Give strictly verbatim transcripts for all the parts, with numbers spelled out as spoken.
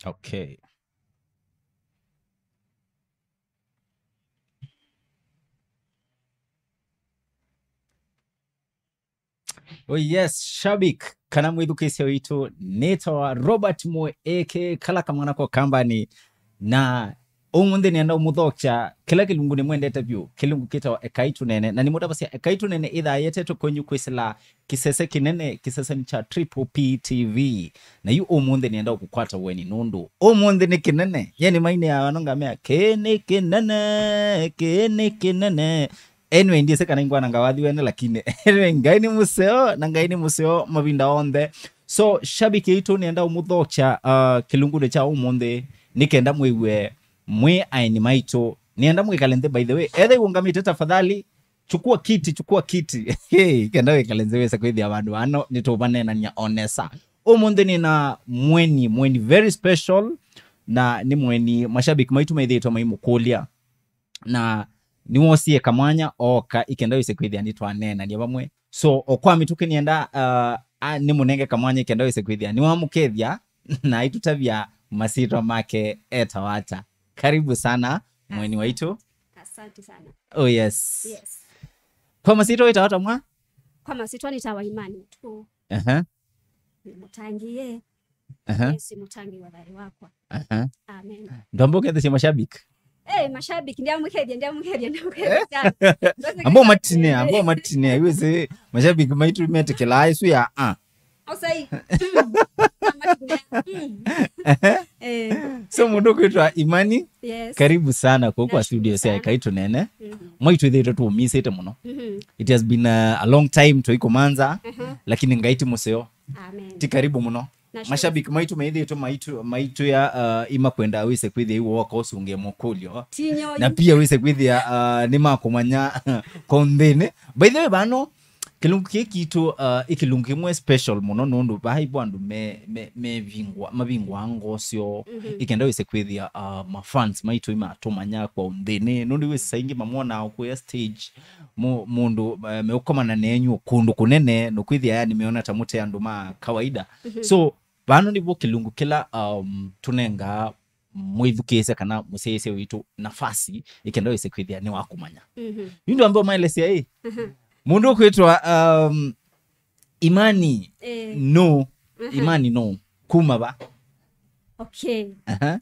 Okay. Oh yes, shabik, kana mwĩthukĩĩsya witũ, nĩtawa Robert Moe, A K A kala kamwana ko kambani, na ũmũnthĩ nĩenda ũmũthokya kĩla kĩlungu nĩmwendete vyũ, kĩlungu kĩtawa Ekai Tũneene, na nĩmũtavasya Ekai Tũneene ĩthaa yetetwe kwenyu kwĩsĩla kĩsese kĩnene, kĩseseni kya Triple P T V. Na yu ũmũnthĩ nĩenda ũkũkwata ũeni nũndũ ũmũnthĩ nĩ kĩnene. Ye nĩmainĩaa ano ngamea, "Kĩĩ nĩ kĩnene, kĩĩ nĩ kĩnene." Anyway, ndiĩsĩ kana ingwana ngawathi wene, lakini anyway, Ngai nĩ mũseo, na Ngai nĩ mũseo mavinda onthe. So, shabiki aitũ, nĩenda ũmũthokya, uh, kĩlungunĩ kya ũmũnthĩ, nĩ kenda mwĩw'e mwĩ aeni maitũ. Nĩenda mwĩkale nthĩ, by the way. Etha iũngamĩte, tafadhali, chukua kiti, chukua kiti. Hey, kenda wĩkale nthĩ wĩse kwĩthĩa vandũ vano, nĩtũvaneenania o nesa. Ũmũnthĩ nĩna mweni, mweni very special, na nĩ mweni mashabiki maitũ maithĩtwe maimũkũlya. Na nĩwosie kamwanya ooka ikenda wĩse kwĩthĩa nĩtwaneenania vamwe. So, o kwa mĩtũkĩ nĩenda, uh, a, nĩmũnenge kamwanya ikenda wĩse kwĩthĩa nĩwamũkethya na aitũtavya masyĩtwa make etawa ata. Karibu sana, mweni waitũ. Asante sana. Oh, yes. Yes. Kwa masyĩtwa wĩtawa ata mwa? Kwa masyĩtwa nĩtawa Imani Mũtuku. Aha. Nĩ mũtangĩĩe. Aha. Yesu mũtangĩĩi wa thayũ wakwa. Aha. Amen. Ndwamba ũkethesya mashabiki? Eh, mashabiki, ndiamũkethya, ndiamũkethya, ndiamũkethya sana. Ambao matine, ambao matine, iwe se mashabiki maitũ metĩkĩlaa isu ya, ah. Osai. Mm. Matine. Mm. Eh. So mũndũ kwĩtwa Imani, yes, karibu sana kwa, kwa studio sya Ekai Tũneene. Mhm. Mwaitũ ithĩtwe tũũmisĩte mũno. Mhm. It has been a, a long time tũikũmanza, mhm, lakini Ngai ti mũseo. Amen. Ti karibu mũno. Nashukuru. Mashabiki maitũ maithĩtwe maitũ, maitũ ya, uh, imakwenda wĩse kwĩthĩa iwoka ũsũngĩe mũkũlyo. Tinyo. Na pia wĩse kwĩthĩa, uh, nĩmakũmanya kwa ũnthĩnĩ. By the way, vano, kĩlungu kĩĩ kitũ, uh, ĩ kĩlungu kĩmwe special mũno nũndũ vaa ivo andũ me, me, mevingwa, mavingwa ngoo syoo, mhm, ikenda wĩse kwĩthĩa, uh, mafans maitũ imatũmanya kwa ũnthĩnĩ. Nũndũ wĩsa ingĩ mamonaa ũkũya stage, mũ-, mũndũ, uh, meũkomana nenyu kũndũ kũnene, nũkwĩthĩa yani meona ta mũte andũ ma kawaida. Mhm. So, vano nĩvo kĩlungu kĩla, um, tũnengaa mwĩthukĩĩsya kana mũsyaĩĩsya witũ nafasi, ĩkenda wĩse kwĩthĩa nĩwakũmanya. Mhm. Yu ndwambe ũmaelesya ĩ? Mhm. Mũndũ ũkwĩtwa, um, Imani, eh, no. Mhm. Imani no. Kuma va? Okay. Aha.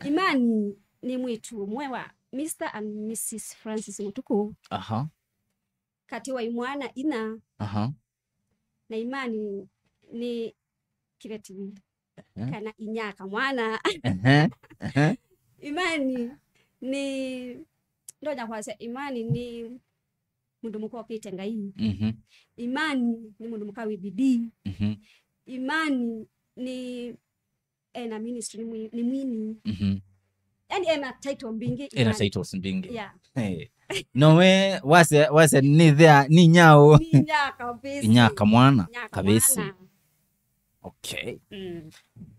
Imani nĩ mwĩĩtu ũmwe wa Mister and Missus Francis Mũtuku. Aha. Katĩ wa imwana ina. Aha. Na Imani nĩ kĩveti, ehe, kana inyaka mwana. Ehe, ehe. Imani nĩ, ndonya kwasya, Imani nĩ mũndũ mũka ũkĩte Ngai. Mhm. Imani nĩ mũndũ mũka wĩ bidii. Mhm. Imani nĩ, ena ministry, nĩ mwi-, nĩ mwini. Mhm. Yani ena title mbingĩ, ena Imani. Titles mbingĩ. Yeah. Hey. No we, wase, wase nĩ thea, nĩ nyao. Nĩ nyaka kabisa. Nyaka mwana. Nyaka kabisa. Mwana. Okay. Mm.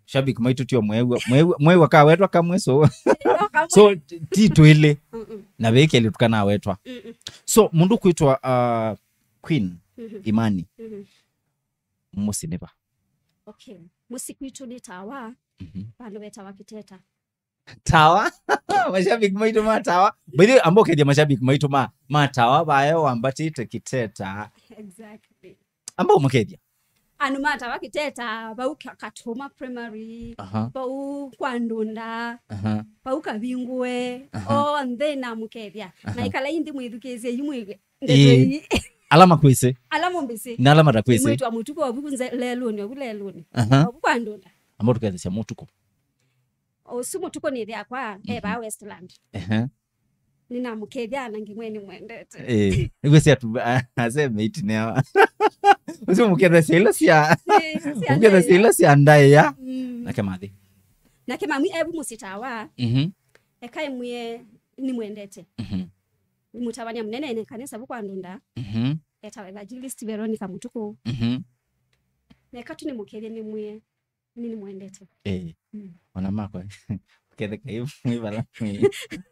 Shabiki maitũ tio mwew'a, mwew'a, mwew'a kawetwa kamwe so. No kamwe. So, ti twĩlĩ. Mm-mm. Na vekeli tukanawetwa. Mm-mm. So, mũndũ kwĩtwa, uh, Queen, mhm, Imani. Mhm. Mũsyĩ nĩ va? Okay. Mũsyĩ kwitũ nĩ Tawa, mhm, vandũ vetawa Kĩteta. Tawa? Mashabiki maitũ ma Tawa. By the way, amba ũkethya mashabiki maitũ ma, ma Tawa, vayo wambatĩte Kĩteta. Exactly. Amba ũmũkethya. Andũ ma Tawa Kĩteta, vau Ka-, Katũma Primary, aha, vau kwa Ndunda, aha, vau Kavingũe, aha, onthe namũkethya. Aha. Na ĩkalai nthĩ mwĩthukĩĩsye yu mwĩw'e. Ndeto ii. Ala makwĩsĩ. Ala mũmbĩsĩ. Na ala matakwĩsĩ. Nĩ mwĩĩtu wa Mũtuku, ovu nze lelũnĩ, ovu lelũnĩ. Aha. Ovu kwa Ndunda. Amba tũkethesya Mũtuku. Ũsu Mũtuku nĩ ĩthe akwa, mhm, e vaa Westland. Ehe. Nĩnamũkethya na ngĩmwĩa nĩmwendete. Eh, nĩguo sia tu, a-, ase mate nĩ awa. Ũsu mũkethesya ila sia, eh, sia mũkethesya ndaĩa. Ila sia ndaĩa. Mm. Nake mathi. Nake mami evu mũsyĩ Tawa. Mhm. Eka ĩmwĩe nĩmwendete. Mhm. Nĩ mũtavany'a mũnene ene kanisa vu kwa Ndunda. Mhm. Etawa Evangelist Veronica Mũtuku. Mhm. Neka tu nĩmũkethye nĩmwĩe, nĩ nĩmwendete. Eh. Mm. Ona makwa. Ũketheka yu mwĩ vala mwĩ,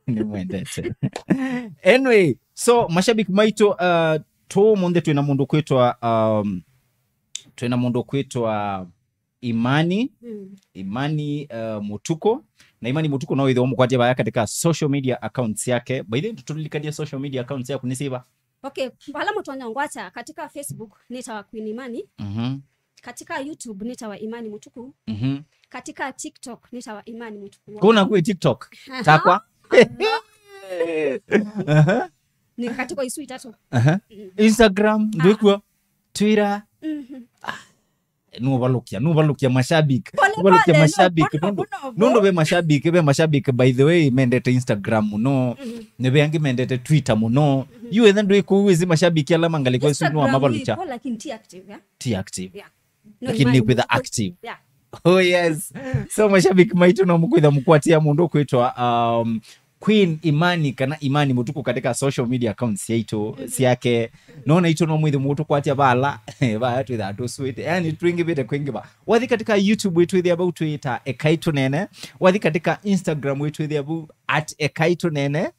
nĩmwendete. Anyway, so mashabiki maitũ, uh, tũ ũmũnthĩ twĩna mũndũ kwĩtwa, um, twĩna mũndũ kwĩtwa Imani, mm, Imani, uh, Mutuku. Na Imani Mutuku no wĩthĩwa ũmũkwatie vaya katika social media accounts yake. By the way, tũlilikanie social media accounts yaku nĩ syĩva? Okay, vala mũtonya ngwata katika Facebook nĩtawa Queen Imani. Mhm. Katika YouTube nĩtawa Imani Mutuku. Mhm. Katika TikTok nĩtawa Imani Mutuku. Kuna kwĩ TikTok? Aha. Takwa? Aha. Aha. Nĩ katika isu itatu. Aha. Mm. Instagram, ah, ndwĩkuo? Twitter? Mhm. Ah, nũvalũkya, nũvalũkya mashabiki. Pole, nũvalũkya pole, no, mashabiki, mũno, nũndũ, mũno, nũndũ mũno. Ve mashabiki, ve mashabiki, by the way, mendete Instagram mũno. Mhm. Nĩ ve angĩ mendete Twitter mũno. Mhm. Yu ethe ndwĩ kũu, wĩsĩ mashabiki ala mangalĩko isu nũwa Instagram mavalũkya. Ipo, lakini ti active, yeah? Ti active. Yeah. No, lakini Imani nĩkwĩtha Mutuku active. Yeah. Oh, yes. So, mashabiki maitũ no mũkwĩtha mũkwatia mũndũ kwĩtwa, um, Queen Imani kana Imani Mutuku katika social media accounts yaitũ, mhm, syake. No naitũ no mwĩthĩ mũtũkwatia vala. Vaya twĩthaa tũswĩte. Yani, twĩngĩvĩte kwĩngĩva. Wathi katika YouTube wĩtwĩthĩa vau twĩta Ekai Tũnene. Wathi katika Instagram wĩtwĩthĩa vau at Ekai Tũnene.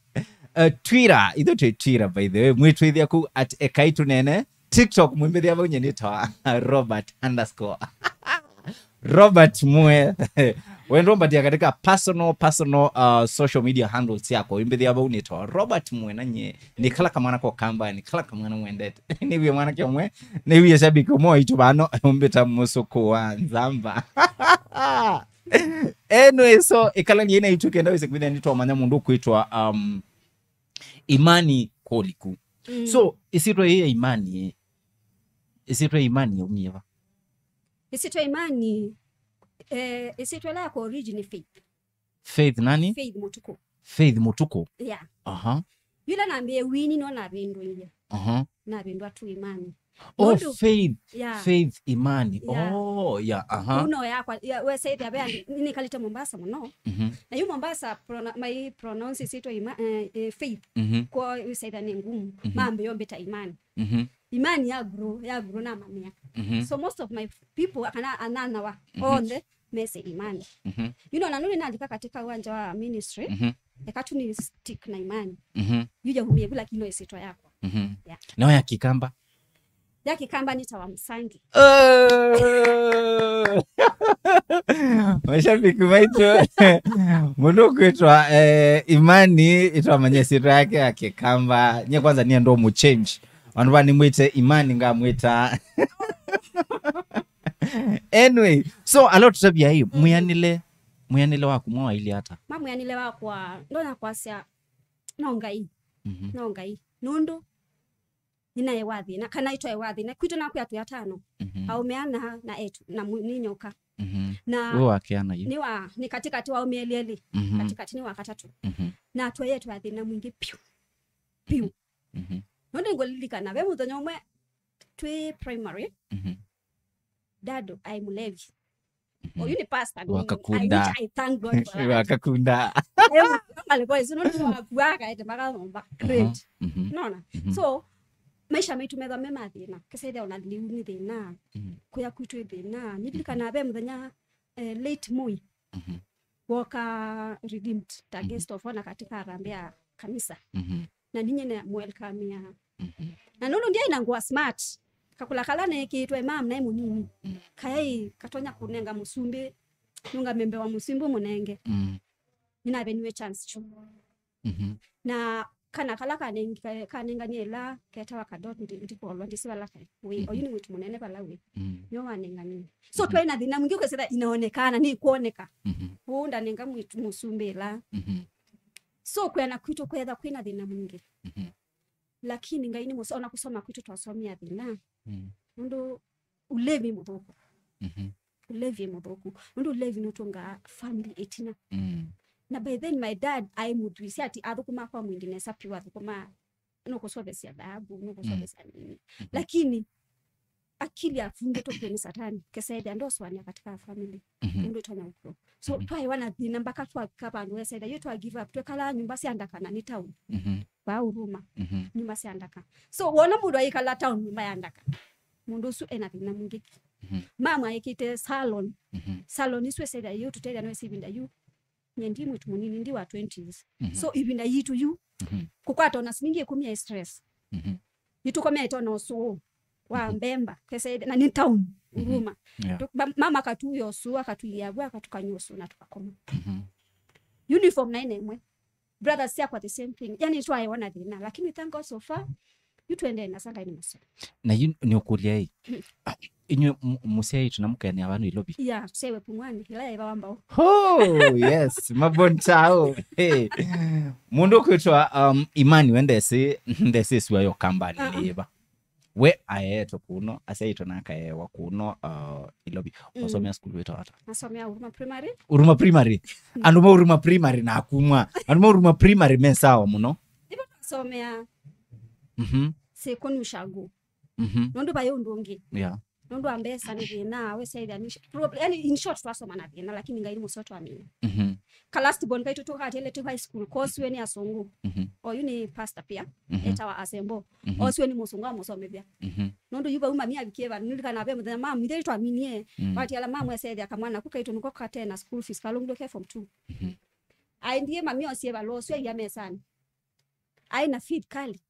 Uh, Twitter, itho twĩ Twitter, by the way, mwĩtwĩthĩa kũu at Ekai Tũnene. TikTok, mwĩmbĩthĩa vau nye nĩtawa Robert underscore Robert Mwe. Wendo mbatia katika personal, personal, uh, social media handles yako. Wĩmbĩthĩa vau nĩtawa Robert Mwe na nye. Nĩ kala kamwana ko kamba, nĩ kala kamwana mwendete. Nĩwie mwanake ũmwe, nĩwie shabiki ũmwe waitũ vano, ũmbĩta mũsũkũ wa nzamba. Anyway, so, ĩkalani ĩna itũ kenda wĩse kwĩthĩa nĩtwamanya mũndũ kwĩtwa, um, Imani Koliku. Mm. So, ĩsyĩtwa yĩĩ ya Imani, ĩ, ĩsyĩtwa ya Imani yaumie va? Ĩsyĩtwa Imani, eh, ĩsyĩtwa ĩla yakwa origin nĩ Faith. Faith nani? Faith Mutuku. Faith Mutuku? Yeah. Aha. Yũla nambĩĩe wini no navĩndũie. Aha. Navĩndwa tu Imani. Oh, nũndũ Faith. Yeah. Faith Imani. Yeah. Oh, yeah, aha. Uno yakwa, ya, wesaithia ve andũ, nĩkalĩte Mombasa mũno. Mhm. Na yu Mombasa, prona-, mai pronounce ĩsyĩtwa Ima-, eh, eh, Faith. Mhm. Kwa wesaithia nĩ ngumu. Mhm. Mambĩĩe ũmbĩta Imani. Mhm. Imani ya grow, ya grow na mamĩa. Mhm. So most of my people, kana ananawa, mhm, onthe, mese Imani. Mhm. You know, na nũndũ nalika katika uwanja wa ministry, mhm, eka tu nĩ stick na Imani. Mhm. Yu yaumie vu, lakini no ĩsyĩtwa yakwa. Mhm. Yeah. No ya Kĩkamba? Ya Kĩkamba nĩtawa Mũsangi. Oh! Mashabiki maitũ, mũndũ kwĩtwa, eh, Imani, ĩtwamanya ĩsyĩtwa yake ya Kĩkamba. Nye kwanza niĩ ndo mũchange. Vandũ va nĩmwĩte Imani ngamwĩta. Anyway, so, alo tũtavya ĩ, mm, mwĩanĩle, mwĩanĩle waku mwawailye ata? Ma mwĩanĩle wakwa, ndonya kwasya, no Ngai. Mhm. No Ngai. Nũndũ, nĩnaewa thĩna, kana ĩtwaewa thĩna. Kwitũ nakwĩa twĩ atano. Mhm. Aũme ana na etu, na mũ-, nĩ nyoka. Mhm. Na wĩ wa kĩana yu? Nĩ wa, nĩ katikati wa aũme elĩ elĩ. Mhm. Katikati nĩ wa katatũ. Mhm. Na twaĩe twĩ na thĩna mwingĩ piũ. Piũ. Mhm. No nĩngũlilikana, ve mũthenya ũmwe twĩ primary, mhm, dad aĩ mũlevi. Mhm. Oyu nĩ pastor, nĩ, wakakunda. I, which I thank God for that. Wakakunda. Alikuwa isu, no nĩ wakua, akaete mpaka nyũmba. Great. Mhm. Unaona? Mhm. So, maisha maitũ methwa me mathĩna. Kĩsethĩa ona liu nĩ thĩna. Mhm. Kũya kwitũ ĩ thĩna. Nĩlilikana ve mũthenya, eh, late Moi. Mhm. Woka Redeemed, ta, mhm, guest of honor katika harambee ya kanisa. Mhm. Na ninye na mwelcome ya. Mhm. Na nũndũ ndiaĩ na ngũa smart, kakũla kala nekĩĩtwe mam naĩ mũnini. Mm. Kayaĩ katonya kũnenga mũsumbĩ, nũngamĩe mbee wa mũsumbĩ mũnenge. Mm. Nĩnaveniwe chance kyu. Mhm. Na kana kala kaneng-, ka-, kanenganie ĩla ketawa kadot ndi-, ndikolwa ndĩsĩ vala kaĩ. Wĩ, mhm, oyu nĩ mwĩĩtu mũnene vala wĩ. Mm. Nĩwe wanenganie. So, mhm, twaĩ na thĩna mwingĩ ũkesĩla inaonekana, nĩ kwoneka. Mhm. Ũũ ndanenga mwĩĩtu mũsumbĩ ĩla. Mhm. So, kwĩana kwitũ kwetha kwĩna thĩna mwingĩ. Mhm. Lakini Ngai nĩ mũsa-, ona kũsoma kwitũ twasomea thĩna. Mm. Nũndũ ũlevi mũthũku. Mhm. Ũlevi mũthũku. Nũndũ ũlevi nũtũngaa family ĩtina. Mm. Na by then my dad aĩ mũthwisi ati athũkũma kwa mwindi nesa piũ, athũkũma nũkũsovesya dhahabu, nũkũsovesya, mhm, nini. Mhm. Lakini akili afungĩtwe kwĩ nĩ Satani, kesethĩa ndosũanĩa katika family. Mhm. Nũndũ ĩtonya ũkũo. So, mhm, twaĩwa na thĩna mpaka twavika vandũ wesethĩa yu twa give up, twekala nyũmba sya ndaka na nĩ town. Mhm. Vaa Huruma. Mhm. Nyũmba sya ndaka. So, wona mũndũ aikala town nyũmba ya ndaka, mũndũ ũsu ena thĩna mwingĩ. Mhm. Mama ekĩte salon. Mhm. Salon isu esethĩa yu tũtethĩa no ĩvinda yu. Nye ndi mwĩĩtu mũnini, ndi wa twenties. Mhm. So, ĩvinda yitũ yu, mhm, kũkwata ona silingi ĩkũmi ya stress. Mhm. Nĩtũkomete ona ũsũũ. wa Mbemba, kese, na nĩ town, Huruma. Yeah. Tu-, ma-, mama akatuya ũsu, akatulia vu, akatukany'a ũsu, na tũkakoma. Mhm. Uniform naĩ na ĩmwe. Brothers syakwa the same thing. Yani twaewa na thĩna, lakini we thank God so far, yu tũendee na sanga ni mũseo. Na yu nĩ ũkũlya ĩ, inyuĩ m-, mũsyaĩtwe na mũkeenea vanu Ilovi? Yeah, tũsyaĩwe Pumwani, ĩla yaĩva wa mbao. Oh, yes, Mabonchao. Hey. Mũndũ ũkwĩtwa, um, Imani we ndesĩ, ndesĩ sua yo kambani. Uh-uh. Nĩ yĩva? We aeetwe kuno, asyaĩtwe na akaeewa kuno, uh, Ilovi. Mm. Wasomea sukulu wĩtawa ata? Nasomea Huruma Primary. Huruma Primary. Mm. Andũ ma Huruma Primary na kumwa. Andũ ma Huruma Primary me sawa mũno. Ivo twasomea. Mhm. Sekoni ushago. Mhm. Nũndũ vaĩ ũndũ ũngĩ. Yeah. Nũndũ wa mbesa nĩ thĩna, we syaĩthya nĩ sh-, prob-, yani, in short, twasoma na thĩna, lakini Ngai nĩ mũseo twamina. Mhm. Ka last born kaitũ tũkatele tu high school, cause we nĩ asũngũ. Mhm. Oyu nĩ pastor pia, mhm, etawa Asembo. Mhm. Osiwe nĩ mũsũngũ amũsomethya. Mhm. Nũndũ yu vau mami avikie va, nĩlikana ve mũthenya mami, ĩthe twaminie, mm, watiala mamwesethya kamwana ku kaitũ nĩko katena school fees, kalũngilwe ke form two. Mhm. Aendie mami osie valũa ũsu aia mesanĩ. Aĩ na faith kali.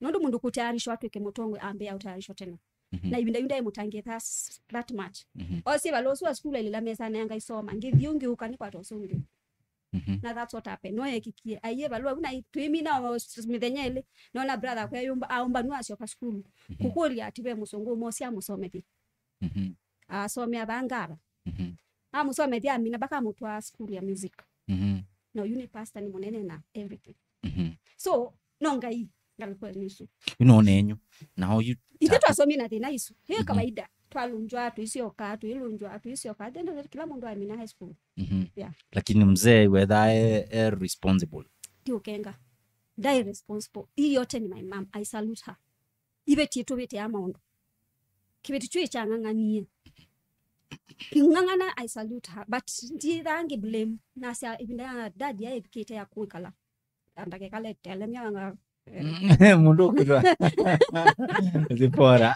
Nũndũ mũndũ kũtayarishwa atwĩke mũtongwe, ambĩa ũtayarishwa tena. Mhm. Na ivinda yu ndaĩ mũtangĩe that, that much. Mhm. Osie valũa ũsu wa school ailila mesanĩ, anga isoma. Ngĩthi ũngĩ ũka nĩkwata ũsu ũngĩ. Mhm. Na that's what happened. No yekikie. Aiye valũa, na twĩmina o s-, mĩthenya ĩlĩ. Nona brother akwa ayũmba, aũmba nũ asyoka sukulu. Mhm. Kũkũlya ati ve mũsũngũ ũmwe ũsya mũsomethye. Mhm. Asomea vangava. Mhm. Amũsomethya amina mpaka amũtwaa sukulu ya music. Mhm. Na ũyu nĩ pastor, nĩ mũnene na everything. Mhm. So, no Ngai, ngalĩko nĩ isu. Yu no nenyu. Na oyu ithe ta- twasomie na thĩna isu. Hiyo, mhm, kawaida. Twalũnjwa, tũisyoka, tũilũnjwa, tũisyoka. At the end of it, kila mũndũ amina high school. Mhm. Yeah. Lakini mzee wetha e, e responsible. Ti ũkenga. Ndaĩ responsible. Hii yote ni my mom. I salute her. Ivetie tũvĩte ya maũndũ. Kĩveti kyu ĩkyang'ang'anie. Ng'ang'ana, I salute her. But ndithaa ngĩ blame. Nasya ĩvinda ya dad yaĩvikĩte ya kwĩkala. Andakekala etelemya nga, eh. Mũndũ ũkwĩtwa Zipora.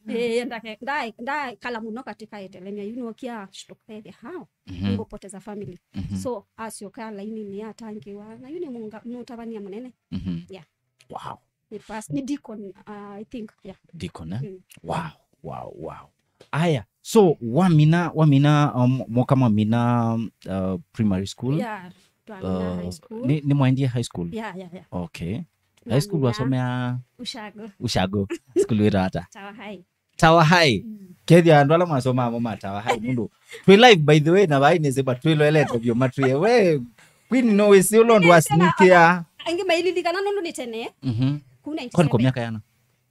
Eh, ndake-, ndae-, ndaekala mũno katika etelemya, you know, kia shtukaethya how? Mhm. Ngũpoteza family. Mhm. So, asyoka lainini atangiwa, na yu nĩ mũnga-, mũtavania mũnene. Mhm. Yeah. Wow. Nĩ pas-, nĩ deacon, uh, I think, yeah. Deacon, eh? Mm. Wow, wow, wow. Aya, so wamina, wamina, um, mwoka mwamina, uh, primary school? Yeah, twamina, uh, high school. Nĩ, nĩ mwaendie high school? Yeah, yeah, yeah. Okay. High school twamina wasomea? Ushago. Ushago. School wĩtawa ata? Tower High. Tower High. Mm. Kethia andũ ala masomaa mo ma Tower High nũndũ twĩ live, by the way, na vai nĩsĩ, but twĩloelete vyũ matwĩe. We, Queen, no wĩsĩ ũla ũndũ wa sneaker. Angĩ maililikana nũndũ nĩ tene. Mhm. Kũ ninety-seven. Kwani kwa miaka yana?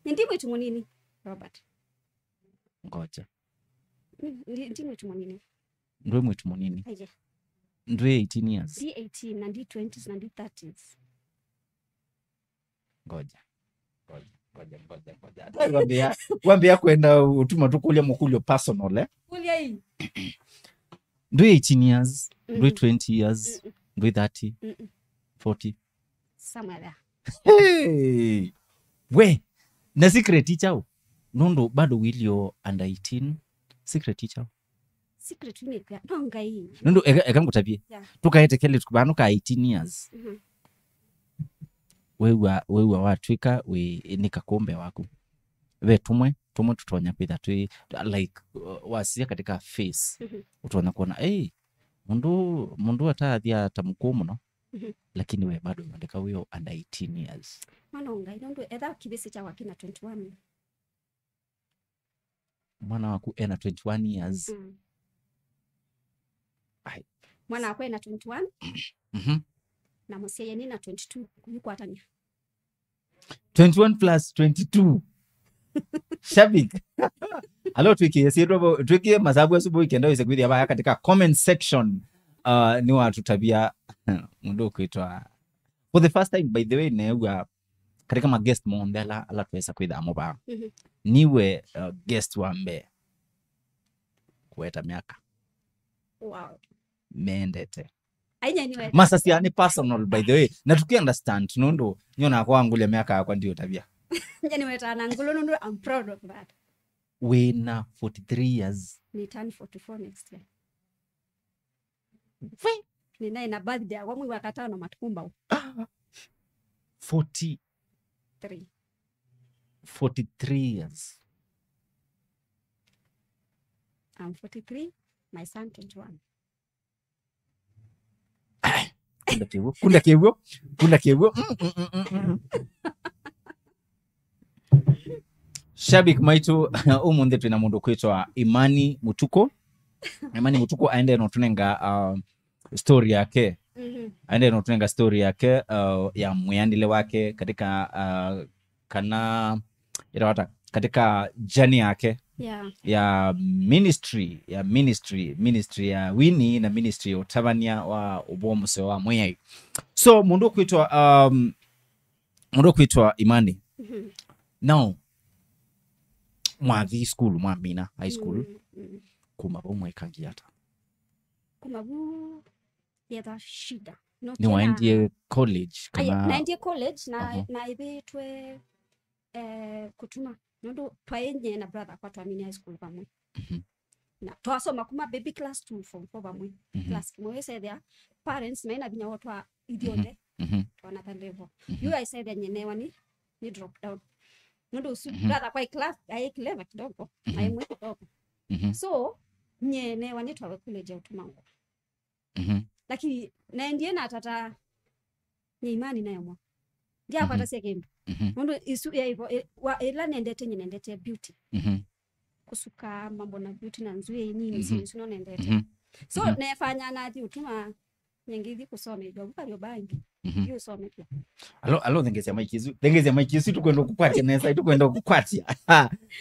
Nĩ ndi mwĩtu mũnini, Robert. Ngoja. Mm, ndi, ndi mwĩtu mũnini. Ndwĩ mwĩtu mũnini? Aye. Ndwĩ eighteen years? Ndi eighteen, na ndi twenties, na ndi thirties. Ngoja. Ngoja, ngoja, ngoja, ngoja. Hata wambia, wambia kwenda utuma tu kulia mkulio personal, eh? Kulia hii. Ndwĩ eighteen years, ndwĩ, mm-mm, twenty years, mm-mm, ndwĩ thirty, mm-mm, forty. Somewhere there. Hey! We, na secret ichao? Nũndũ bado wilio under eighteen. Secret ichao? Secret nĩ kwĩa, no Ngai. Nũndũ eka, eka ngũtavye. Yeah. Tũkaete kelĩtu vano ka eighteen years. Mhm. Wew'a, wew'a watw'ĩka wĩ nĩ kakũmbe waku. Ve tũmwe, tũmwe tũtonya kwĩtha twĩ, like, uh, wasisya katika face. Mhm. Ũtonya kuona, "Ei, mũndũ, mũndũ atathya ta mũkũũ mũno." Mhm. Lakini we bado ũyondeka wĩ o under eighteen years. Mwana wa Ngai, nũndũ etha kĩvĩsĩ kya wakina twenty-one. Mwana waku ena twenty-one years. Mm. Ai. Mwana wakwa ena twenty-one. Mhm. Na mũsyai nĩ na twenty-two, kũikwatania. Twenty-one plus twenty-two. Shabik. Alo, twĩkĩe syĩtwa vo, twĩkĩe masavu asu vo ikenda wĩse kwĩthĩa vaya katika comment section. Uh, nĩwatũtavya mũndũ ũkwĩtwa, for the first time, by the way, neew'a katika ma guest monthe ala, ala twesa kwĩthaa mo vaa. Mhm. Niwe, uh, guest wa mbee kũweta myaka. Wow. Mendete. Ainya niwe. Masasya nĩ personal, by the way. Na tuki understand, nũndũ nyona kwa ngule myaka yakwa ndiũtavya. Nye niweta na ngulu nũndũ, I'm proud of that. Wĩna forty-three years. Ni turn forty-four next year. Ninaĩ na birthday yakwa mwei wa katano matukũ mbau. Ah. Forty. Three. Forty-three years. I'm forty-three, my son twenty-one. Kunda kĩw'ũ, kunda kĩw'ũ, kunda kĩw'ũ. Mm, mm, mm, mm, mm. Shabik maitũ, ũmũnthĩ twĩna mũndũ kwĩtwa Imani Mutuku. Imani Mutuku aendee no tũnenga uh, story yake. Mhm. Aendee no tũnenga story yake uh, ya mwĩanĩle wake katika uh, kana ĩrawata katika journey yake Yeah. ya ministry ya ministry ministry ya wini na ministry ya ũtavany'a wa ũvoo mũseo wa Mwĩai. So mũndũ ũkwĩtwa um, mũndũ ũkwĩtwa Imani, Mhm. Now mwathi school, mwamina high school, Mm, mm. Kuma vau mwekangi ata? Kuma vu yetha shida. No Nĩwaendie college? Aye, Kana naendie college na Aha. Naĩvĩtwe eh, kũtuma nũndũ twaĩ nyie na brother kwa twamini high school vamwe. Mhm. Na twasoma kuma baby class to form four vamwe. Mhm. Class kĩmwe wĩsethĩa parents maina vinya wotwa ithyonthe Mhm. twana ta level. Mhm. Yu aisethĩa nyenewa ni ni drop down nũndũ ũsu Mhm. Brother kwa class aĩ clever kidogo Mhm. Aĩ mwĩ kidogo. Mhm. So nyenewa ni twawe college ya ũtuma ngũ Mhm. Lakini naendie na tata nye Imani nayo mwa ndiakwata Mhm. sya kĩndũ Mhm. Nũndũ isu yaivo ĩ- wa- ĩla nendete nye nendete beauty Mhm. Kũsuka mambo na beauty na nzw'ĩĩ nini Mhm. isu isu no nendete Mhm. So Mhm. Nefanya nathi ũtuma nye ngĩthi kũsomethwa vu Kariobangi Mhm. Yu ũsomethwa Alo, alo, thengesya maiki isu, thengesya maiki isu, tukwenda kũkwatya nesa, tukwenda kũkwatya.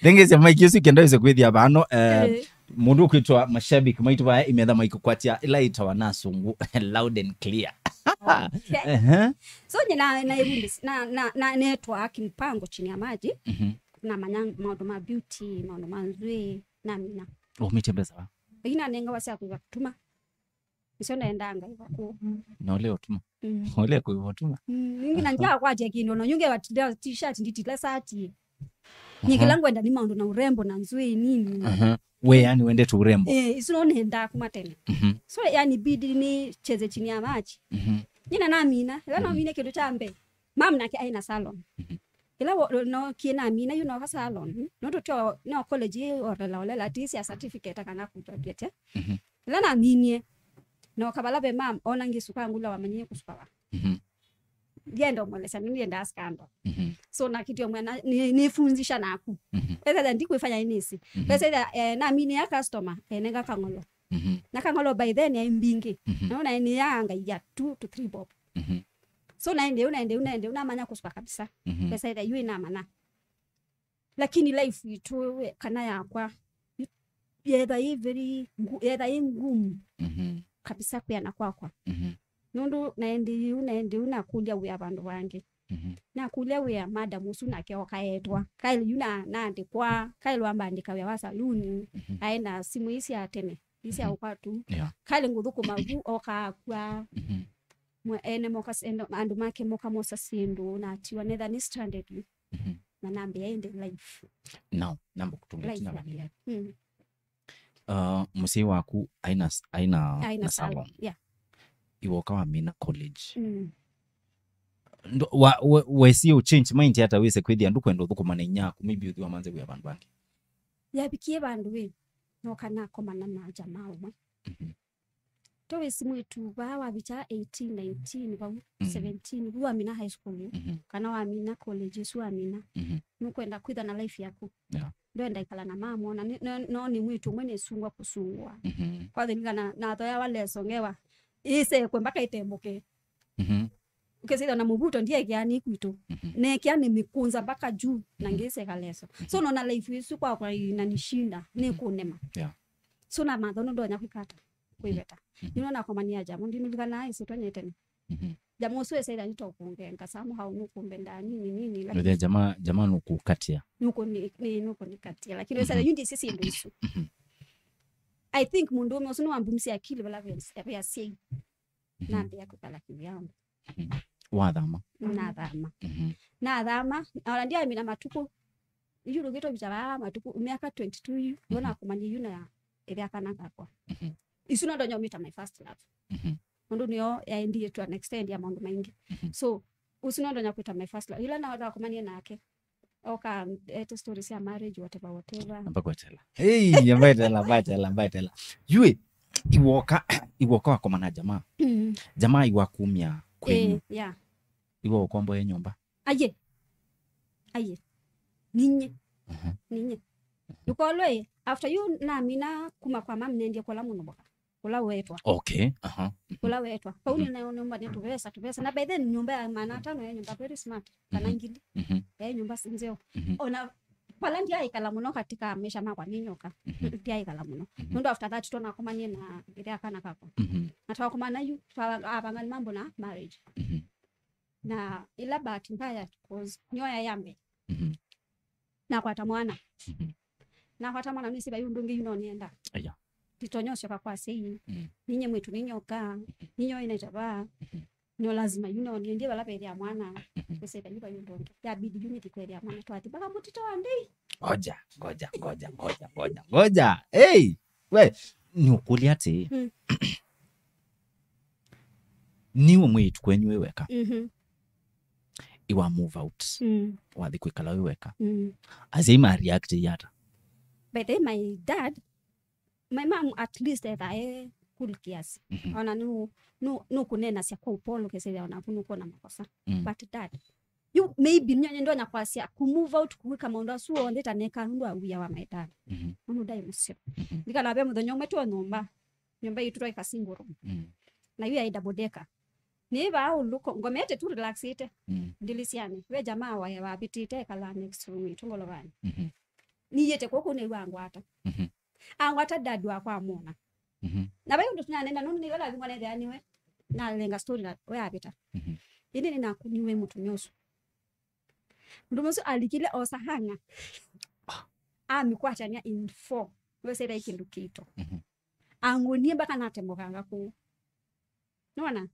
Thengesya maiki isu kenda wĩse kwĩthĩa vano eh, Eh, mũndũ ũkwĩtwa mashabiki maitũ vaya imetha maikũkwatya ĩla ĩtawa na asungu loud and clear. okay. Ehe. So nye na na ĩvundi na na na netwa kimpango chini ya maji Mhm. Namanya maũndũ ma beauty maũndũ ma nzw'ĩĩ namina Umĩte mbesa wa? Lakini nanengawa sya kũiva kũtuma Nĩsyo naendanga iva kũu. Na ũle ũtuma. Mm. Ũle kũiva ũtuma. Mm, nyingi na nja kwatya kĩndũ no nyunge wa t-shirt nditila sati. Nyingila ngwenda ni maũndũ na urembo na nzwĩĩ nini. Aha. We yani wendete urembo. Eh, isu no nenda kuma tene. Mhm. So yani bidi ni cheze chini ya maji. Mhm. Nyina namina, ila namina kĩndũ kya mbee. Mam nake aina salon. Ila wo- no kina mina you know ka salon. No totio no college orela olela tisi ya certificate kana kutwa biete. Mhm. Ila naminie. No kabala be mam ona ngisuka ngula wamanyie kusuka wa. Mhm. Ndienda umwelesya nini ndienda scandal. Mhm. So nakitio mwana ni nifunzisha naku. Mhm. Ethela ndikwifanya inisi. Mhm. Pesa ila eh, namini ya customer enenga kang'olo. Mhm. Na kang'olo by then ya imbingi. Mhm. Naona ni ya ngai ya two to three bob. Mhm. So naende unaende unaende unamanya kusuka kabisa. Mhm. Pesa ila yu inamana. Lakini life itu kana yakwa yetha i very ngu- yetha i ngumu Mhm. Kabisa kwiana kwakwa. Mhm. Nundu naende yu naende u nakulia wia vandu vangi. Mhm. Nakulia wia madam usu nake okaetwa kaili yu na naandikwa kaili wambandika wia wa saluni. Mhm. Aenda simu isi ya tene isi ya Mhm. ukwatu. Yeah. Kaili nguthukuma vu okakwa. Mhm. Mwe- ene moka s- ene- andu make moka mosa sindu natiwa netha ni stranded yu. Mhm. Na nambia indi life. Now namba kutunga Life tina ya- vanini. Mm. Uh, mũsyai waku aina s- aina Aina na salon. Salon. Yeah. Iwoka wamina college. Mm. Ndo- wa- we- wesie uchange mind hata wĩse kwĩthĩa ndukwenda ũthũkũma na inyaku maybe ũthi wamanze wĩa vandũ vangĩ. Yavikie vandu wi noka nakomana na jamaa umwe. Mhm. Towesi mwitu vaa wavicha eighteen, nineteen vau, Mhm. seventeen vu wamina high school yu, Mhm. kana wamina college isu wamina, Mhm. nukwenda kwitha na life yaku. Yeah. Ndwenda ikala na mamu ona ni- no no ni mwitu umwe nisungwa kusungwa. Mhm. Kwathilikana nathoyawa leso ngewa isekwe mpaka itembuke. Mhm. Ukesitha na muvuto ndiekea ni kwitu. Mhm. Nekea ni mikunza mpaka juu na Mhm. ngiseka leso. So nona life isu kwakwa inanishinda ni kunema. Yeah. So na mathono ndonya kwikata kwiveta. Mhm. Nino nakomania jamu ndinulikana isitwa nyetene. Mhm. Jamu usu esaitha nitokungenga samu hau nukumbenda nini nini Nũthĩa lakini jamaa jamaa nũkũkatia. nuku ni ni nuku nikatia lakini Mhm. esaitha yundi isi sindu isu. Mhm. I think mundu ume usu niwambumisia akili vala vya siei. Mhm. Nambia kwikala kivyangu. Wathama. Nathama. Mhm. Nathama ona ndiamina matuku yu rugito vita vaa matuku miaka twenty-two yu Mhm. Nakumania yu na ithya kana ngakwa. Mhm. Isu no ndonya umita my first love. Mhm. Nundu niyo yaendie to an extent ya maundu maingi. Mhm. So usu no ndonya kwita my first love ila na nakumania nake. oka ete story sya marriage, whatever, whatever. Amba kwetela. Hey, nyamba etela, mbaetela, mbaetela. Yue, iwoka, iwoka wakomana jamaa. Mm. Jamaa iwakumya kwenyu. Eh, yeah. Iwe ukomboe nyumba. Aye. Aye. Ninye. Mhm. Ninye. Yukolwe, after you namina kuma kwa mam nendie kola mũno boka. Kũla wetwa. Okay, aha. Mhm. Kũla wetwa. Vau nĩ nayo nyũmba nĩ tũvesa, tũvesa. Na by then nyũmba ya maana atano ya nyũmba very smart. Kana ngili. Mhm. Ya nyũmba si nzeo. Mhm. Ona vala ndiaikala mũno katika maisha makwa nĩ nyoka. Mhm. Ndiaikala mũno. Mhm. Nũndũ after that tũnakomanie na ĩrĩa kana kakwa. Mhm. Na twakomana yu, twavanga mambo na marriage. Mhm. Na ila bahati mbaya, 'cause nyoya ya mbee. Mhm. Nakwata mwana. Mhm. Nakwata mwana, nĩsĩ vai ũndũ ũngĩ yu no nĩenda. Aya. Nditonya ũsyoka kwa sei. Mm. Ninye mwĩtu ninyoka. Mhm. Ninyo ina itava. Mhm. No lazima yu no niendie vala vethĩa mwana. Mhm. Nĩsĩ vai vai ũndũ ũngĩ. Yabidi yu nĩthi kwethĩa mwana twathi mpaka mũtito wa ndei. Ngoja, ngoja, ngoja, ngoja, ngoja, ngoja. Hey! We, nĩ ũkũlya atĩ. Mm. Nĩ we mwĩĩtu kwenyu wĩ weka. Mhm. Iwa move out. Mm. Wathi kwĩkala wĩ weka. Mm. Asyai ma react ata? By the way, my dad, my mom at least etha e cool kiasi. Mhm. Ona nu, nu, nu kunena sya kwa upole kesevya ona kunu kuna makosa. Mm. But dad, you maybe nyo ndonya kwasya ku move out kuwika maũndũ asu onthe taneka nũndũ wa wia wa my dad. Mhm. Nũndũ ndai mũseo. Mhm. Ndikala ve mũthenya ũmwe tu nyũmba. Nyũmba yitũ twaika single room. Mm. Na yu yaĩ double decker. Nĩ vaa ũlũko, ngomete tu relaxĩte. Mm. Ndilisyani. Ve jamaa wa wavĩtĩte ekala next room itũ ngolovanĩ. Mhm. Niyĩte kũkũ nĩw'a angwata. Mhm. Angwata dad wakwa amwona. Mhm. Na vai ũndũ tunanena nũndũ nĩwe lazima nethĩa nĩwe. Nalenga story na we avĩta. Mhm. Ĩndĩ nĩnakuniwe mũtumĩa ũsu. Mũndũ mũsu alikile osa hanga. Amikwatania in four. Wesera kĩndũ kĩito. Mhm. Angunie mpaka natemokanga kũu. Nona?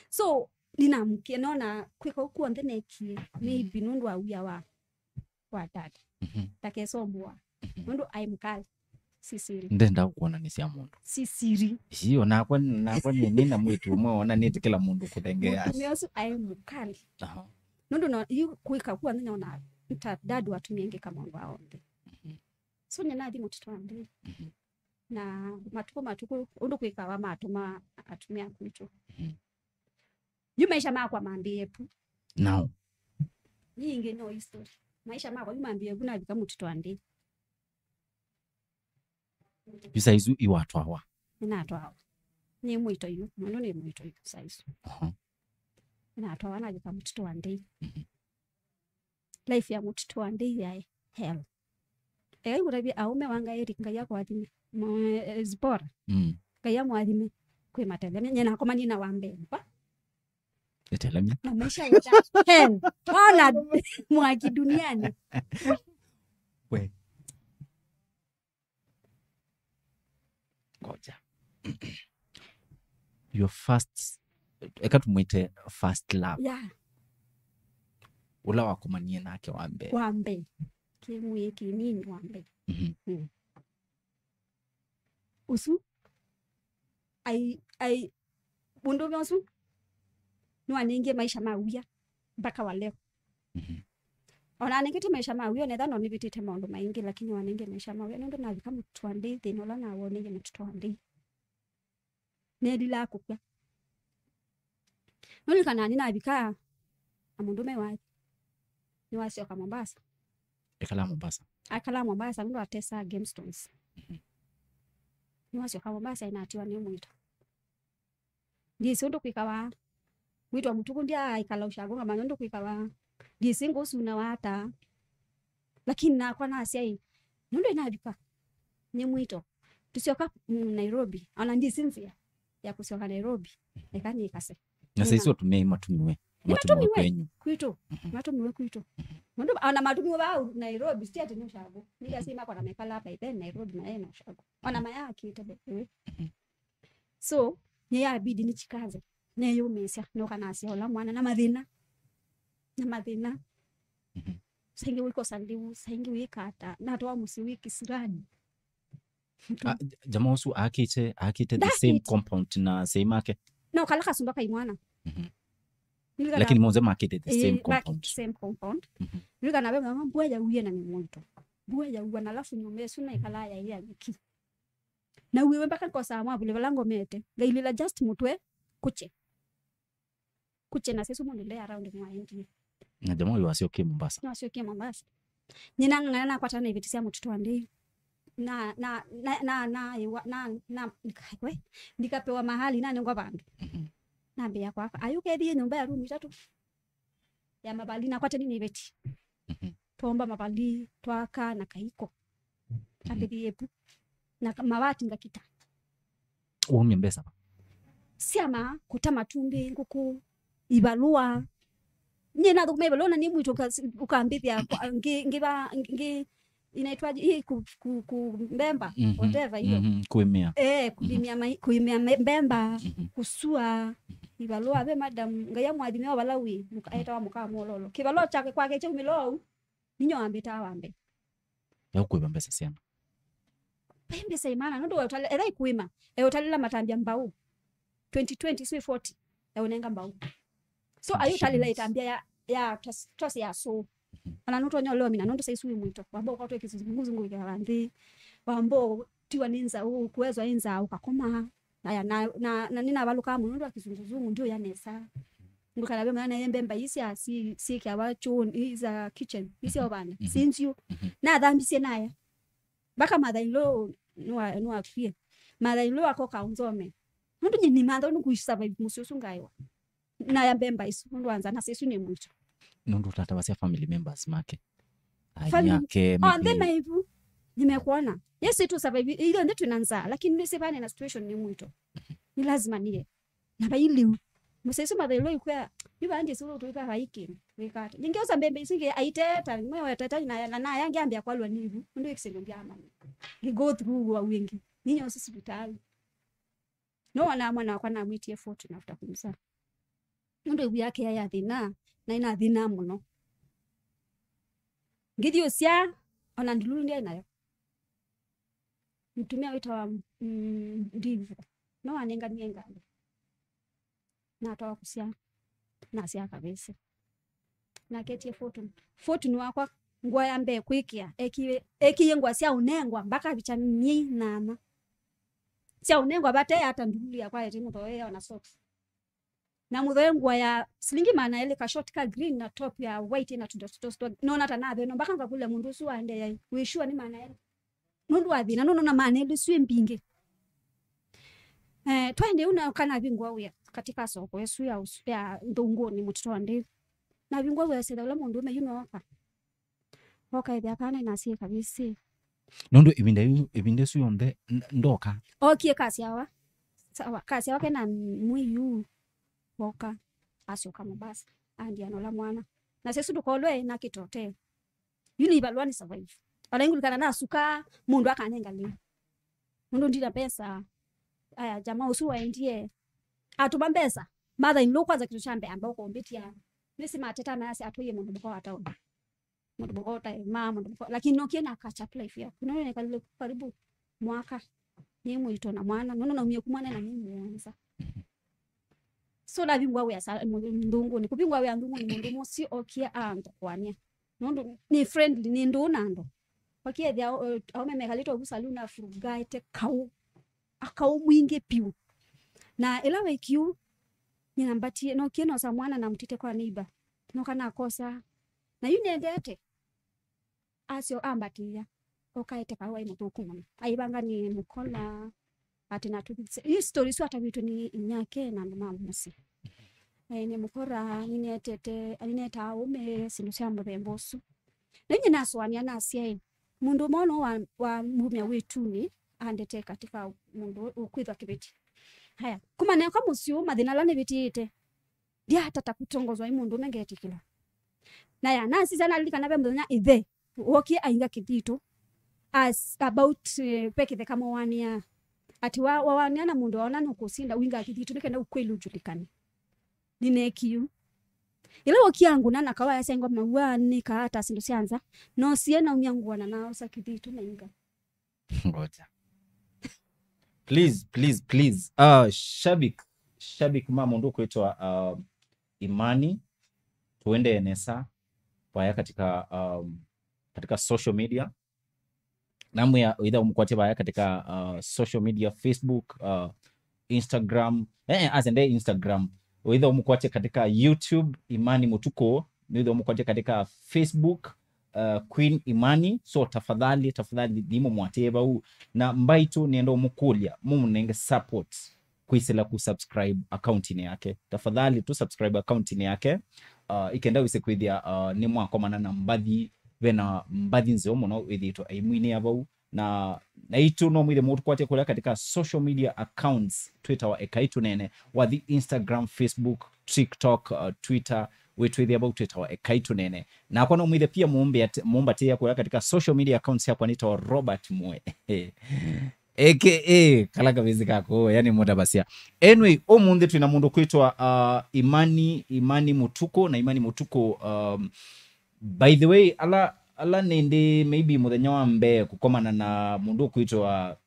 So, ninamkie, nona kwĩka ũu kw'onthe nekie, maybe nũndũ wa wia wa, wa dad. Mhm. Ndakesomboa. Mhm. Nũndũ aĩ mũkali. Si siri. Ndenda kuonanĩsya mũndũ. Si siri. Ĩĩ, onakwa, nakwa nĩ, nĩ na mwĩĩtu ũmwe wonanĩte kĩla mũndũ kũthengeea. Mũtumĩa ũsu aĩ mũkali. Aha. Nũndũ no, yu kwĩka kw'onthe nona ta dad watumie ngĩka maũndũ onthe. Mhm. So, nĩnathi mũtito wa ndei. Mhm. Na matukũ, matukũ, ũndũ kwĩkawa matũma atumĩa kwitũ. Mhm. Yu maisha makwa mambĩĩe pu. Now. Yingĩ no history. Maisha makwa yu mambĩĩe pu navika mũtito wa ndei. Yu saa isu iwatwawa. Nĩnatwawa. Nĩ mwĩto yu, mũndũ nĩ mwĩto yu saa isu. Aha. Nĩnatwawa navika mũtito wa ndei. Mhm. Life ya mũtito wa ndei yaĩ hell. Eka ngũtavye aũme wa Ngai Eric, Ngai akũathime. Mwe-, eh, Zipora. Mm. Ngai amũathime. Kwĩ matelemya. Nye nakomanie na wa mbee. Kwa? Ĩtelemya. Na maisha yote. Hell. Ona mwaki duniani. We. Ngoja. Your first, eka tumwĩte first love. Yeah. Ũla wakomanie nake wa mbee. Wa mbee. Kĩmwĩĩ kĩnini wa mbee. Mhm. Mm. Ũsu. Ai, ai, mũndũme ũsu nĩwanengie maisha ma wia mpaka wa leo. Mhm. Ona anengete maisha ma wia, onetha no nĩvĩtĩte maũndũ maingĩ, lakini wanengie maisha ma wia, nũndũ navika mũtito wa ndei, thĩna ũla nawoneiwe mũtito wa ndei. Nelilaa kũkw'a. Nũlikanaa nĩnavika na mũndũme wathi. Nĩwasyoka Mombasa. Ekala Mombasa. Akala Mombasa, nũndũ atesa gemstones. Mhm. Nĩwasyoka Mombasa, inatiwa nĩ mwĩto. Ndiĩsĩ ũndũ kwĩkawa. Mwĩto wa mũtuku ndyaaikala ushago ngamanya ũndũ kwĩkawa. Ndiĩsĩ ngũsunawa ata. Lakini nakwa nasya ĩ, nũndũ inavika. Nĩ mwĩto. Tũsyoka, mm, Nairobi. Ona ndiĩsĩ nzĩa ya kũsyoka Nairobi. Eka nĩkase. Na saa isu atumĩa matumiwe. Matumiwe kwenyu. Kwitũ. Mhm. Matumiwe kwitũ. Mhm. Nũndũ ona matumiwe vaa Nairobi, si ati nĩ ushago. Nĩkasi makwa na mekala by then Nairobi na ena ushago. Ona mayakĩte by the way. Mhm. So, nĩyabidi nĩchikaze, neyũmĩĩsya, nũka nasya ũla mwana na mathĩna. Na mathĩna. Mhm. Saingĩ wĩkosa lĩu, saingĩ wĩkata, natwa mũsyĩ wĩ kĩsirani. Ah, j-, jamaa ũsu akĩte, akĩte the same compound na asyai make? No, kala kasumba kai mwana. Mhm. Nĩlikana- Lakini monthe makĩte the same compound. Same compound. Mhm. Nĩlikana ve mama mbua yauie na nĩ mũito. Mbua yaua na alafu nyũmba ĩsu na ĩkalaa yaĩ ya nyeki. Na uiwe mpaka nkosaa mwavuli vala ngomete. Ngailila just mũtwe kũkye. Kũkye na sĩsũ mũndũ nde around mwaendie. Na jamaa ũyũ asyokie Mombasa. No asyokie Mombasa. Nyina ng'ang'ana nakwatana na iveti sya mũtũtũ wa ndĩi. Na, na, na, na, na, na, na, na, ndikakwe, ndikapewa mahali, nanengwa vandũ. Mhm. Nambĩa kwaka. Ayu kethie nyũmba ya room itatũ. Ya mavali, nakwatani na iveti. Mhm. Twomba mavali, twaka na kaiko. Mhm. Ambĩthie ĩvu. Na ka- mavati ngakita. Waumya mbesa va? Syama, kũta matumbĩ, ngũkũ, ivalũa. Nyie nathũkũma ivalũa na nĩ mwitũ ũka- ũkambĩthya kwa- ngĩ- ngĩva ngĩ- inaitwaje hii ku- ku- ku- mbemba, mhm, whatever hiyo. Mhm, kuimia. Eh, kuimia mai- kuimia me- mbemba, mhm, kusua ivalũa ve madam Ngai amwathime o vala wĩ, mũka- etawa mũka Mwololo. Kĩvalũa kyake kwake kyaumĩla ou, ninyo wambĩtaa wambe. Ya kuiva mbesa syana. Vai mbesa imana, nũndũ we ũtale- ethwa ikuima, e ũtalĩla matambya mbau. Twenty twenty, sui forty, e ũnenga mbau. So, ayu ũtalĩla itambya ya, ya twas- twasi ya so. Mhm. Ona nũtonya ũlewa mina, nũndũ saisu wĩ mwito. Wamba ũkatwe kĩzunguzungu ĩkala nthĩ. Wamba ũtiwa nĩ nza, ũkuezwa nĩ nza, ũkakoma. Aya, na, na, na nĩnavalũkaa mũno nũndũ wa kĩzunguzungu, ndiũya nesa. Ndũkana ve mwana mbemba isi asi, sikiawa choni, iza kitchen, isi ovana, mhm, sinzio. Mhm. Nathambisye naya. Mpaka mother-in-law nĩwa- nĩwakwie. Mother-in-law akoka ũnzome. Nũndũ nyie nĩmantha nĩkũsurvive mũsyĩ ũsu ngaĩwa. Naya mbemba isu, nũndũ wa nza na sĩsu nĩ mwito. Nũndũ ũtatavasya family members make. Ai, family- ake, onthe maybe maivu. Nĩmekwona. Yes, tu survive. Ithuĩ onthe twĩna nzaa, lakini nĩsĩ vane na situation nĩ mwito. Nĩ lazima niye. Na vai lĩu. Mũsyaĩsu mathailwa ikwĩa, yu vandĩ sulu tuika vai kĩndũ. Wĩkata. Ningĩ ũsa mbembe isu ingĩ aiteta, mwe weteta na na na yangi ambia kwalwa nĩ ivu. Ndio ikisendo bya mani. Ngi go through wa wingi. Ninyo sisi vitali. No wana mwana wakwa namwitie fortune after kumzaa. Nũndũ ĩvu yake yaĩ ya thĩna, na ĩna thĩna mũno. Ngĩthi ũsya, ona ndululu ndyaĩ nayo. Mũtumĩa wĩtawa, mm, Ndivu, no wanenganie ngalĩ. Natwawa kũsya, nasya kavĩsĩ. Naketie fortune. Fortune wakwa, ngũa ya mbee kwĩkĩa, ekie, ekie ngũa sya ũnengwa, mbaka vicha myei nana. Sya ũnengwa vate ata ndululu yakwa ete mũthoe ona socks. Na mũthoe ngũa ya silingi maana elĩ, ka short ka green na top ya white ĩna tũndosi twa, nona ta nathĩnwa, mpaka ngakũlya mũndũ ũsu waendeea, wĩ sure nĩ maana elĩ? Nũndũ wa thĩna, nũnona maana elĩ syĩ mbingĩ. Eh, twaendie ũu na kana vingwa wĩa katika soko ĩsu ya ũsu- ya Nthũngũnĩ mũtitũ wa Ndĩvu. Na vingwa wĩa setha ũla mũndũũme yu nooka. Oka ethĩa kana na asyai kavĩsĩ. Nũndũ ĩvinda yu, ĩvinda ĩsu yonthe n- ndoka. Okie kasyawa. Sawa, kasyawa kena mwĩi yu. Woka. Asyoka Mombasa. Andia nola mwana. Na sesu ndũkolwe na kĩtote. Yu nĩ ivalũa nĩ survive. Ona ingulikana nasuka mũndũ akanenga lĩu. Mũndũ ndina mbesa. Aya, jamaa ũsu waendie. Atũma mbesa. Mother in law kwanza kĩndũ kya mbee amba ũkũmbĩtia. Nĩsĩ mateta mayasya atũie mũndũ mũka wa taoni. Mũndũ mũka ũtaĩ ma mũndũ mũka, lakini nokie na catch up life yaku. Nĩnekalile karibu mwaka nĩ mwĩto na mwana, nũndũ naumie ku mwana na mĩ mũonza. So navingwa wĩa sa- mu- Nthũngũnĩ. Kũvingwa wĩa Nthũngũnĩ, mũndũ mũsĩ okie anthũkũania. Nũndũ nĩ friendly, nĩ ndũũ na andũ. Wakiethĩa, eh, aume mekalĩte ũvu saloon afurugaĩte kaũ. Akaũ mwingĩ piũ. Na ĩla wekiu, nyina mbatie, nokie nosa mwana na mtite kwa neighbor. Noka nakosa. Na yu nendete. Asyo ambatĩĩa. Okaete kaũ aĩ mũthũku mũno. Aivanga nĩ mũkola, atĩ na tũthitse. Yu story isu atavĩtwe nĩ inyake na andũ ma mũsyĩ. Eh, nĩ mũkora, nĩnetete, nĩnetaa ũme, syĩndũ sya mũthemba ũsu. Na inye nasũanĩa nasya ĩ, mũndũ ũmwe no wa, wa mumya wĩtunĩ, andete katika mũndũ ũkwĩthwa kĩveti. Haya, kuma neka mũsyĩ ũũ, mathĩna ala nĩvĩtĩĩte, ndiatata kũtongozwa nĩ mũndũ ũme ngetĩkĩla. Na ya, nasisya nalilikana ve mũthenya ĩthe, wokie ainga kĩthitũ. As about, eh, ve kĩtheka mwawanĩa. Atĩ wa- wawanĩa na mũndũ waona nũkũsinda, uinga kĩthitũ, nĩkenda ukweli ujulikane. Nĩneekiu. Ĩla wokie angũna na kawa yasengwa maua nĩkaa ta syĩndũ sya nza, nosie naumya ngũa na naosa kĩthitũ na inga. Ngoja. Please, please, please. Uh, shabik, shabik ma mũndũ kwĩtwa, uh, Imani, tuendee nesa vaya katika, um, katika social media. Namwĩa wĩtha ũmũkwatye vaya katika, uh, social media, Facebook, uh, Instagram. Eh, eh, asende Instagram. Wĩtha ũmũkwatye katika YouTube, Imani Mũtukũ. Nĩwĩtha ũmũkwatye katika Facebook, uh, Queen Imani. So tafadhali, tafadhali, thimũ mwatĩe vau. Na mbaitũ nĩenda ũmũkũlya, mũmũnenge support kwĩsĩla ku subscribe account-inĩ yake. Tafadhali tu subscribe account-inĩ yake. Uh, ikenda wĩse kwĩthĩa, uh, nĩ mwakomana na mbathi, vena mbathi nzeo mũno wĩthĩtwe aimwinĩa vau. Na, naitũ no mwĩthe mũtũkwatye kũla katika social media accounts twĩtawa Ekai Tũnene. Wathi Instagram, Facebook, TikTok, uh, Twitter, wĩtwĩthĩa vau twĩtawa Ekai Tũnene. Nakwa no mwĩthe pia mũmbe at-, mũmbatĩĩa kũla katika social media accounts yakwa nĩtawa Robert Mwe. A K A kala kavĩsĩ kako, yani mũtavasya. Anyway, ũmũnthĩ twĩna mũndũ kwĩtwa, uh, Imani, Imani Mũtukũ, na Imani Mũtukũ, um, by the way, ala, ala nĩndĩ maybe mũthenya wa mbee kũkomana na mũndũ kwĩtwa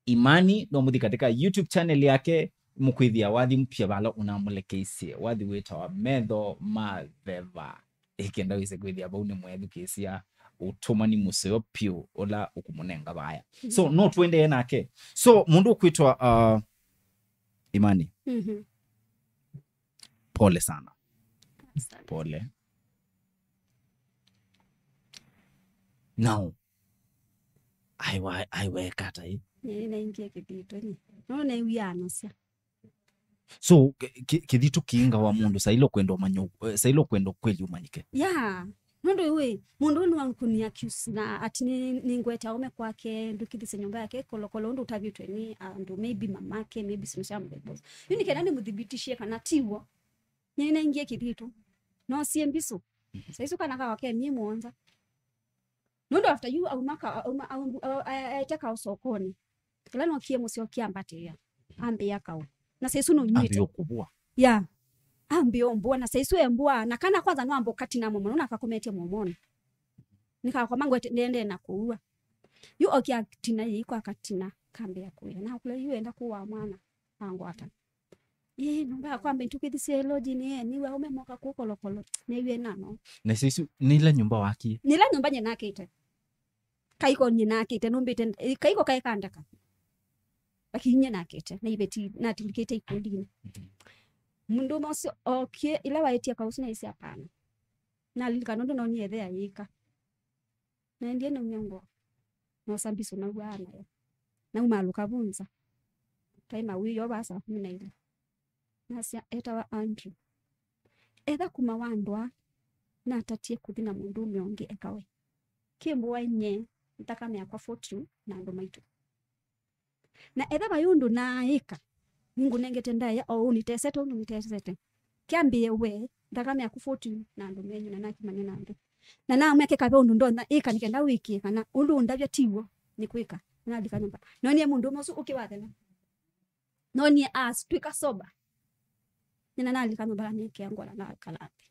Imani, no mũthi katika YouTube channel yake, mũkwĩthĩa wathi mpya vala ũnamũlekeisye, wathi wĩtawa Metho ma Theva. Ĩkenda wĩse kwĩthĩa vau nĩ mwethukĩĩsya ũtũmani mũseo piũ ũla ũkũmũnenga vaya. So, no tũendee nake. So, mũndũ ũkwĩtwa, uh, Imani. Mhm. Pole sana. Asante. Pole. Now, aiwa, aiweka ata ĩ? Nĩ naingie kĩthitũ nĩ. No naiwianasya. So, ki-, ki-, kĩthitũ kĩingawa mũndũ sailo kwenda ũmanya, eh, sailo kwenda ũkweli ũmanyĩke. Yeah. Nũndũ ĩwĩ, mũndũ ũyũ nĩwakũni accuse na ati nĩ, nĩ ngwete aume kwake, ndũkĩthĩsye nyũmba yake, kolokolo ũndũ ũtavĩtwe nĩ andũ, maybe mamake, maybe sino sya mũthemba ũsu. Yu nĩ kenda nĩmũthibitishie kana tiw'o. Nĩ naingie kĩthitũ. No sie mbisũ. Saisu kana kawa ke mie mũonza. Nũndũ after you auma ka, auma, auma, a-, a-, aete kao sokonĩ. Kĩla nokie mũseo kĩambatĩĩa. Ambĩa kao. Na saisu nũnywĩte. Ambĩa kũvua. Yeah. Ambĩa ũmbua. Na saisu embua. Na kana kwanza no ambo katina momo. Nũna akakometie momoni. Nĩkakoma ngwete ndende na kũua. Yu okia tina yĩi kwa katina. Kambĩa kũya. Na kũla yu enda kũwa mwana. Angwata. Ĩĩ, nyũmba yakwa mbe nĩtũkĩthisye lodge-inĩ, ĩ, nĩw'a aume moka kũkolokolo. Nĩw'e nano. Na saisu, nĩ ila nyũmba wakie? Nĩ ila nyũmba nye nakĩte. Kaiko nye nakĩte, nũmbĩte, ĩ, kaiko kaĩ kandeka. Lakini nye nakĩte, na iveti, natilikĩte ikundinĩ. Mhm. Mũndũũme ũsu okie, ila waĩtie kausu naisye hapana. Nalilikana ũndũ nonie ĩthe ayĩka. Naendie naumya ngoo. Noosa mbisũ nauaa nayo. Naumaalũka vu nza. Twaĩ mawĩoo vaa saa kũmi na ilĩ. Nasya, etawa Andrew. Etha kuma wandwaa, natatie kũthi na mũndũũme ũngĩ ekawe. Kĩmbũa nye, nthakame yakwa fortune na andũ maitũ. Na etha vai ũndũ naaĩka, nĩngũnengete ndaĩa o ũu nĩtesete ũndũ nĩtesete. Kyambĩĩe we, nthakame yaku fortune na andũ menyu na nakimanya na andũ. Na namwĩa kĩkave ũndũ ndonya ĩka nĩ kenda wĩkĩe kana ũndũ ũndavya tiw'o nĩkwĩka. Na nalika nyũmba. Nonie mũndũũme ũsu ũkĩ wathela. Nonie as twĩka sober. Nyina nalika nyũmba na nĩkĩa ngola na kala nthĩ.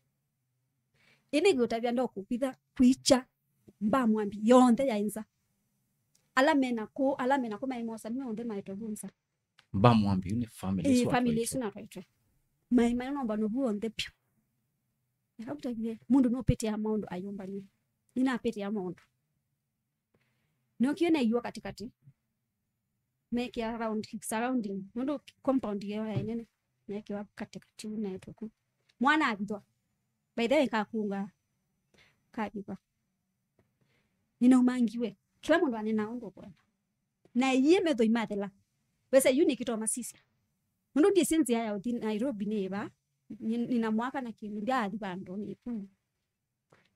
Ĩndĩ ngĩũtavya ndokũkwitha kwikya mbamwambi yonthe yaĩ nza. Ala mena kũũ, ala mena kũũ maĩ mosa, nĩwe onthe maetwe vu nza. Mbamwambi yu nĩ family ĩĩ, isu family atwaitwe. Isu natwaitwe. Maĩ maĩ nomba novu onthe pyũ. Akamũtavie, mũndũ nũpĩtĩa maũndũ ayũmbany'e. Nĩnapĩtĩa maũndũ. Nokie naiwa katikati. Mekĩa round, surrounding. Nũndũ compound ĩyo yaĩ nene. Mekĩwa katikati u naetwe ku. Mwana avithwa. By the way, kakunga. Kavithwa. Nĩnaumangiwe. Kĩla mũndũ anenaa ũndũ ũkwenda. Na ĩyĩ methoi mathela. Wesa yu nĩkĩtoo masisya. Nũndũ ndyĩsĩ nzĩa ya ũthi Nairobi nĩ ĩva. Nĩ-, nĩna mwaka na kĩndũ, ndyaathi vandũ nĩ kũu.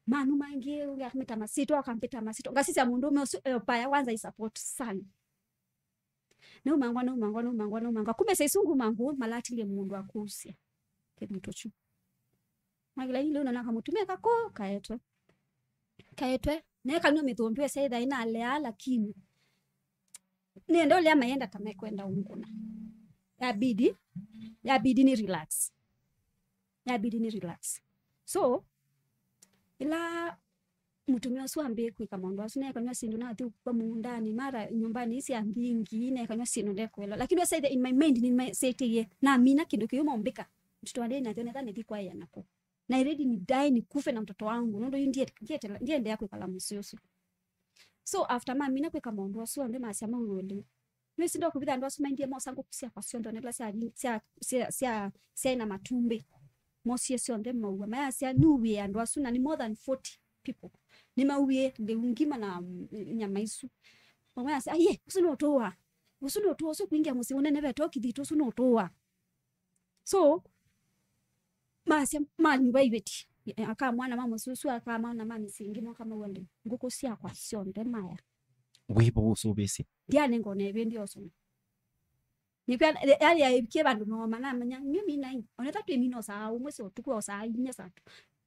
Manu mangĩ, ũngĩ akamĩta masitwa, akampĩta masitwa. Ngasisya mũndũũme ũsu eopaya kwanza i support sana. Naumangwa, naumangwa, naumangwa, naumangwa. Kumbe saisu ngumangũ, malatilie mũndũ wa kũusya. Kĩthitũ kyu. Magila ile unaona kamũtumĩa kakũ, kaetwe. Kaetwe. Naye kanywa mĩthũmbĩ esa ĩtha ĩnalea, lakini. Nenda ũlea mayenda ta mekwenda ũngũna. Yabidi, yabidi ni relax. Yabidi ni relax. So, ila mũtumĩa ũsu ambĩe kwĩka maũndũ asu, nekanywa syĩndũ nathi kwa mũũndanĩ, mara nyũmbanĩ isi ambingi, nekanywa syĩndũ ndekwelwa. Lakini ũsaithe in my mind, nĩmasetĩie, namina kĩndũ kĩu mombĩka. Mtoto wa ndei nathio netha nithi kwa ya nako. Na I ready ni die nikufe na mtoto wangu. Nũndũ yu ndie-, ndietela-, ndiendeea kwĩkala mũsyĩ ũsu. So after mamina kwĩka maũndũ asu onthe masya mauĩwe lĩu. Nĩwĩsĩ ndokũvitha andũ asu maendie mosa ngũkũ syakwa syonthe, ona ila sya, sya, sya, sya, syaĩ na matumbĩ. Mosie syonthe maua. Mayasya, "Nĩuĩe andũ asu, na nĩ more than forty people. Nĩmauĩe lĩu ngima na, mm, nyama isu." Mamwe asya, "Aiye, ũsu nũtũũa. Ũsu nũtũũa, ũsu kwingĩa mũsyĩ ũnene vetũ kĩthitũ, ũsu nũtũũa." So, masya, manyuva iveti. Aka mwana ma mũsusu, aka mwana ma mĩsingi, moka mauwa lĩu. Ngũkũ syakwa syonthe maya. Wĩvo ũsũvĩsye? Ndianengwa na ĩvĩndĩ osoma. Nĩkwĩa, yani, yaikie vandũ no manamanya, nyuĩ minai. Onetha twĩ mina saa ũmwe sya ũtukũ, o saa inya saa tu.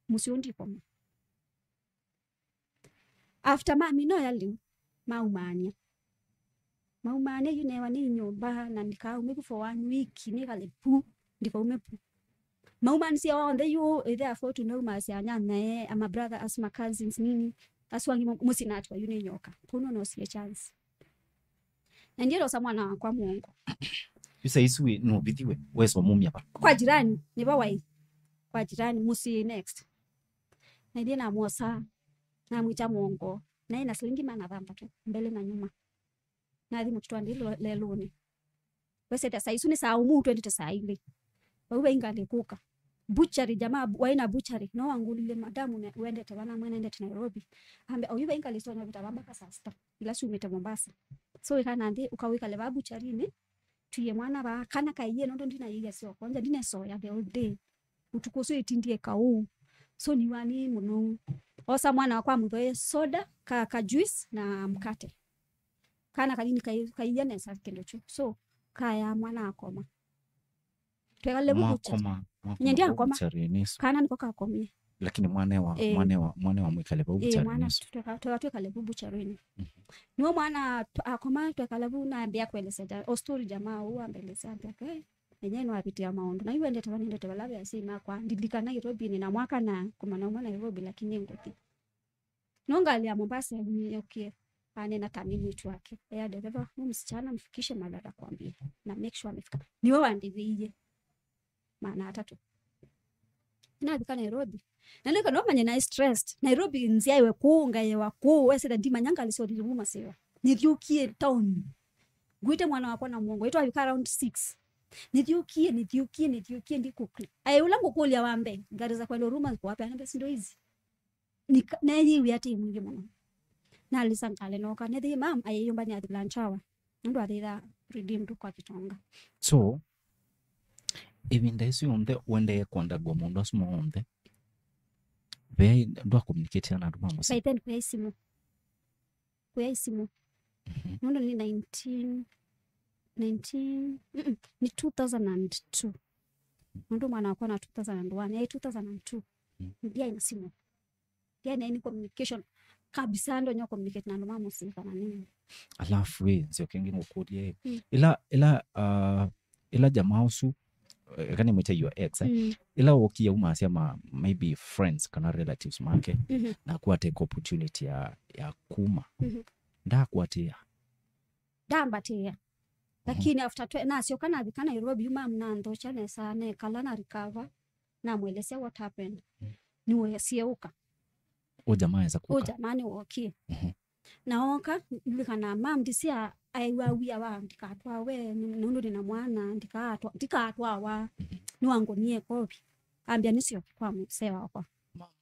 Mũsyĩ ũndikoma. After mamina ya lĩu, maumaania. Maumaania yu newa nĩ nyũmba, na ndikaume ku for one week, nĩkale pu, ndikaume pu. Maumanisye onthe yu, therefore, tunaumasya anyanyae, ama brother, as my cousins, nini, asu angĩ mo-, mũsinatwa yu nĩ nyoka. Kũu no nosie chance. Na ndilosa mwana wakwa mũongo. Yu saa isu wĩ, nũvithiwe, weswa mumya va? Kwa jirani, nĩvo waĩ. Kwa jirani, mũsyĩ next. Na ithyĩ namwosa, namwĩkya mũongo, naĩ na silingi maana thanthatũ, mbele na nyuma. Nathi mũtitũ wa ndĩi lelũnĩ. Wesete saa isu nĩ saa ũmũ, twendete saa ilĩ. Vau vai ngalĩ kũka. Butchery, jamaa bu-, waĩ na butchery, no wangũlile, "Madamu, ne-, wendete va?" Namwĩa nendete Nairobi. Ambe, "Oyu vai ngalĩ sitonya vita va mpaka saa sita, ila siumĩte Mombasa. So wĩkana nthĩ, ũka wĩkale va butchery-inĩ, twie mwana va, kana kaiye, nũndũ ndinaiya syoko, nja ndinesoya the whole day. Ũtukũ ũsu ĩtindie kaũ. So niwa nĩ mũnou. Osa mwana wakwa mũthoe soda, ka, ka juice na mkate. Kana kanini kai-, kaiya nesa kĩndũ kyu. So, kaya mwana akoma. Twekale vu butchery. Mwakoma, mwakoma. Nye ndiakoma. Butchery-inĩ isu. Kana niko kakomie. Lakini mwana wa, eh, mwana wa, mwana wa mwĩkale vau, eh, butchery-inĩ mwana isu. Tweka, tweka twĩkale vu butchery-inĩ. Mhm. Niwe mwana tw-, akoma twekala vu nambĩa kuelesya ja-, o story jamaa ũu ambelesya ambĩa, "Eh, enye nĩwavitia maũndũ. Na yu wendete va nĩendete vala ve asyai makwa. Ndilikana Nairobi nĩ na mwaka na kũmana ũmwe Nairobi, lakini ngũthi." No ngalĩ ya Mombasa yaukie, anena ta nĩ mwĩĩtu wake. Ea dereva, "Huyu msichana mfikishe mahali atakwambia. Na make sure amefika." Niwe wandĩvĩie maana atatũ. Navika Nairobi. Na nĩka no manye naĩ stressed. Nairobi nzyaĩwe kũu, ngaĩwa kũu, wesĩla ndimanya ngalĩ syothile kuma sĩwa. Nĩthyũkie town. Ngwĩte mwana wakwa na mũongo. Ĩtwavika around six. Nĩthyũkie, nĩthyũkie, nĩthyũkie, ndikũkla. Aĩ ũla ngũkũlya wa mbee, ngalĩ za kwenda Huruma ziko wapi? Anambia, "Si ndo hizi." Nika-, neyĩw'ĩa atĩ mwingĩ mũno. Nalisa ngalĩ nooka. Nethĩie mam ayĩyũmbany'a at lunch hour. Nũndũ athĩtha redeemed kwa Kitonga. So, ĩvinda ĩsu yonthe ũendee kũandagwa maũndũ asu monthe, ve ndwa communicate na andũ ma mũsyĩ? By then, kũya isimũ. Kũya isimũ. Mhm. Nũndũ nĩ nineteen, nineteen, mm-mm, nĩ two thousand and two. Nũndũ mwana wakwa na two thousand and one, yaĩ two thousand and two. Mm. Ndiaĩ na simũ. Ndiaĩ na any communication kabisa, ndonya communicate na andũ ma mũsyĩ kana nini. Alafu, ĩ, nzio kĩngĩ ngũkũlye, ĩ. Mm. Ĩla, ĩla, uh, ĩla jamaa ũsu, eh, eka nĩmwĩte your ex, eh? Mm. Ĩla wokie umasya ma, maybe friends kana relatives make, mhm, na kuateka opportunity ya, ya kuma. Mhm. Ndakwatĩa? Ndambatĩa. Mhm. Lakini after twe-, nasyoka navika Nairobi, mam nanthokya nesa, nekala na recover, namwelesya what happened. Mm. Nĩwesieũka. Ũ jamaa esa kũka? Ũ jamaa nĩwokie. Mhm. Na oka, ndilikana mam ndisia aĩw'a wia wa ndikatwawe, nĩ-, nũndũ nĩ na mwana, ndikatwa-, ndikatwawa, mhm, nĩwangonie ĩkovi. Ambĩa nĩsyoke kwa mũsee wakwa.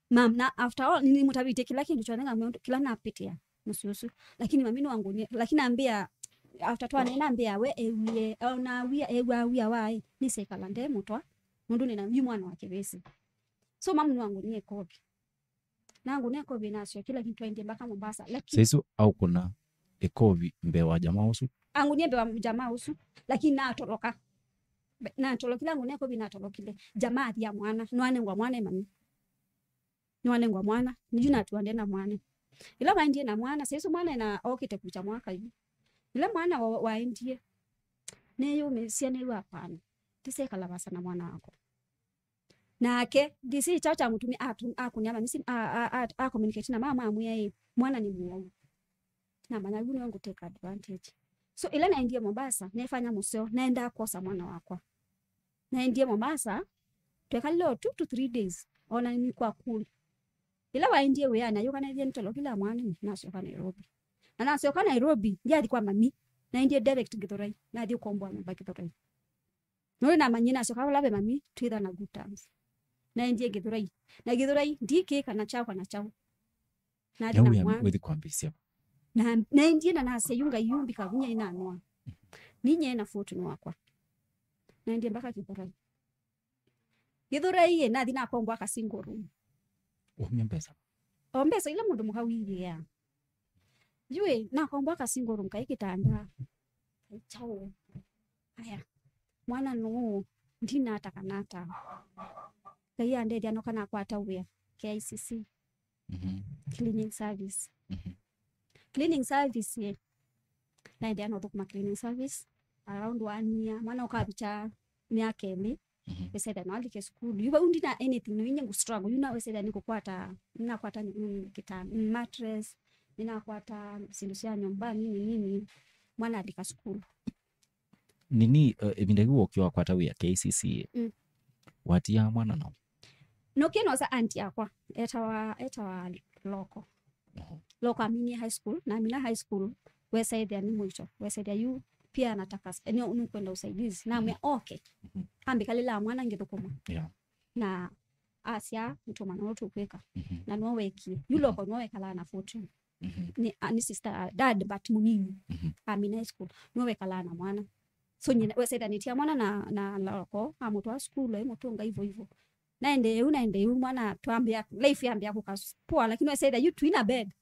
Mam, na after all, nĩnĩmũtavĩtye kĩla kĩndũ kyonthe ngamwĩa ũndũ, kĩla napĩtĩa mũsyĩ ũsu. Lakini mami nĩwangonie, lakini ambĩa, after twaneena ambĩa, we ewie, ona wia, ewa wia waĩ, nĩsyaikala nde mũtwa, nũndũ nĩ na yu mwana wa kĩvĩsĩ. So mam nĩwangonie ĩkovi. Nangũnĩa ĩkovi nasyokie, lakini twaendie mpaka Mombasa. Lakini saisu aũkũna ĩkovi mbee wa jamaa ũsu? Angũnie mbee wa jamaa ũsu, lakini natoloka. Be-, natolokile, angũnĩa ĩkovi natolokile. Jamaa athia mwana, nĩwanengwa mwana ĩ mami. Nĩwanengwa mwana, nĩyu natuandie na mwana. Ĩla waendie na mwana, saisu mwana ena okĩte kũkya mwaka yu. Ĩla mwana wa-, waendie, nĩyũmĩsya nĩw'a, hapana. Ndisekala vasa na mwana wakwa. Nake, ndisi kyaũ kya mũtumi atu-, akũnĩa mamisi, a, a, a, a communicate na mama amwĩa ĩ, mwana nĩ mũwau. Namanya yu nĩwe ngũ take advantage. So, ĩla naendie Mombasa, nefanya mũseo, naendaa kwosa mwana wakwa. Naendie Mombasa, Twekalile o two to three days, ona nĩkwakũlya. Ĩla waendie wĩanĩ, ayũka naĩthie nĩ tolo kĩla mwana, nasyoka Nairobi. Na nasyoka Nairobi, ndyathi kwa mami, naendie direct Gĩthũrai, nathi ũkomboa nyũmba Gĩthũrai. Nũndũ namanyie nasyoka vala ve mami, twĩtha na good terms. Naendie Gĩthũrai. Na Gĩthũrai, ndikĩĩka na kyakwa na kyaũ. Nathi na mwana. Wĩthi kwambĩĩsya. Na naendie na nasya yu Ngai yu mbika vinya inanwa. Ninye na fortune wakwa. Naendie mpaka Gĩthũrai. Gĩthũrai ĩ, nathi nakomboa ka single room. Waumya mbesa? O mbesa ila mũndũ mũka wĩthĩaa. Yu ĩ, nakomboa ka single room, kaĩ kĩtanda, kaĩ kyaũ. Aya, mwana nũũ, ndinata kanata. Ngai andethya noka nakwata wĩa K I C C. Mhm. Cleaning service. Mhm. Cleaning service ĩ, naendeea na ũthũkũma cleaning service around one year. Mwana ũkavikya myaka ĩlĩ, mhm, wĩsethĩa no alike sukulu. Yu vau ndina anything, no inye ngu struggle. Yu na wĩsethĩa nĩkũkwata, nĩnakwata, mm, kita, mm, mattress, nĩnakwata syĩndũ sya nyũmba nini nini, mwana alika sukulu. Nini, eh, ĩvinda yu wokĩwa kwata wĩa K I C C ĩ, mm, watiaa mwana nao? Nokie nosa aunty yakwa, etawa, etawa Loko. Mhm. Loko aminie high school, na amina high school, wesaithia nĩ mũito, wesaithia yu pia anataka s-, nĩ, nĩkwenda usaidizi. Namwĩa, mhm, okay. Mhm. Ambĩkalĩla mwana ngĩthũkũma. Yeah. Na asya, "Nĩtũmana ũndũ tũkwĩka." Mhm. Na nĩwe wekie. Yu, mhm, Loko nĩwe wekalaa na fortune. Mhm. Nĩ, a, nĩ sister, a, dad, but mũnini. Mhm. Amina high school. Nĩwe wekalaa na mwana. So, nyina, wesaithanĩtie mwana na, na Loko, amũtwaa sukulu, aimũtũnga hivyo hivyo. Naende yu, naende yu, mwana twambĩa, life yambĩa kũka s-, poa, lakini wesaitha yu twina bed.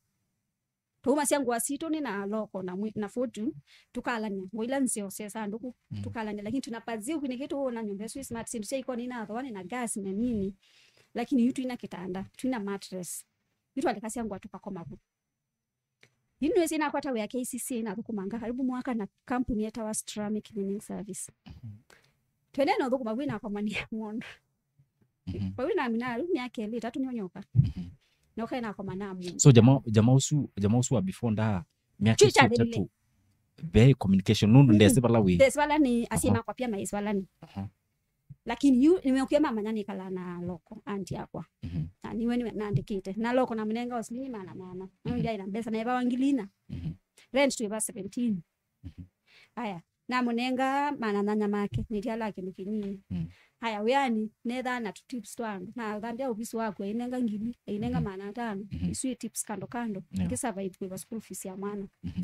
Twauma sya ngũa sitũ nĩ na Loko na mwi-, na fortune, tũkalany'a. Ngũa ila nzeo sya sandũkũ, mm, tũkalany'a, lakini tuna paziu kĩnĩkĩ tũwona nyũmba ĩsu ĩ smart, syĩndũ sya ikoni inathoa nĩ na gas na nini. Lakini yu twina kĩtanda, twina mattress. Yu twalekasya ngũa tũkakoma vu. Yu nĩwĩsĩ nakwata wĩa K I C C, nathũkũmanga karibu mwaka na kampuni yetawa Stramic Cleaning Service. Mhm. Twendee na ũthũkũma vau nakomania mũndũ. Mhm. Vau namina rĩu myaka ĩlĩ ĩtatũ nĩonyoka. Mhm. Noka nakomana mũndũ. So jama, jama ũsu, jama ũsu wa before nda myaka ĩsu ĩtatũ, ve communication, nũndũ, mm, ndesĩ vala wĩ. Ndesĩ vala nĩ, asyai, aha, makwa pia maisĩ vala nĩ. Aha. Lakini yu nĩmeũkie mamanya nĩkalaa na Loko, aunty yakwa. Mhm. Na nĩwe nĩwe nandĩkĩte. Na Loko namũnenga o silingi maana maana. Mhm. Nĩwe ndyaĩ na mbesa, naĩvawa ngili ina. Mhm. Rent twĩva seventeen. Mhm. Aya, namũnenga maana nyanya make, nĩtya la kĩndũ kĩnini. Mm. Aya, wĩanĩ, nethaa na tũ tips twa andũ. Nathambya ovisi waku, ainenga ngili, ainenga, mhm, maana atano. Mhm. Isu i tips kando kando. Yeah. Ngĩ survive kũĩva school fees ya mwana. Mhm.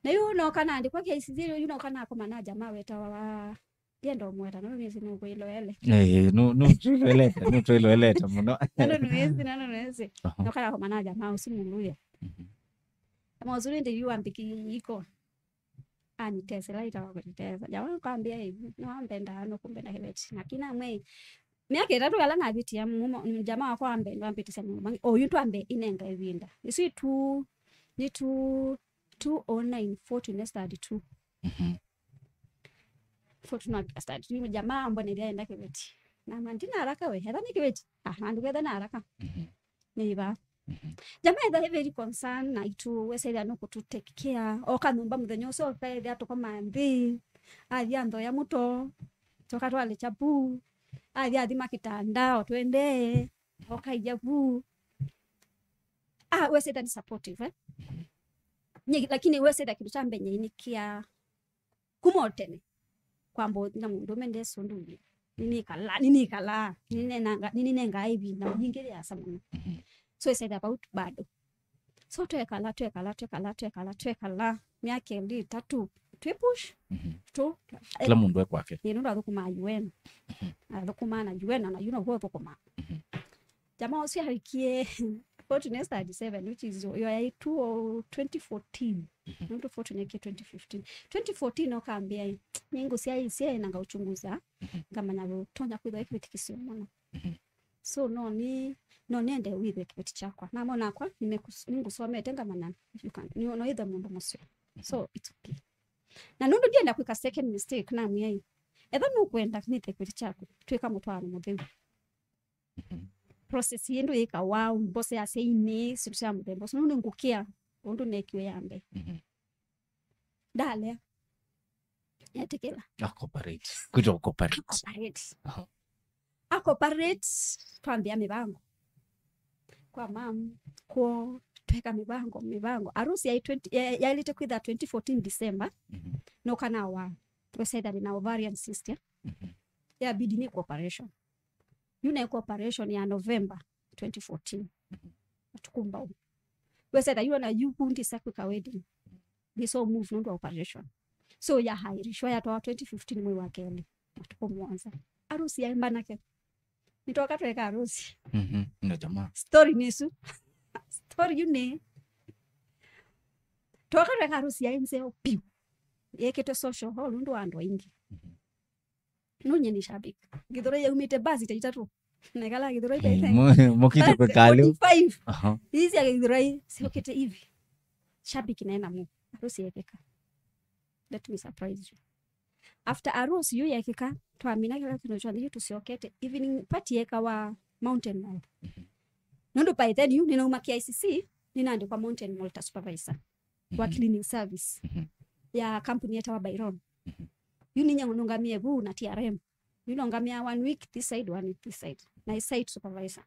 Na yu noka naandĩkwa K I C C, yu noka nakoma na jamaa wetawa wa, ndienda ũmweta, no nĩsĩ nũkwĩloele. Eh, no, no, twĩloelete, no twĩloelete mũno. Nano nĩwĩsĩ, nano nĩwĩsĩ. Aha. Noka nakoma na jamaa ũsu Muluya. Mhm. Jamaa ũsu nĩndĩ yu ambĩkĩie iko. Anitesela itawa kũnitesa. Jamaa kwambia hivi, no ambendaa, no kũmbenda kĩveti. Lakini amwe, myaka ĩtatũ yala navĩtia, mumo, jamaa wakwa ambe, ambĩtisya mũndũ mangĩ. Oyu twambe inenga ĩvinda. Isu itu, ni tu, two oh nine, forty nĩ study two. Mhm. Forty no study two. Jamaa ambonethya enda kĩveti. Na ma ndina haraka we, etha nĩ kĩveti. Ah, na ndũketha na haraka. Mhm. Nĩ iva. Mhm. Jamaa etha very concern na itu, wesethia no kũtũ take care. Oka nyũmba mũthenya ũsu, okaethia tũkoma nthĩ. Athi anthoya mũto. Toka twale chapu. Athi athima kitanda, otwendee. Okaija vu. Ah, wesethia ni supportive, eh? Nye, lakini wesethia kĩndũ kya mbee nyie nĩ kĩa kuma o tene. Kwamba na mũndũme ndesĩ ũndũ ũngĩ. Nĩnĩkalaa, nĩnĩkalaa, nĩnĩnengaa, nĩnĩnengaa ĩvinda yingĩ yĩasa mũno. Mhm. So ĩsethĩa vau bado. So twekala, twekala, twekala, twekala, twekala myaka ĩlĩ, ĩtatũ, twĩ push, mhm, tu. Kĩla mũndũ e kwake. Ĩĩ, nũndũ athũkũmaa U N. Mhm. Athũkũmaa na U N, na yu noguo ũthũkũmaa. Mhm. Jamaa ũsu avikie forty nĩ study seven, which is, yo yaĩ two, twenty fourteen. Mhm. Nũndũ forty nĩkie twenty fifteen. Twenty fourteen okambĩa, "Nĩngũsyaĩĩsya na ngauchunguza, mhm, ngamanya ũtonya kwĩthwa kĩveti kĩseo mũno." Mhm. So, no nĩ, no nĩende wĩthwe kĩveti kyakwa. Namo nakwa, nimekus-, nĩngũsomete ngamanya, you can, no, no wĩthwe mũndũ mũseo. Mhm. So, it's okay. Na nũndũ ndienda kwĩka second mistake, namwĩa, "Ethwa nũkwenda nĩthwe kĩveti kyaku, twĩka mũtwaano mũtheu." Mhm. Process yĩndũ yĩkawa, mboso ya syainĩ, syĩndũ sya mũthemba ũsu, nũndũ ngũkĩa ũndũ nekiwe ya mbee. Mhm. Ndalea. Etĩkĩla. Acooperate. Kwĩtwa cooperate. Cooperate. Aha. Cooperate, twambĩa mĩvango. Kwa mam, kwoo, tweka mĩvango, mĩvango. Harusi yaĩ twenty, ya-, yaĩlĩte kwĩtha twenty fourteen December. Mhm. No kana wa, wesethani na ovarian cyst. Mhm. Yabidi nĩ operation. Yu naĩka operation ya November twenty fourteen. Mhm. Matukũ mbau. Wesethwa yu ona yu kundi sa kwĩka wedding. They so move nũndũ wa operation. So yahairishwa yatwawa twenty fifteen mwei wa kelĩ. Matukũ mũonza. Harusi yaĩ mbanake. Nĩtwoka tweka harusi. Mhm. Na jamaa. Story nĩ ĩsu. Story yu nĩ. Twoka tweka harusi yaĩ nzeo piũ. Yekĩtwe social hall nũndũ wa andũ aingĩ. Mhm. No nyie nĩ shabiki. Gĩthũrai yaumĩte basi ta itatũ. Na ĩkala Gĩthũrai ta Mm, ĩtatũ. mu-, mũkĩte Basi kwĩka lĩu. forty-five. Aha. Hizi ya Gĩthũrai siokete hivi. Shabiki naye namu. Harusi yekeka. Let me surprise you. After harusi yu yekeka, twamina kĩla kĩndũ kyonthe yu tũsyokete. Evening party yekawa Mountain Mall. Mhm. Nũndũ by then yu nĩnauma K I C C, nĩnaandĩkwa Mountain Mall ta supervisor wa Mhm. cleaning service Mhm. ya kampuni yetawa Byron. Mhm. Yu ninyie nũngamĩe vu na T R M. Yu nongamĩa one week this side, one week this side. Na site supervisor.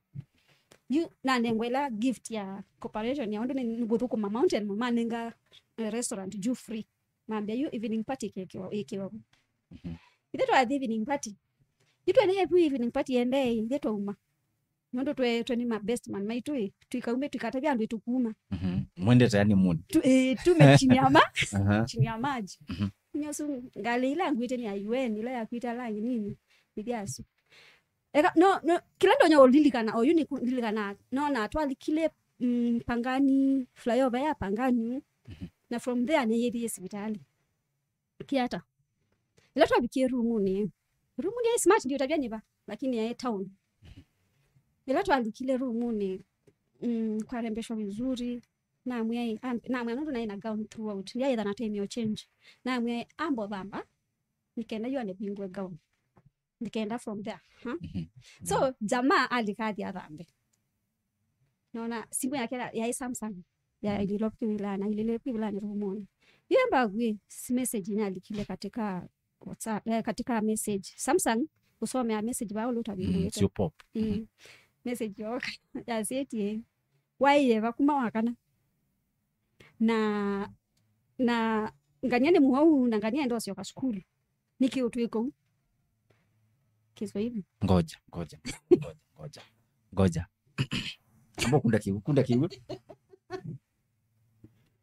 Yu nanengwa ĩla gift ya cooperation ya ũndũ nĩ, nĩngũthũkũma Mountain Mall, manenga, eh, restaurant juu free. Mambĩa yu evening party ĩkĩwa, ĩkĩwa vu. Mhm. Ithe twathi evening party. Yu twene vu evening party yendee, ithe twauma. Nũndũ twe, twe nĩ ma best man maitũ ĩ, tũikaume tũikatavya andũ ĩtũkuma. Mhm. Mwendete yani mood. Tu, eh, tume chini ya ma-, Aha. chini ya maji. Mhm. Nyosu ngalĩ ila nguĩte nĩ ya U N, ila yakuĩte alangi nini, nĩthyasu. Eka, no, no, kĩla ndonya ũlilikana, oyu nĩ kũlilikana, nona twalikile, mm, Pangani, flyover ya Pangani, Mhm. na from there nĩyĩthie sivitali. Kiata. Ĩla twavikie rumunĩ, rumunĩ yaĩ smart ndio tabia nĩva, lakini yaĩ town. Ĩla twalikile rumunĩ, mm, kwarembeshwa vizuri, namwĩa, am-, namwĩa nũndũ naĩ na gown throughout, ndiaĩtha na time ya change. Namwĩa ambo thamba, nĩkenda yu anĩvingue gown. Nĩkenda from there, huh? Mhm. So, jamaa alika athi athambe. Nona simu yake ya-, yaĩ Samsung. Ya Mhm. ililo kwĩvilani, ilile kwĩvilani rumunĩ. Yemba gwe, si message inalikile katika WhatsApp, eh, katika message. Samsung, usomea message bao luta Mm, it's your pop. Mm. Mhm. Message yoka. Ya seti, eh. Waiye, vakuma wakana. Na, na ngania nĩ mũwau, na ngania enda ũsyoka sukulu. Nĩkĩ ũtwĩka ũu? Kiswahili. Ngoja, ngoja, ngoja, ngoja. Ngoja. Amba kunda kiu, kunda kiu.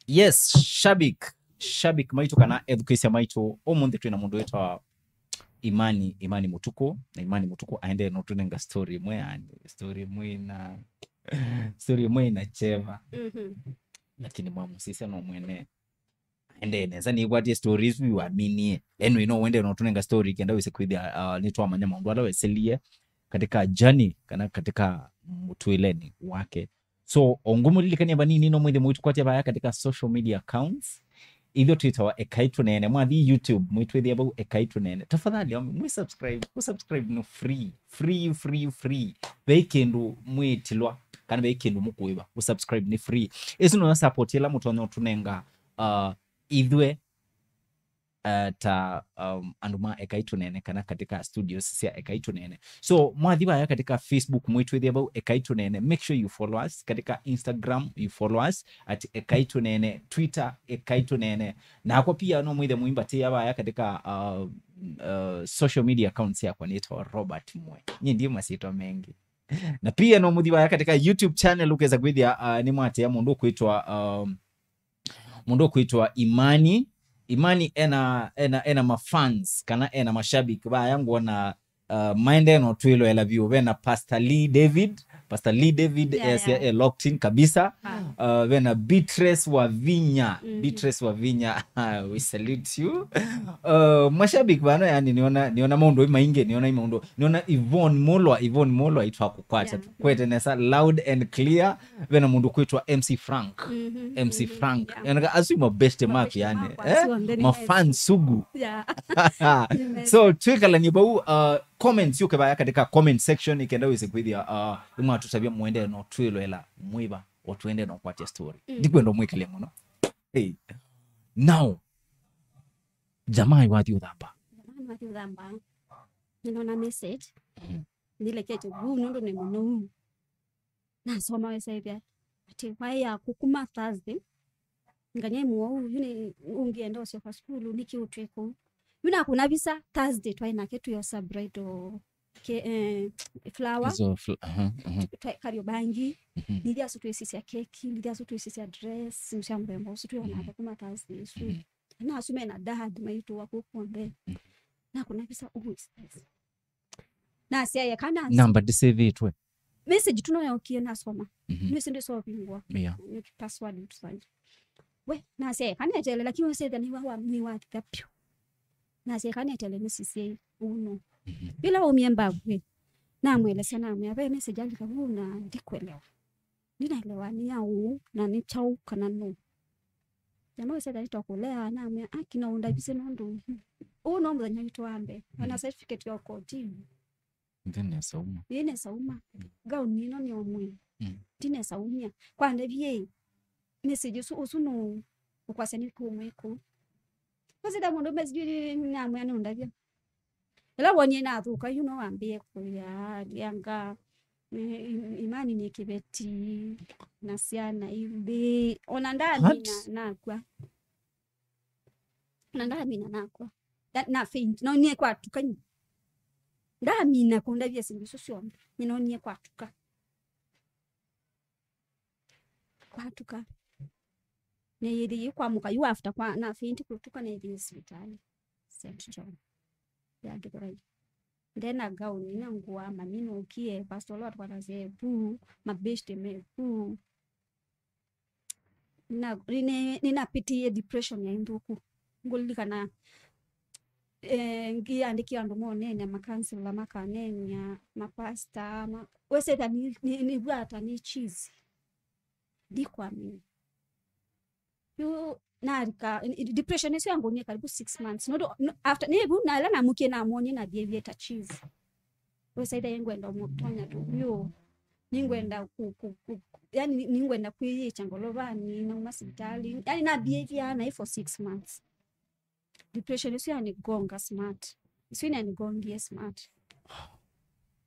Yes, shabik, shabik maitũ kana ethukĩĩsya maitũ, ũmũnthĩ twĩ na mũndũ wĩtawa Imani, Imani Mũtukũ, na Imani Mũtukũ aendee no tũnenga story ĩmwe, yani, story ĩmwe ĩna, story ĩmwe ĩna cheva. Mhm. Lakini mwamũsisya no mwene aendee nesa, nĩkwatie story isu iwaminie. Anyway, no wende no tũnenga story kenda wĩse kwĩthĩa, uh, nĩtwamanya maũndũ ala weselie katika journey kana katika mũtũĩleni wake. So, o ngũmũlilikania vanini no mwĩthĩ mũitũkwatya vaya katika social media accounts. Ithyĩ twĩtawa Ekai Tũneene. Mwathi YouTube, mwĩtwĩthĩa vau Ekai Tũneene. Tafadhali, um, mwĩ subscribe. Kũ subscribe no free. Free, free, free. Ve kĩndũ mwĩtilwa, kana ve kĩndũ mũkũĩva. Kũ subscribe nĩ free. Ĩsu no support ĩla mũtonya ũtũnenga, uh, ithyĩ uh, ta, um, andũ ma Ekai Tũneene kana katika studios sya Ekai Tũneene. So, mwathi vaya katika Facebook, mwĩtwĩthĩa vau Ekai Tũneene, make sure you follow us. Katika Instagram, you follow us at Ekai Tũneene, Twitter, Ekai Tũneene. Nakwa pia no mwĩthe mũimbatĩa vaya katika, uh, uh, social media accounts yakwa nĩtawa Robert Mwe. Nyie ndi masitwa mengi. Na pia no mũthi vaya katika YouTube channel ũkesa kwĩthĩa, uh, nĩ mwatea mũndũ ũkwĩtwa, um, mũndũ ũkwĩtwa Imani. Imani ena, ena, ena mafans, kana ena mashabiki. Vaya ngwona, uh, maendee no twĩloela vyũ. Vena Pastor Lee David. Pastor Lee David Yeah, ese yeah. e locked in kabisa. Ah. Uh, vena Beatrice Wavinya. Mhm. Beatrice Wavinya, we salute you. Uh, mashabiki vano, yani, niona, niona maũndũ maingĩ, niona maũndũ, niona Yvonne Mulwa, Yvonne Mulwa itwa kũkwata. Yeah. Kwete nesa loud and clear. Vena mũndũ kwĩtwa M C Frank. Mhm, M C mhm, Frank. Yeah. Yanaka asu ma best mark, yani. Mark, eh? Asu on the ma fans sugu. Yeah. So, twĩkalanie vau, uh, comments yũke vaya katika comment section, ikenda wĩse kwĩthĩa, uh, imwatũtavya mwende no twĩloela mwĩva, o twende no kwatia story. Mm. Ndikwenda mwĩkĩle mũno. Hey. Now, jamaa wathi ũthamba. Jamaa wathi ũthamba. Nĩnona message. Mm. Nĩlekete vu nũndũ nĩ mũnou. Nasoma wesethĩa atĩ waĩ yaku kuma Thursday, nganya mũwau, yu nĩ ũngĩenda ũsyoka sukulu, nĩkĩ ũtwĩ kũu? Yu nakũna visa Thursday, twaĩ nake twĩosa bridal ke-, eh, flower, Hizo fl- aha, aha. Twa- Kariobangi, Mhm. Nĩthi asu twĩsisya keki, nĩthi asu twĩsisya dress, sya mũthemba ũsu twĩona Mhm. kuma Thursday ũsu. Mhm. Na asu mena dad maitũ wa kũkũ onthe. Mhm. Nakũna visa, oh, is this? Nasyaĩa kana Namba ndĩsĩvĩtwe. Message tu no yokie nasoma. Mhm. Nĩsĩ ndĩsovingwa. Yeah. Nĩ password tu sana. We, nasyaĩa kana etele, lakini wesethĩa nĩwa wa mwĩ wa thika piũ. Nasyaĩa kana etele nĩsisyei uno. Mhm. Bila umie mbavu, namwelesya, namwĩa, ve message alika vu na ndikwelewa. Ndinaelewa nĩ ya ũũ, na nĩ kyaũ kana nũ. Na no ĩsethĩa nĩtwakũlea, namwĩa, "Aki, no ũndavise nũndũ ũũ no mũthenya witũ wa mbee." Ona Mm. certificate ya ũkotini. Ndinesa uma. Ndinesa uma. Mm. Gauni ĩno nĩ omwe. Mm. Ndinesa umia. Kwa ndavie, message ũsu, ũsu nũ ũkwasya nĩ kũmwe kũu. Ũsitha mũndũ message namwĩa nũndavya. Ĩla wonie nathũka, yu no wambĩe kũya, ndianga, i-, i-, imani nĩ kĩveti, na syana imbĩ, ona ndamina What? Nakw'a. Ona ndamina nakw'a. Na, na faint, no nie kwatuka nyu. Ndamina kũndavya syĩndũ isu syonthe, nĩ no nie kwatuka. Kwatuka. Nĩyĩthĩie kwamũka yu after kwa, na faint kũtuka, nĩyĩthĩie sivitalĩ Saint John ya Gĩthũrai. Ndena gauni na ngũa, mami nũkie, pastor ũla watũkwatasya e vu, mabeshte me vu. Na, nĩ-, nĩnapitiie depression ya nthũku. Ngũlilikana, eh, ngĩandĩkĩa andũ moneenea, makansela makaneenea, mapasta, ma-, wesethĩa nĩ, nĩ, nĩvw'a ta nĩ cheese. Ndikwamini. Yu nalika, i-, i-, depression ĩsu yangũnie karibu six months. Nũndũ, no, after, nĩ vu, na ĩla namũkie namwonie na behavior ta cheese. Wesethĩa nĩngwenda ũmũtonya tũvyũ. Nĩngwenda ku, ku, ku, yani, nĩ-, nĩngwenda kwĩyĩkya ngolovanĩ, nauma sivitalĩ. Yani, na behavior naĩ for six months. Depression ĩsu yanigonga smart. Ĩsu nĩyanigongie smart.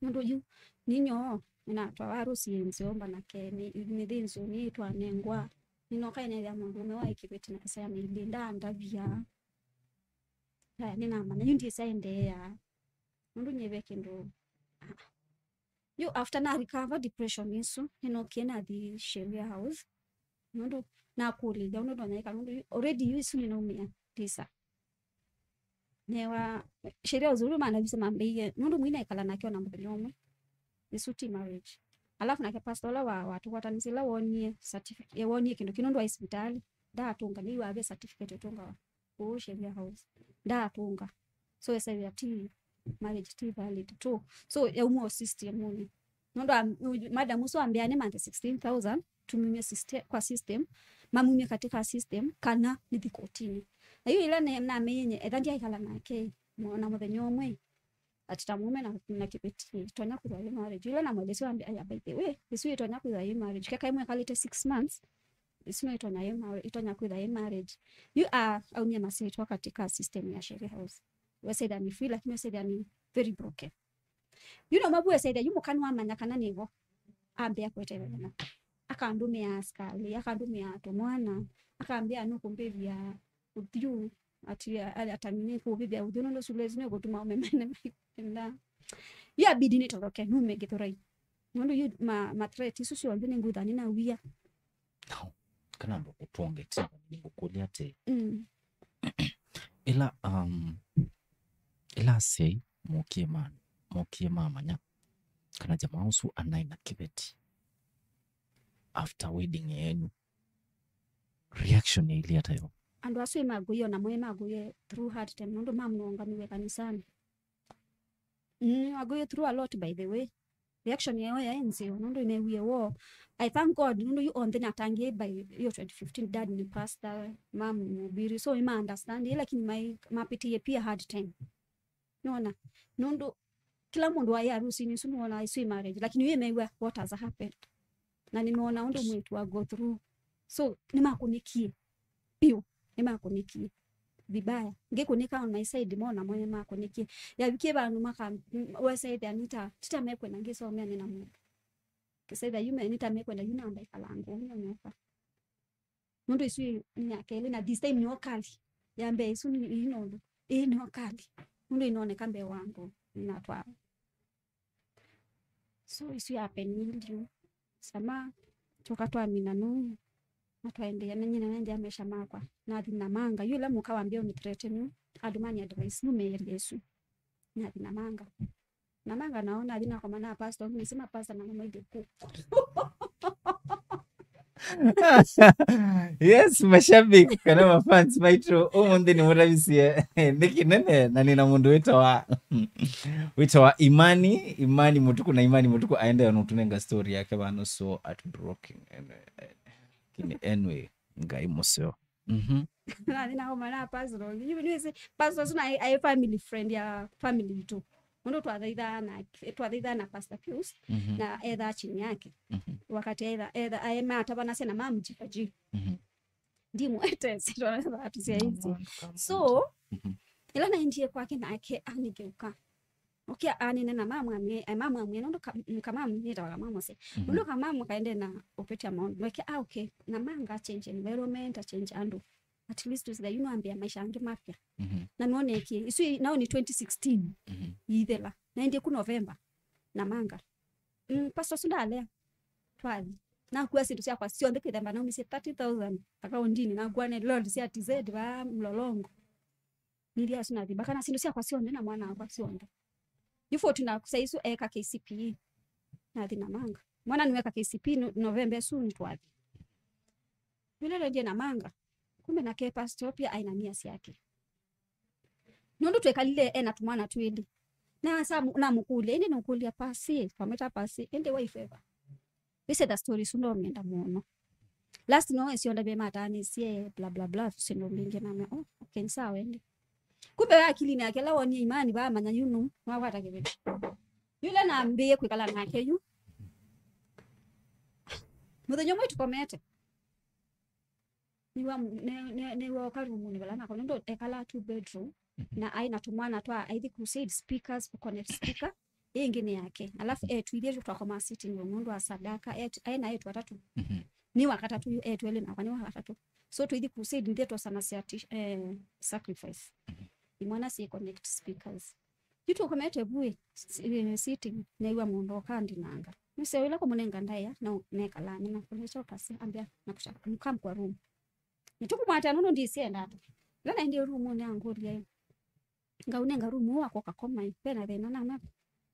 Nũndũ yu, ninyoo, nĩnatwawa arũsi nzeo mbanake, nĩ, nĩthĩnzĩo nĩtwanengwa. Nĩnoka nĩnethĩa mũndũũme wa kĩveti na ĩsaya na ilĩ, ndandavya. Aya, nĩnamanya, yu ndĩsa endeea. Nũndũ nyie ve kĩndũ, ah, ah. Yu after na recover depression ĩsu, nĩnookie nathi Sheria House. Nũndũ nakũlĩlya ũndũ ndonya ĩka, nũndũ yu, already yu ĩsu nĩnaumĩa visa. Newa, Sheria House ũndũ manavisa mambĩie, nũndũ mwĩ naĩkala nake ona mũthenya ũmwe. Ĩsu ti marriage. Alafu nake pastor ũla wa, watũkwatanĩsye, ĩla wonie certificate, eh, wonie kĩndũ kĩu nũndũ wa sivitalĩ, ndaatũnga, nĩw'a ve certificate ũtũngawa kũu Sheria House. Ndaatũnga. So, ĩsethĩa ti marriage, ti valid tũ. So, yauma o system-ũnĩ. Nũndũ am-, madam ũsu ambĩa nĩmanthe sixteen thousand, tumumye syste-, kwa system, mamumye katika system, kana nĩthi kotini. Na yu ĩla ne-, nameinye, etha ndyaĩkala nake, mo-, na mũthenya ũmwe, ati ta mũũme na, na kĩveti, itonya kwĩthwa yĩ marriage. Yu ĩla namwelesya ambĩa, "Aya, by the way, ĩsu itonya kwĩthwa yĩ marriage." Keka ĩmwe ĩkalĩte six months, ĩsu no ĩtonya yĩ marriage, itonya kwĩthwa yĩ marriage. Yu a, aumie masyĩtwa katika system ya Sheria House. Wesethĩa nĩ free, lakini wesethĩa nĩ very broken. Yu no mabu wesethĩa, yu mũka nĩwamanya kana nĩvo. Ambĩa kwetelela. Akandũmĩa askali, akandũmĩa tũmwana, akambĩa nũkũmbĩvya ũthyũ, ati, a-, atami nĩkũvĩvya ũthyũ, nũndũ sula ĩsu nĩkũtuma ũmemene maikenda. Yu abidi nĩtoroke, nume Gĩthũrai. Nũndũ yu ma, ma threat isu syonthe nĩngwĩtha nĩnawia. Now, kana ndo kũtwongetia, nĩngũkũlya atĩ, Mm. Ĩla, um, ĩla asyai mokie ma, mokie mamanya kana jamaa ũsu anaĩ na kĩveti after wedding yenyu, reaction yailĩ ata yo? Andũ asu ĩmagũie, ona mo ĩmagũie through hard time, nũndũ mamũnũnganiwe kanisanĩ. Mm, agũie through a lot, by the way. Reaction yao yaĩ nzeo, nũndũ nĩneewie woo. I thank God, nũndũ yu onthe natangĩĩe by yo twenty fifteen, dad nĩ pastor, mom nĩ mũbiri, so nĩma understand, lakini mai-, mapitiie pia hard time. Nona? Nũndũ kĩla mũndũ waĩ harusinĩ ĩsu nĩwona ĩsu ĩ marriage, lakini yu ĩmew'a what has happened. Na nĩmeona ũndũ mwĩĩtu wa go through. So, nĩmakũnĩkie. Piũ, nĩmakũnĩkie. vibaya. Ngĩkũnĩka on my side, mona mwenye makũnĩkie. Yavikie vandũ maka, m-, wesa ĩthĩa nita, tita mekwenda ngĩsomea nĩ na mũndũ. Kĩsa ĩthĩa yu me, nita mekwenda yu namba ĩkalanga, ũu nĩ nyoka. Nũndũ ĩsu nĩ ya kelĩ, na this time nĩyo kali. Ya mbee ĩsu nĩ, ĩĩ nũndũ. Ĩĩ nĩyo kali. Nũndũ ĩnoneka mbee wa andũ, ĩnatwaa. So, ĩsu ya penilio. Sama, tũka twamina nũu. Na twaendeea, na nyina naendeea maisha makwa. Nathi Namanga. Yu ĩla mũka wambia ũnithreaten, andũ mani advice, yu meeria ĩsu. Nathi Namanga. Namanga nao, nathi nakoma na pastor, nĩsĩ ma pastor na mamaithe kũ. Yes, mashabiki kana mafans maitũ, ũmũnthĩ nĩ mũravisie nĩ kĩnene, na nĩ na mũndũ wĩtawa wĩtawa Imani, Imani Mũtuku, na Imani Mũtuku aendeea na ũtũnenga story yake vano, so at broken. Lakini anyway, Ngai mũseo. Mhm. Nathi nakoma na pastor. Yu nĩsĩ pastor ũsu na aĩ family friend ya family itũ. Mũndũ twathaithaa na, twathaithaa na Pastor Pius, mhm, na ethaa chini yake. Mhm. Wakati etha, etha, aĩ matavana sena mamu jipaji. Mhm. Ndimwete, sitwanatha tusyaisi. So, mhm, ĩla naendie kwake nake anigeuka. Okia anene na mamu amie, eh, mamu amie, nũndũ ka-, m-, kamamu, nĩtawa kamamu se. Mhm. Nũndũ kamamu kaende na ũpetia maũndũ. Nake, ah, okay, Namanga change environment, a change andũ. At least ũsitha yu nĩwambĩa maisha angĩ mapya. Mhm. Na nĩwonekie. Isu i-, nao nĩ twenty sixteen. Mhm. Yĩthela. Naendie ku November. Namanga. Mm, pastor ũsu ndalea. Twathi. Nakua syĩndũ syakwa syonthe kĩthemba naumisye thirty thousand akaundinĩ. Nakua ne load sya T Z va Mlolongo. Nĩthi asu nathi. Mbaka na syĩndũ syakwa syonthe na mwana wakwa syonthe. Yu forty na saa isu eka K C P E. Nathi Namanga. Mwana nĩweka K C P E no-, November ĩsu nĩtwathi. Yule lendie Namanga. Kumbe nake pastor pia aĩ na nia syake. Nũndũ twekalile ena tũmwana twĩlĩ. Na sa-, namũkũlya, ĩndĩ nũkũlya Pasi, twamwĩta Pasi, ĩndĩ wife eva? Wĩsetha story isu ndomenda mũno. Last no ĩsyo ndavye mataanĩsye, bla, bla, bla, syĩndũ mbingĩ namea, oh, okay, nĩ sawa ĩndĩ. Kumbe we akilinĩ yake, ĩla wonie Imani, vaamanya yu nũ, nĩwakwata kĩveti. Yule nambĩĩe kwĩkala nake yu. Mũthenya ũmwe tũkomete. Nĩwa mu-, ne-, ne-, nĩwoka rumunĩ vala nako, nũndũ ekalaa two bedroom, mhm, na aĩ na tũmwana twa, aithi crusade speakers, kũconnect speaker, ĩngĩ nĩ yake. Alafu etu ithyĩ twakomaa sitting room, nũndũ wa sadaka, etu, aĩ na etu atatũ. Mhm. Nĩ wa katatũ yu, etu elĩ nakwa nĩ wa katatũ. So tũithi crusade, nithyĩ twosanasya ti-, eh, sacrifice. Mhm. Imwana syĩ connect speakers. Yu tũkomete vu ĩ, s-, eh, sitting, neew'a mũndũ ũkandinanga. Nĩseo ĩla kũmũnenga ndaĩa, na nekalaa nĩ nakũlya kyo Pasi, ambĩa, nakũsya, "You come kwa room." Nĩtũkũmwatĩa nũndũ ndisienda ata. Ĩla naendie rumunĩ angũlya ĩ, ngaũnenga room ũũ wakwa ũkakoma ĩ, ve na thĩna namea?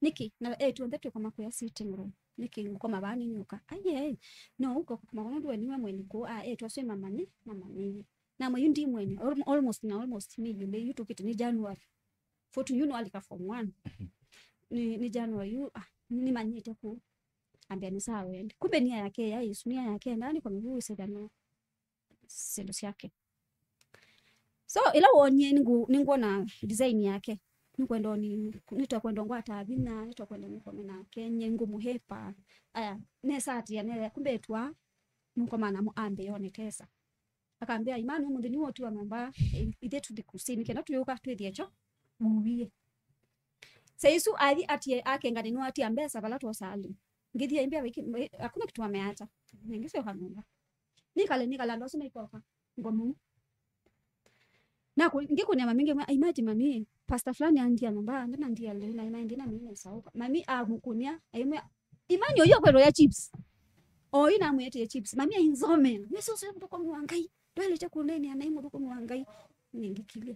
Nĩkĩ? Na etu onthe twĩkoma kũya sitting room. Nĩkĩ ngũkoma vaa nĩnyũka? Aiee, no ũkoma kwa nũndũ we nĩwe mwene kũũ, a, etu asu ĩ mamanye, mamanyĩie. Namwĩa yu ndi mwene, al-, almost na almost me yĩlĩ, yu tũkĩte nĩ January. Forty yu nĩwalika form one. Mhm. Nĩ, nĩ January yu, ah, nĩmanyĩte kũu. Ambĩa nĩ sawa wende. Kumbe nia yake ya Yesu, nia yake endaa nĩkome vu wĩsĩthana syĩndũ syake. So, ĩla wonie nĩngũ-, nĩngwona design yake. Nĩkwenda ni, nĩtakwenda ngwata vinya, nĩtakwenda nĩkome nake, nye ngũmũhepa. Aya, nesatĩa, nethĩa, kumbe etwa, nũkoma namo ambĩa one tesa. Akambĩa, "Imani, ũmũnthĩ nĩwĩ ũtiwa nyũmba, ĩ-, ithyĩ tũthi crusade, nĩ kenda tũyũka twĩthĩe kyo, uwie." Saa isu athi atie, akenga nĩ nĩwatia mbesa vala twosaa lĩu. Ngĩthi aimbĩa, "Wĩki-, wĩ-, hakuna kitu wameacha." Nĩngĩsyoka nyũmba. Nikale, nikala, andũ asu maikoka. Ngomũ. Na ku-, ngĩkũnĩa mami, ngĩmwĩa, "Imagine mami, pastor fulani andia nyũmba, ndena ndia lĩu, na Imani ndina mimi nesa ũka." Mami amũkũnĩa, aimwĩa, "Imani ũyũ akwetwa ya chips." Oyu namwĩtĩe chips. Mami ainzomea. Nĩsĩ ũsĩ mũthũkũmi wa Ngai. Ndwaĩlĩte kũneenea naĩ mũthũkũmi wa Ngai. Nĩngĩkilyĩ.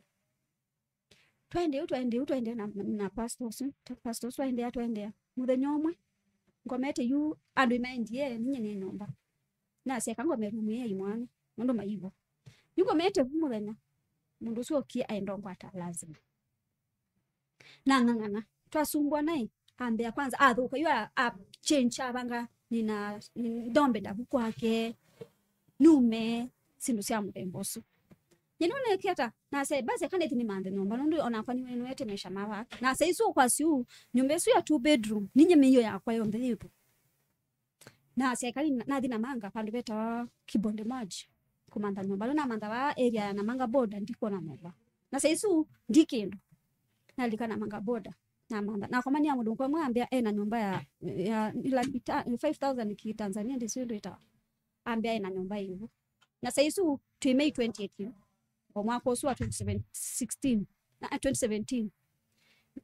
Twaendee ũu, twaendee ũu, twaendea na, na pastor ũsu. Ta-, pastor ũsu aendea, twaendea. Mũthenya ũmwe, ngomete yu, andũ imaendie, ninye nĩ nyũmba. Naseka ngome rumu ya imwana, nũndũ maivo. Yu ngomete vu mũthenya, mũndũ ũsu okie aendongwata lazima. Nang'ang'ana. Twasumbwa naĩ, ambĩa kwanza, athũka, yu a, a change, avanga, nina, ni-, ndombe ndavu kwake, nume, syĩndũ sya mũthemba ũsu. Nyie nũnekie ata? Nase, basi, eka nĩthi nĩmanthe nyũmba, nũndũ onakwa nĩwe nĩwete maisha mava. Nase isu kwa siu, nyũmba ĩsu ya two bedroom, ninye mĩio yakwa yonthe yĩvo. Nasya eka nathi Namanga, vandũ vetawa Kibonde Maji, kũmantha nyũmba. Ĩla namantha vaa area ya Namanga border, ndikwona nyũmba. Na saa isu ndi kĩndũ. Nalika namanga boda. Namantha. Nakomania mũndũ ũmwe ambĩa ena nyũmba ya, ya, ya laki ta-, five thousand ki Tanzania, ndĩsĩ ũndũ ĩtawa. Ambĩa ena nyũmba ĩvu. Na saa isu twĩ May twenty eighteen. O mwaka ũsu wa twenty seventeen, sixteen, na, twenty seventeen.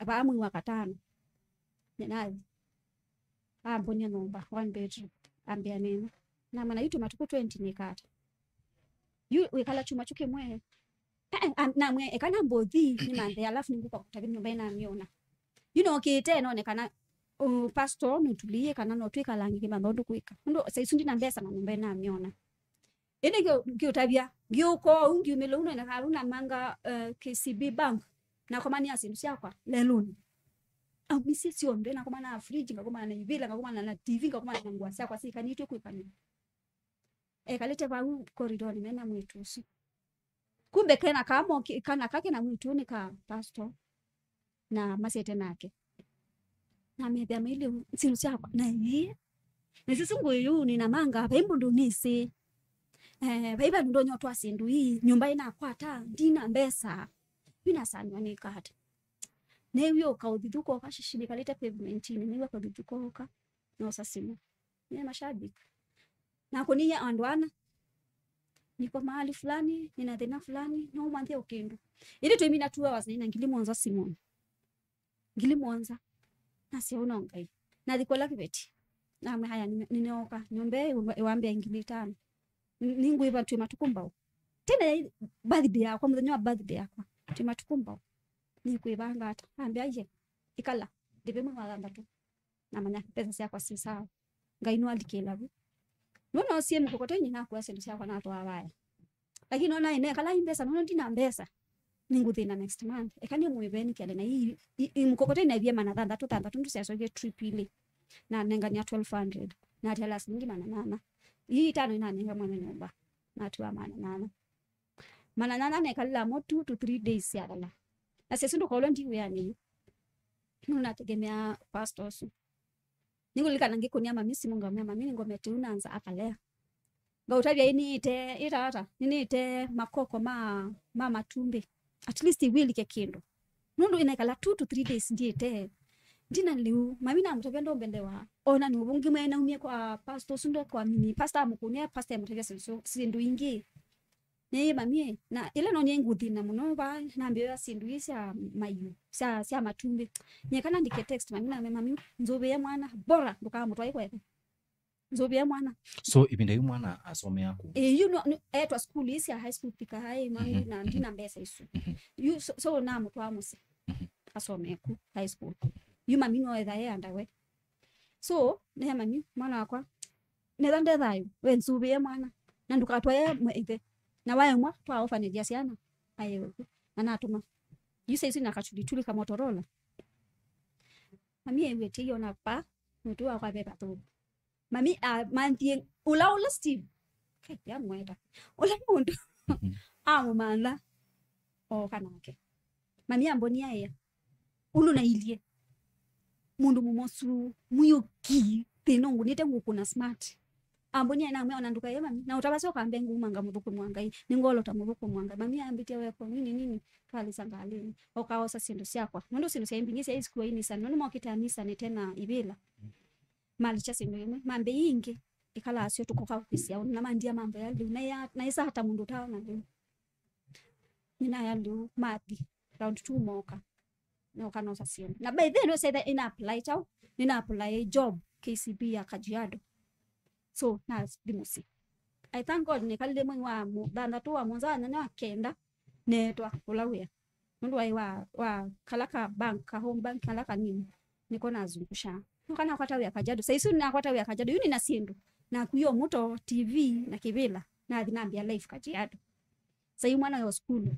Vaa mwei wa katano. Nĩnathi. Ambonia nyũmba, one bedroom. Ambĩa nĩna. Namwĩa yu twĩ matukũ twenty nĩkata. Yu wĩkala kyumwa kyu kĩmwe. Eh, eh, am-, namwĩa, eka nambothi, nĩmanthe, alafu nĩngũka kũtavya nyũmba ĩnamyona. Yu nokĩte, none kana, uh, pastor nũtulĩie kana no twĩkalange kĩmantha ũndũ kwĩka. Ũndũ, saa isu ndina mbesa na nyũmba ĩnamyona. Ĩndĩ ngĩ-, ngĩũtavya, ngĩũka ũu, ngiumĩla ũu, none kana namanga, uh, K C B Bank, nakomania syĩndũ syakwa lelũnĩ. Aumisye syonthe, nakomana na fridge, ngakomana na ivĩla, ngakomana na T V, ngakomana na ngũa syakwa syĩkanĩtw'e kwĩkanĩwa. Ekalĩte vau koridonĩ mena mwĩĩtu ũsu. Kumbe kena kamo, kana kake na mwĩĩtu nĩ ka pastor, na masete nake. Na methĩa mailye syĩndũ syakwa, na ĩĩ. Na sisi ngũĩ yu nĩnamanga, vai mũndũ nĩsĩ. Eh, vai vandũ ndonya ũtwaa syĩndũ ii, nyũmba ĩnakwata, ndina mbesa. Yu nasaniwa nĩ kata. Nĩw'o ũkaũthithu koka shishi nĩkalĩte pavementini, nĩw'o ũkaũthithu koka, nosa simũ. Nĩ mashabiki. Na kũnĩie andũ ana. Niko mahali fulani, nina thĩna fulani, no ũmanthie ũkĩndũ. Ĩndĩ twĩmina two hours na ina ngili mũonza simũnĩ. Ngili mũonza. Nasya ũno Ngai. Nathi kũla kĩveti. Namwĩa, "Haya, nĩ-, nĩnooka. Nyũmba ĩĩ ĩwambĩa ngili itano. Nĩ-, nĩngwĩva twĩ matukũ mbau." Tene birthday yakwa, mũthenya wa birthday yakwa. Twĩ matukũ mbau. Nĩkwĩvanga ata? Ambĩa, "Ye, ĩkala. Ndĩve mwei wa thanthatũ." Namanya mbesa syakwa syĩ sawa. Ngai nĩwalikĩla vu. Nũnosie mkokoteni nakua syĩndũ syakwa natwaa vaya. Lakini nona ĩnekala i mbesa, nona ndina mbesa. Nĩngũthĩna next month. Eka nĩmwĩveni kĩale na ii, i, i, mkokoteni naivie mana thanthatũ, thanthatũ ndu syasokie trip ilĩ. Nanengania twelve hundred. Natela silingi mana nana. Ii itano inanenga mwene nyũmba. Natua mana nana. Mana nana nekalila mo two to three days syathela. Na sesi ndũkolwe ndi wĩanĩ yu. Nũnategemea pastor ũsu. Nĩngũlilikana ngĩkũnĩa mami simũ ngamwĩa, "Mami, nĩngomete ũu na nza akalea." Ngaũtavya, "Ĩ nĩĩte, ĩta ata? Nĩnĩĩte makoko ma, ma matumbĩ. At least iwĩlike kĩndũ." Nũndũ ĩnaikala two to three days ndiĩte. Ndina lĩu, mami namũtavya ndombelewa. Ona nĩ ũvũngĩ mwene umie kwa pastor ũsu ndo kwa mini. Pastor amũkũnĩa, pastor amũtavya syĩndũ, syĩndũ ingĩ. Nĩĩ mami, na ĩla no nĩngũthĩna mũno vaa, nambĩĩa syĩndũ ii sya maiũ, sya, sya matumbĩ. Nyie kana ndike text mami, namwĩa, "Mami, nzũvĩe mwana, bora ndũkamũtwae kweka. Nzũvĩe mwana." So, ĩvinda yu mwana asomea kũ? Ĩ, yu no, no, etwa school ii sya high school thika hai, mami, mhm, na ndina mbesa isu. Mhm. Yu, so, so namũtwaa mũsyĩ. Mhm. Asomee ku high school. Yu mami no etha e andawe. So, nĩya mami, mwana wakwa, netha nde thayũ, we nzũvĩe mwana. Na ndũkatwae mwe-, ĩthe. Na waemwa, twa orphanage ya syana, aewe ku. Na natũma. Yu saisu na katulituli ka Motorola. Mami ewie tiona pa, mũtu wakwa ve pathũku. Mami, a, manthie, ũla, ũla Steve. Kai, yamweta. Ũla mũndũ. Mhm. Amũmantha. Oka nake. Mami ambonia ĩa. Ũndũ nailye. Mũndũ mũmosu, mwiũki, thĩna ũngũnĩte ngũkũna smart. Ambonia namwĩa ona ndũkaye mami. Na ũtavasya ũkambe nguma ngamũthũkũmwa Ngai. Nĩngolota mũthũkũmwa Ngai. Mami ambĩtie weko, nini, nini. Twalĩsa ngalĩnĩ. Okaosa syĩndũ syakwa. Nũndũ syĩndũ sya mbingĩ sya isikuwa inisa. Nũndũ mokĩte anisa nĩte na ivĩla. Malikya syĩndũ imwe, mambĩa ii ingĩ, ĩkalaa syo tũkoka kwĩsĩa ũndũ, na mandia mambo ya lĩu, na ya, na ĩsaa ta mũndũ ũtaona lĩu. Nĩnaya lĩu, mathi, round two mooka, nooka noosa syĩndũ. Na by then, nĩũsethĩa ĩna apply kyaũ, nĩna apply job K C B ya Kajiado. So, nathi mũsyĩ. I thank God, nĩkalile mwei wa mu-, thanthatũ, wa mũonza, wa nyanya, wa kenda, neetwa ũla wĩa. Nũndũ waĩ wa, wa kala ka bank, ka home bank, kala kanini, nĩko nazungushaa. Nũka nakwata wĩa Kajiado. Saa isu nakwata wĩa Kajiado, yu nĩna syĩndũ. Nakuie o mũto, T V, na kĩvĩla. Nathi nambĩa life Kajiado. Saa yu mwana yo sukulu.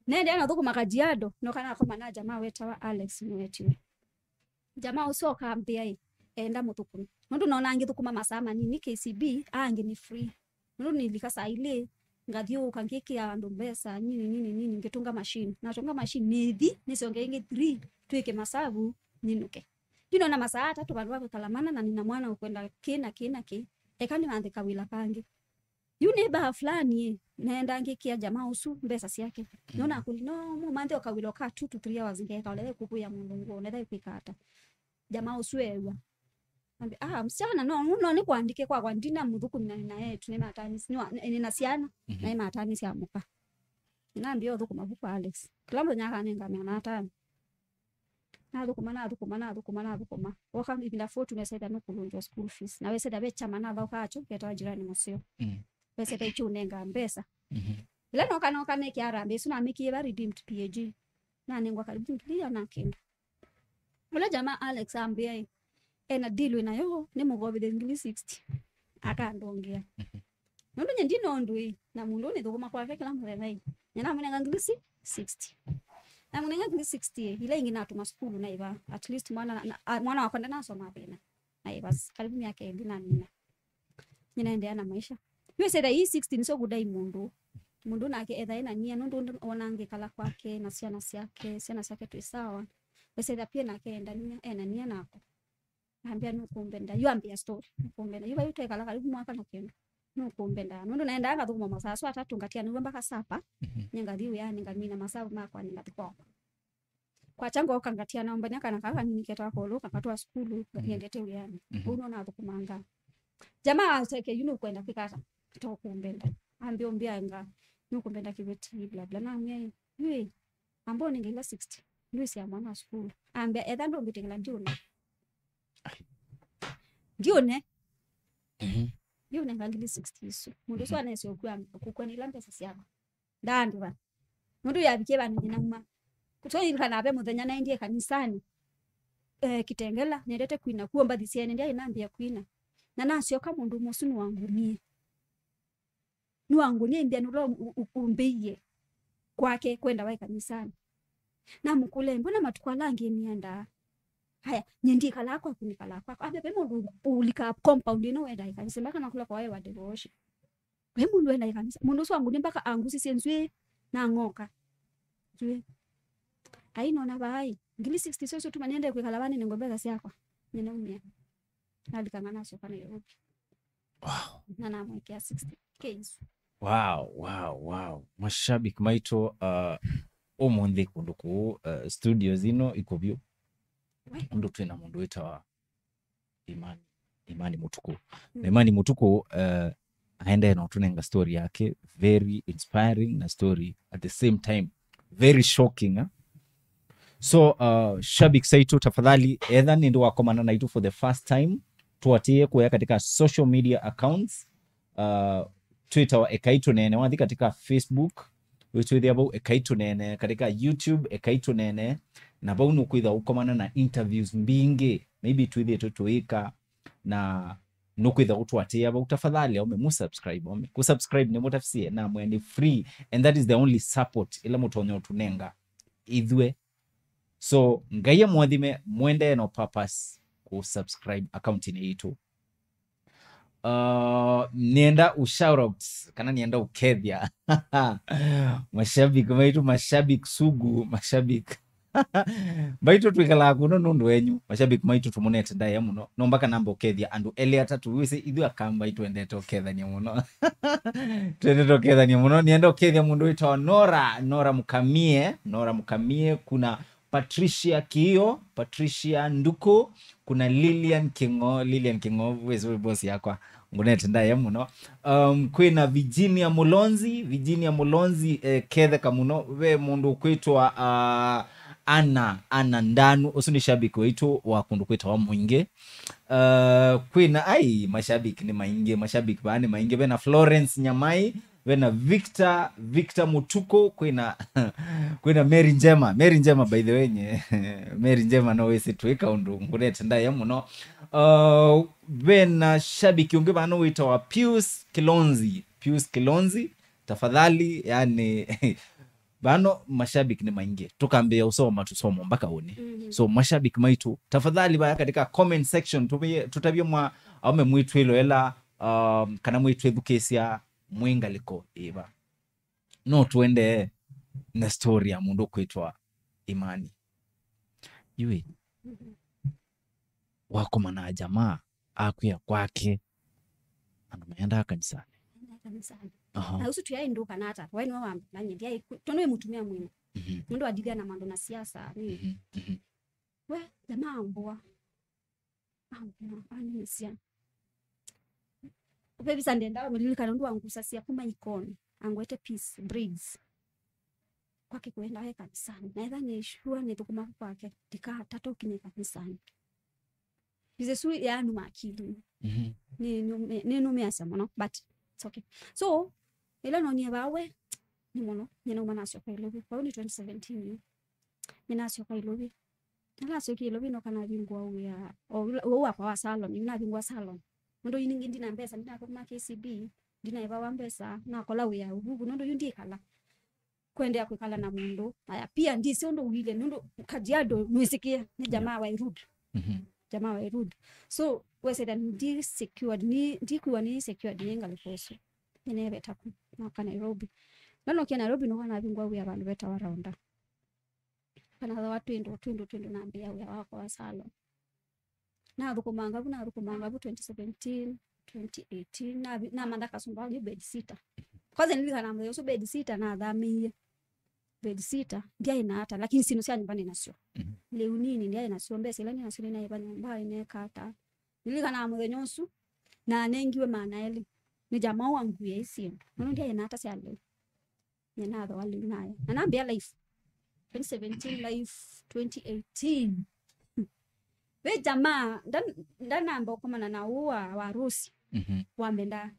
Nendea na thũkũma Kajiado, noka nakoma na jamaa wetawa Alex Mwetio. Jamaa ũsu akambĩa ĩ, enda mũthũkũme. Nũndũ nona ngĩthũkũma masaa manini K C B, angĩ nĩ free. Nũndũ nĩlika saa ilĩ, ngathiũũka ngĩkĩa andũ mbesa, nini, nini, nini, ngĩtũnga machine. Natũnga machine, nĩthi, nĩsyonge ĩngĩ three, twĩke masavu, nyinũke. Yu nona masaa atatũ vandũ va kwĩkala mana, na nĩna mwana ũkwenda kĩ na kĩ na kĩ. Eka nĩvanthĩka wĩla kangĩ. Yu nĩ baa fulani ĩ, naenda ngĩkĩa jamaa ũsu mbesa syake. No nakũli, no mũmanthi ũkawĩla ũka two to three hours ngeka, ũletha kũkũĩa mũndũ nguo, ũletha kwĩka ata. Jamaa ũsu eew'a. Ambia, "Ah, msichana, no, no, nĩ kwandĩke kwakwa, ndina mũthũkũmi na nina etu, nĩ matanis, nĩ wa, nĩ, nina syana, na nĩ matanis ya mũka." Nambia ũthũkũma vu kwa Alex. Kĩla mũthenya akanenga mĩana atano. Nathũkũma, nathũkũma, nathũkũma, nathũkũma. Woka ivinda forty, wesethĩa nũkũlũngĩwa school fees. Na wesethĩa ve chama nathaũkaa kyo, ketawa Jirani Mũseo. Wesethĩa ikyũnenga mbesa. Ĩla noka, noka neke harambee ĩsu namĩkie va Redeemed P A G. Nanengwa karibu ngili ĩana na kenda. Ũla jamaa Alex ambĩa ĩ, ena deal wĩnayo, nĩ mũkovithe ngili sixty. Akandongea. Nũndũ nye ndina ũndũ ĩ, na mũndũ ũũ nĩthũkũma kwake kĩla mũthenya ĩ. Nye namũnenga ngili si-, sixty. Namũnenga ngili sixty ĩ, ila ingĩ natũma sukulu naĩva. At least mwana, na, na, a, mwana wakwa ndanasoma thĩna. Naĩva s-, karibu myaka ĩlĩ na mina. Nye naendeea na maisha. Yu ĩsethĩa ii sixty nĩsyo kũdai mũndũ. Mũndũ nake etha ena nia, nũndũ wona ngĩkala kwake na syana syake, syana syake twĩ sawa. Wesethĩa pia nake enda nia, ena nia nako. Ambĩa, "Nũkũmbenda." Yu ambĩa story. "Nũkũmbenda." Yu vai twekala karibu mwaka na kĩndũ. "Nũkũmbenda." Nũndũ naendaa ngathũkũma masaa asu atatũ, ngatianĩw'a mpaka sapa. Nye ngathi wĩanĩ, ngamina masaa makwa, nĩ ngathi kwakwa. Kwakya ngoka ngatiana ũmbania kana kaa kanini ketawa kolũ, kakatwa sukulu, ngendete wĩanĩ. Ũu no nathũkũmanga. Jamaa aseke, "Yu nũkwenda kwĩka ata? Tũkũmbenda." Ambĩa, "Ũmbĩanga, nũkũmbenda kĩveti, bla, bla." Namwĩa, "Yu ĩ, amba ũnenge ila sixty. Ndwĩsĩa mwana wa sukulu." Ambĩa, "Etha ndũmbĩtĩkĩla ndiũne." Ndiũne. Ndiũnenga ngili sixty isu. Mũndũ ũsu anese ũkua, kũkua nĩ ila mbesa syakwa. Ndaandĩva. Nũndũ yavikie vandũ nyinauma. Kũtoilikana ve mũthenya naendie kanisani. Eh, Kitengela, nendete kwina. Kuo mbathi syaene, ndyaĩ nambia kwina. Na nasyoka mũndũ ũmwe ũsu nĩwangũnie. Nĩwangũnie imbia nũla u-, u-, ũmbĩie kwake kwenda waĩ kanisani. Namũkũlya, "Mbona matukũ ala angĩ nĩendaa?" "Haya, nye ndikalaa kwaku, nĩkalaa kwaku." Ambĩa, "Ve mũndũ ũlikaa compound ĩno wendaa ĩkanisa?" Mpaka nakũlya kwa wewa devotion. Ve mũndũ wendaa ĩkanisa? Mũndũ ũsu wangũnie mpaka angusisye nzw'ĩĩ na ng'oka. Nzw'ĩĩ. Ai, nona vaai. Ngili sixty syo syo tuma nĩende kwĩkala vanene ngombe syakwa. Nĩnaumia. Nalikanga nasyoka Nairobi. Wow. Na namwekea sixty K isu. Wow, wow, wow. Mashabiki maitũ, uh, ũmũnthĩ kũndũ kũũ, uh, studio zino ikũvyũ. We. Ũndũ twĩna mũndũ wĩtawa Imani, Imani Mũtukũ. Na Imani Mũtukũ, uh, aendee na ũtũnenga story yake, very inspiring na story at the same time very shocking, eh? So, uh, shabiki saitũ, tafadhali, etha nĩndĩ wakomana naitũ for the first time, tũatĩĩe kũya katika social media accounts. Uh, twĩtawa Ekai Tũneene. Wathi katika Facebook, wĩtwĩthĩa vau Ekai Tũneene, katika YouTube Ekai Tũneene, na vau nũkwĩtha ũkomana na interviews mbingĩ, maybe twĩthĩĩtwe tũĩka, na nũkwĩtha ũtũatĩĩa vau. Tafadhali, aume, mũsubscribe, aume. Kũsubscribe nĩ mũtafisie, na mwe nĩ free, and that is the only support ĩla mũtonya ũtũnenga ithyĩ. So, Ngai amũathime, mũendee no purpose kũsubscribe account-inĩ yitũ. Uh, nĩenda u shout out, kana nĩenda ũkethya mashabiki maitũ, mashabiki sugu, mashabiki maitũ twĩkalaa kũno nũndũ wenyu. Mashabiki maitũ tũmũnete ndaĩa mũno. No mpaka namba ũkethya andũ elĩ atatũ. Wĩsĩ ithyĩ Akamba itwendete ũkethania mũno. Twendete ũkethania mũno. Nĩenda ũkethya mũndũ wĩtawa Nora, Nora Mũkamie, Nora Mũkamie, kuna Patricia Kiio, Patricia Nduku, kuna Lilian King'o, Lilian King'o, wĩsĩ wĩ boss yakwa, ngũnete ndaĩa mũno. Um, kwĩna Virginia Mũlonzi, Virginia Mũlonzi, eh, ketheka mũno. Ve mũndũ ũkwĩtwa, uh, Anna, Anna Ndanu, ũsu nĩ shabiki waitũ wa kũndũ kwĩtawa Mwingĩ. Uh, kwĩna, ai, mashabiki nĩ maingĩ, mashabiki vaa nĩ maingĩ. Vena Florence Nyamai, vena Victor, Victor Mũtukũ, kwĩna, kwĩna Mary Njema. Mary Njema, by the way, nye, Mary Njema no wĩsĩ twĩka ũndũ ngũnete ndaĩa mũno. Uh, vena shabiki ũngĩ vano wĩtawa Pius Kilonzi. Pius Kilonzi, tafadhali, yani, vano mashabiki nĩ maingĩ. Tũkambĩĩa ũsoma, tũsoma mpaka ũnĩ. So, mashabiki maitũ, tafadhali vaya katika comment section, tũvie-, tũtavye mwa aume mwĩtwĩloela, um, kana mwĩtwĩthukĩĩsya mwĩ ngalĩko ĩva. No tũendee na story ya mũndũ ũkwĩtwa Imani. Yui, wakomana na jamaa akwĩa kwake, andũ maendaa kanisanĩ. kanisani. Aha. Na ũsu tũyaĩ ndũka na ata, we nĩwe wambĩla nyie, ndiaĩ ku-, tondũ nĩ mũtumĩa mwĩna. Mhm. Mũndũ adithia na maũndũ na siasa, nĩ. Mhm, mhm. We, jamaa ambũa. Ambũa, anĩsya. Ũvevisa ndenda ũmĩlilikana ũndũ wangusasya kuma Ikoni, angwete peace, braids. Kwake kũenda e kanisani. Na etha nĩ sure nĩthũkũma kwake, ndikatata ũkinya kanisani. Ĩsu yanuma akili. Mhm. Nĩ, nĩ, nĩnũmĩasya mũno, but it's okay. So, ĩla nonie vaa we, nĩ mũno, nyie nauma nasyoka Ilovi. Vau nĩ twenty seventeen yu. Nyie nasyoka Ilovi. Ĩla nasyokie Ilovi noka navingũa wĩa, o ũla, o wakwa wa salon, yu navingũa salon. Nũndũ yu ningĩ ndina mbesa, ndinathũkũma K C B, ndinaĩvawa mbesa, nakola wĩa ũvuku, nũndũ yu ndikala. Kũendeea kwĩkala na mũndũ. Aya, pia ndisĩ ũndũ ũilye, nũndũ Kajiado nwĩsĩkĩe, nĩ jamaa wa rude. Mhm. Jamaa wa rude. So, wesĩla ndi secured, ni, ndikuwa ni secured nĩ ngalĩko ũsu. Nĩneeveta ku, noka Nairobi. Na nokia Nairobi, noka navingũa wĩa vandũ vetawa Raunda. Kana thawa twĩndũ, twĩndũ, twĩndũ nambĩĩa wĩa wakwa wa salon. Nathũkũmanga vu, nathũkũmanga vu twenty seventeen, twenty eighteen, navi-, namantha kasumba yu bed sitter. Kwanza nililikana mũthenya ũsu bed sitter nathamĩie. Bed sitter, ndyaĩ na ata, lakini syĩndũ sya nyũmba nĩ nasyo. Mhm. Lĩu nini ndyaĩ nasyo, mbesa ila nĩ nasyo nĩnaĩva nyũmba, nĩneeka ata. Nililikana mũthenya ũsu, na nengiwe maana elĩ. Nĩ jamaa wanguie isyĩndũ. Nũndũ ndyaĩ na ata sya lĩu. Nĩnathoa lĩu nayo. Na nambĩa life. Twenty seventeen life, twenty eighteen. Ve jamaa, nda-, ndanamba ũkomana na ũũ wa, wa Rose. Mhm. Wambendaa.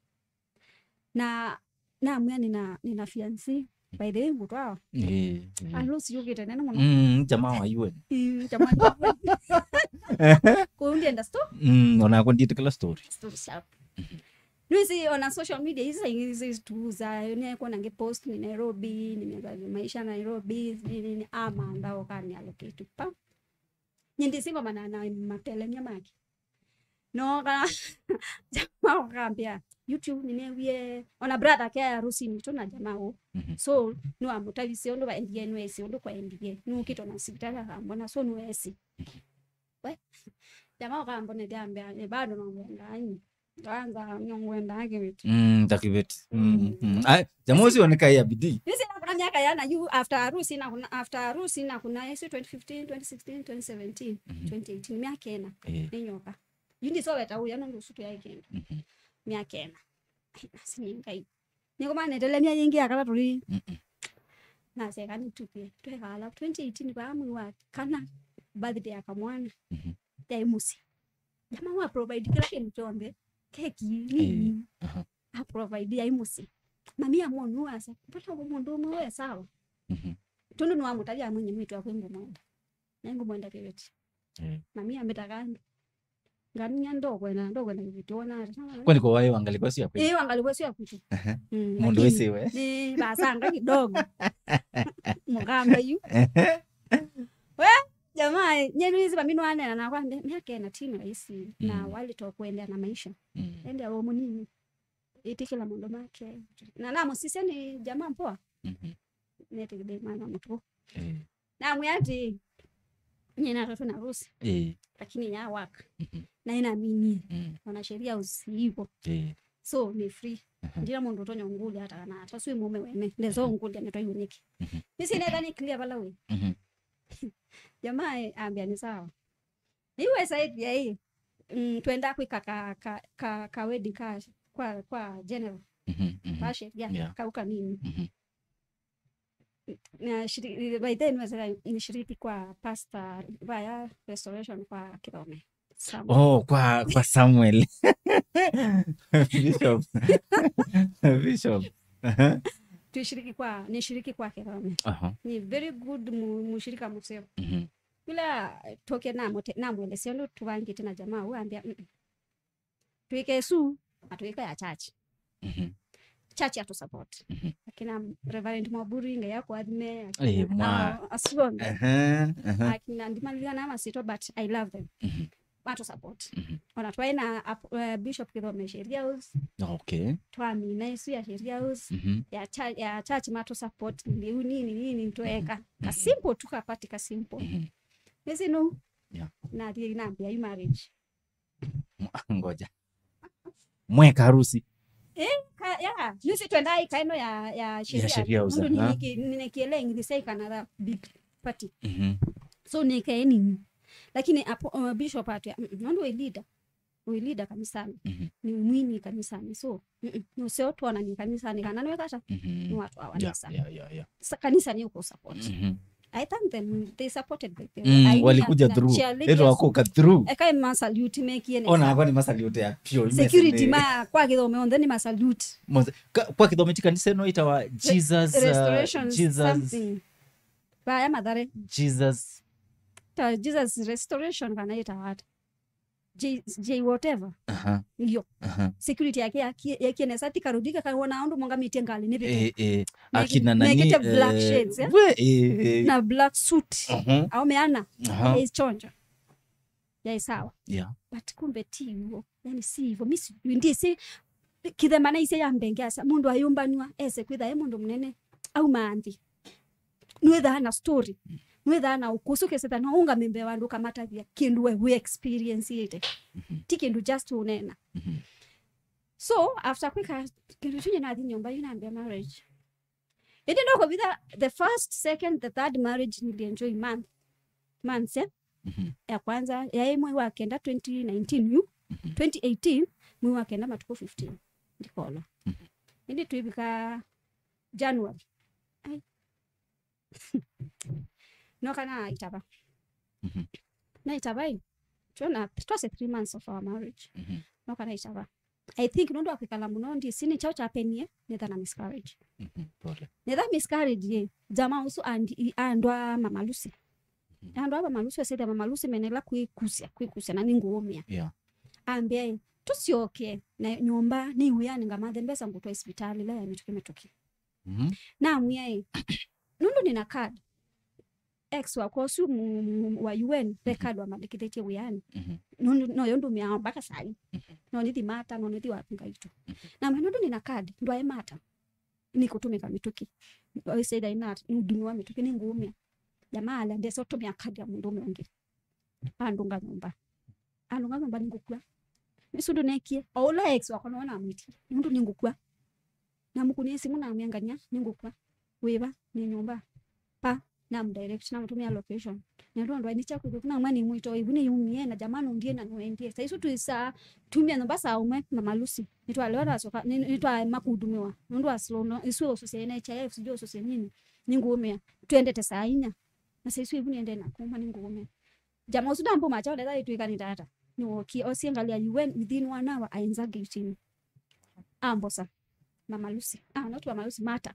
Na namwĩa nĩna, nĩna fiancé. By the way, ngũtwawa. Eh, eh. Ah, Rose yũkĩte nene mũno. Mm, jamaa wa U N. Mm, jamaa wa U N. Kũu ndienda sto-, Mm, onakwa ndiĩtĩkĩla story. Story sharp. Mhm. Nĩwĩsĩ ona social media isu saa ingĩ zituza, nĩekuona ngĩ post nĩ Nairobi, nimeza maisha Nairobi, nini, amantha ũkani allocate pa. Nyie ndĩsĩ ngomana na matelemya make. Noka, jamaa ũkambĩa, YouTube nĩnewie, ona brother ake ya Rose nĩ tũ na jamaa ũũ. Mhm. So, nĩwamũtavisye ũndũ vaendie, nĩwesĩ ũndũ kwaendie. Nĩũkĩte ona sivitalĩ akambona, so nĩwesĩ. We, jamaa ũkambonethya ambĩa, "Eh, bado nongwenda, ai. Kwanza nongwenda kĩveti." Mm, ta kĩveti. Mm, mm. Ai, jamaa ũcio nĩkaĩa bidii. Nĩsĩ nakũna myaka yana yu after harusi nakũna, after harusi nakũna ĩsu twenty fifteen, twenty sixteen, twenty seventeen, Mhm. twenty eighteen, myaka ĩna. Eh. Nĩnyoka. Yu ndisoweta ũya nũndũ ũsu tũyaĩ kĩndũ. Mhm. Myaka ĩna. Ai, nasi nĩ Ngai. Nĩkũmanetele myaka yĩngĩ yakala tũlĩ. Mm-mm. Naseka nĩtupie. Twekala twenty eighteen vaa mwei wa kana birthday ya kamwana. Mhm. Yaĩ mũsyĩ. Jamaa wa provide kĩla kĩndũ kyonthe. Keki, nini. Eh, aha. A provide yaĩ mũsyĩ. Mami amwonu asa. Pata mũndũ ũmwe we sawa. Mhm. Tondũ nĩwamũtavya amwinye mwĩtu akwe ngũmwenda. Na ngũmwenda kĩveti. Eh. Mami ambĩtaga andũ. Ngania ndokwenda, ndokwenda kĩveti wona ata. Kwani kwa waĩ wangalikwa sio kweli? Eh, wangalikwa sio kwitũ. Ehe. Mm, mũndũ lakini wĩsĩwe. Nĩ vasanga kidogo. Mũkamba yu. Ehe. We, jamaa, nyenu hizi mami nwanena na kwambe, myaka ĩna ti rahisi na Mm. wali to kuendelea na maisha. Mm. Ende wa mũnini. Ĩtĩkĩla maũndũ make. Na namũsisya nĩ jamaa mpoa. Mhm. Netĩkĩle mwana mũtuku. Eh. Namwĩa atĩ, "Nyie natatwe na Rose, Eh. lakini ya work. Mhm. Na ĩna mini. Mm. Ona sheria ũsiivo. Eh. So, nĩ free. Mhm. Ndina mũndũ ũtonya ũngũlya ata kana ata. Sui mũme wene. Ndezo Mhm. ũngũlya nĩ twayu nĩkĩ." Mhm. Nĩsĩ netha nĩ clear vala wĩ. Mhm. Jamaa, eh, ambĩa nĩ sawa. Nĩwĩsa ĩthĩa ĩ, mm, twenda kwĩka ka, ka, ka, ka wedding ka, kwa, kwa general. Mhm, mhm. Kwa sheria, Yeah. kau kanini. Mhm. Na shiri-, by then nĩwĩsa nĩshiriki kwa pastor, vaya restoration kwa Kĩthome. Samuel. Oh, kwa, kwa Samuel. Bishop. Bishop. Aha. Tuishiriki kwa, nishiriki kwa Kĩthome. Aha. Ni very good mu-, mushirika mũseo. Mhm. Ĩla twokie namũte-, namwelesya ũndũ tũvangĩte na jamaa ũũ, ambĩa, "Mm-mm. Twĩke ĩsu, na twĩke ya church." Mhm. Church yatũ support. Mhm. Akina Reverend Mwaburi, Ngai akũathime, akina Eh, mwa. Asu onthe. Aha, aha. Akina ndimalikana masyĩtwa, but I love them. Mhm. Matũ support. Mhm. Ona twaĩ na ap-, eh, Bishop Kĩthome Sheria House. Okay. Twamina ĩsu ya Sheria House. Mhm. Ya cha-, ya church matũ support. Lĩu nini, nini, tweka. Mhm. Ka simple tu, ka party ka simple. Mhm. Nĩsĩ nũu. Yeah. Nathi nambĩa yu marriage. Ngoja. Mweka harusi? Eh, ka, Yeah, nĩsĩ twendaa ĩkaeno ya, ya sheria. Sheria house, nũndũ aha. Nĩnĩkĩ-, nĩnĩkĩele ngithisa ĩkanatha big party. Mhm. So nĩkae nini. Lakini apo, uh, bishop atwĩa, "Mm, mm, nũndũ wĩ leader. Wĩ leader kanisanĩ. Mhm. Nĩ mwini kanisanĩ. So, mm, mm, nũseo tuonanie kanisanĩ kana nĩwekata." Mhm. Nĩwatwawa nesa. Yeah, yeah, yeah. Sa-, kanisa nĩ ũkũsupport. Mhm. I thank them. They supported by the way. Mm, walikuja through. Ĩtwa kũka through. Eka masalute mekie nesa. Ona akwa nĩ masalute ya pure. Security ma kwa kĩthome onthe nĩ masalute. Kwa kĩthome ti kanisa ĩno ĩtawa Jesus, uh, Restoration Jesus something. Vaya Mathare. Jesus. Ta Jesus Restoration kana ĩtawa ata? J, J whatever. Aha. Iyo. Aha. Security yake yakie, yakie nesa, ti karũthi kakawona ũndũ mongamĩtie ngalĩ nĩ vĩtũ. Eh, eh. Akina nani, mekĩte black shades, eh? We, eh, eh. Na black suit. Mhm. Au meana. Aha. Is chonjo. Yaĩ sawa. Yeah. But kumbe ti w'o. Yani si hivyo. Mi sijui, ndisi, kĩthemana ise ya mbenge asa, mũndũ ayũmbanwa, ese kwĩtha e mũndũ mũnene, auma nthĩ. Nwĩthaa na story. Nwĩthaa na ũkũsũ kĩseta no ũngame mbee wa andũ ũkamatavya kĩndũ we wĩ experience ĩte. Mhm. Ti kĩndũ just ũnena. Mhm. So, after kwĩka kĩndũ kĩu nathi nyũmba yu nambia marriage. Ĩndĩ no kũvitha the first, second, the third marriage nilienjoy month. Months, eh? Mhm. Ya kwanza, yaĩ mwei wa kenda twenty nineteen yu. Mhm. Twenty eighteen, mwei wa kenda matukũ fifteen. Ndikola. Mhm. Ĩndĩ twĩvika January. Ai. Noka naitava. Mhm. Naitava ĩ. Twona, twase three months of our marriage. Mhm. Noka naitava. I think nũndũ wa kwĩkala mũno ndisi nĩ kyaũ kyapenie, nĩtha na miscarriage. Mhm. Pole. Nĩtha miscarriage ĩ, jamaa ũsu andi-, i-, andũ a Mama Lucy. Mhm. Andũ a Mama Lucy, asethia Mama Lucy menela kwĩkusya, kwĩkusya na nĩngũũmĩa. Yeah. Ambĩa ĩ, tũsyoke na nyũmba, nĩ wĩanĩ ngamathe mbesa ngũtwae sivitalĩ ĩla ya mĩtũkĩ mĩtũkĩ. Mhm. Namwĩa ĩ, nũndũ nĩna card, ex wakwa ũsu mu-, mu-, wa U N, ve card wamandĩkĩthĩtye wĩanĩ. Mhm. Nũndũ noyo ndũmĩaa mbaka saa ii. Mhm. No nĩthi Mata, no nĩthi wapi ngaitũ. Mhm. Namwĩa nũndũ nĩna card, ndwae Mata. Nĩkũtũmĩka mĩtũkĩ. Oisaitha ina nĩũdumiwa mĩtũkĩ, nĩngũũmĩa. Jamaa ala ndesa ũtũmĩa card ya mũndũũme ũngĩ. Andũnga nyũmba. Andũnga nyũmba nĩngũkua. Nĩsu ndũnekie. O ũla ex wakwa nĩwe namwĩtie. Nũndũ nĩngũkua. Namũkũnĩe simũ namwĩa ngania, nĩngũkua. Wĩva? Nĩ nyũmba. Pa. Namũdirect, namũtũmĩa location. Na ndũ andũ aini kya kwĩthũku, namwĩa nĩmwĩtoo, ĩvu nĩyumie, na jamaa nũndie na nũendie. Saa isu twĩsaa, tumia nyũmba saa ũmwe na Mama Lucy. Nĩtwalewa twasoka, nĩ-, nĩtwaema kũdumiwa. Nũndũ wa slow, no, isu ũsũsya N H I F, sijui ũsũsya nini. Nĩngũũmĩa. Twendete saa inya. Na saa isu ĩvu nĩendee na kuma nĩngũũmĩa. Jamaa ũsu ndambũma kyaũ ndetha ĩtwĩka nĩ tata. Nĩwookie, osie ngalĩ ya U N within one hour, aenza gate-inĩ. Ambosa. Mama Lucy. Ah, not Mama Lucy, Mata.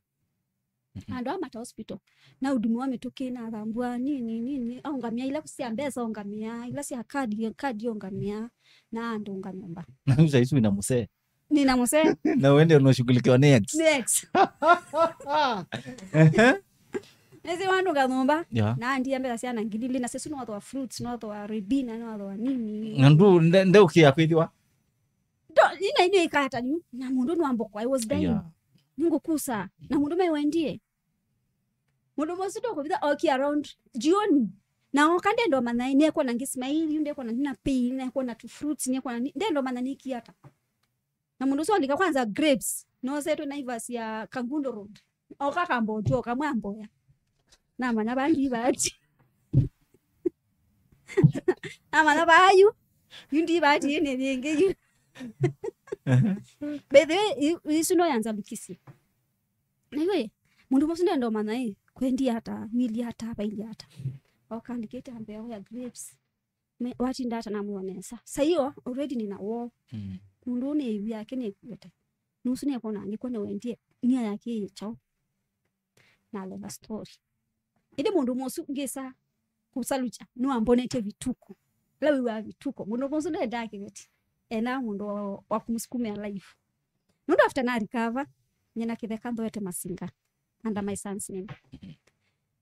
Mhm. Andũ a Mata Hospital. Na ũdumiwa mĩtũkĩ, nathambua, nini, nini. Aũngamĩa ila sya mbesa, ũngamĩa, ila sya kadi, kadi ũngamĩa. Na andũnga nyũmba. Na saa isu ina mũsee. Nina mũsee. Na wende unashughulikiwa next. Next. Ehe. Nĩsĩ wandũnga nyũmba. Yeah. Na andia mbesa syana ngili ilĩ, na sisi nothwa fruits, nothwa ribina, nothwa nini. Na ndu, nde, nde ũkĩa kwĩthĩwa? Ndo, ina ine ikata yu, na mũndũ nwamboko, I was dying. Yeah. Nĩngũkusa. Na mũndũ me wendie. Mũndũ mũsu ndũkũvitha oki around jioni. Na oka ndendo manya, nĩekona ngĩsmile, yu ndekona nina pain, nĩekona tu fruits, nĩekona ni-, ndendo manya nĩkiata. Na mũndũ ũsu alika kwanza grapes, nosetwe Naivas ya Kangundo Road. Oka kambotua, kamwe amboya. Namanya vangi vati. Namanya vayu. Yu ndi vati ĩnĩ yĩngĩ yu. By the way, i-, isu no yanza lukisi. Na iwe, mũndũ mũsu ndendo manya ĩ, kwendi ata, wili ata, vaili ata. Oka alikĩte ambea oya grapes. Me, watinda ata namwĩwa nesa. Saa iyo, already nina woo. Mm. Mũndũ ũũ nĩ ĩvu yake nĩkuĩte. Nusu nĩekona angĩkwa nĩwendie, nia yake ĩ kyaũ. Na leva story. Ĩndĩ mũndũ mũsu ngĩsa kũsalukya, nĩwambonetye vituko. Ĩla wĩw'aa vituko. Mũndũ mũsu ndendaa kĩveti. Ena mũndũ wa, wa kũmũsukumĩa life. Nũndũ after na recover, nyina kĩtheka nthoete masinga. Under my son's name.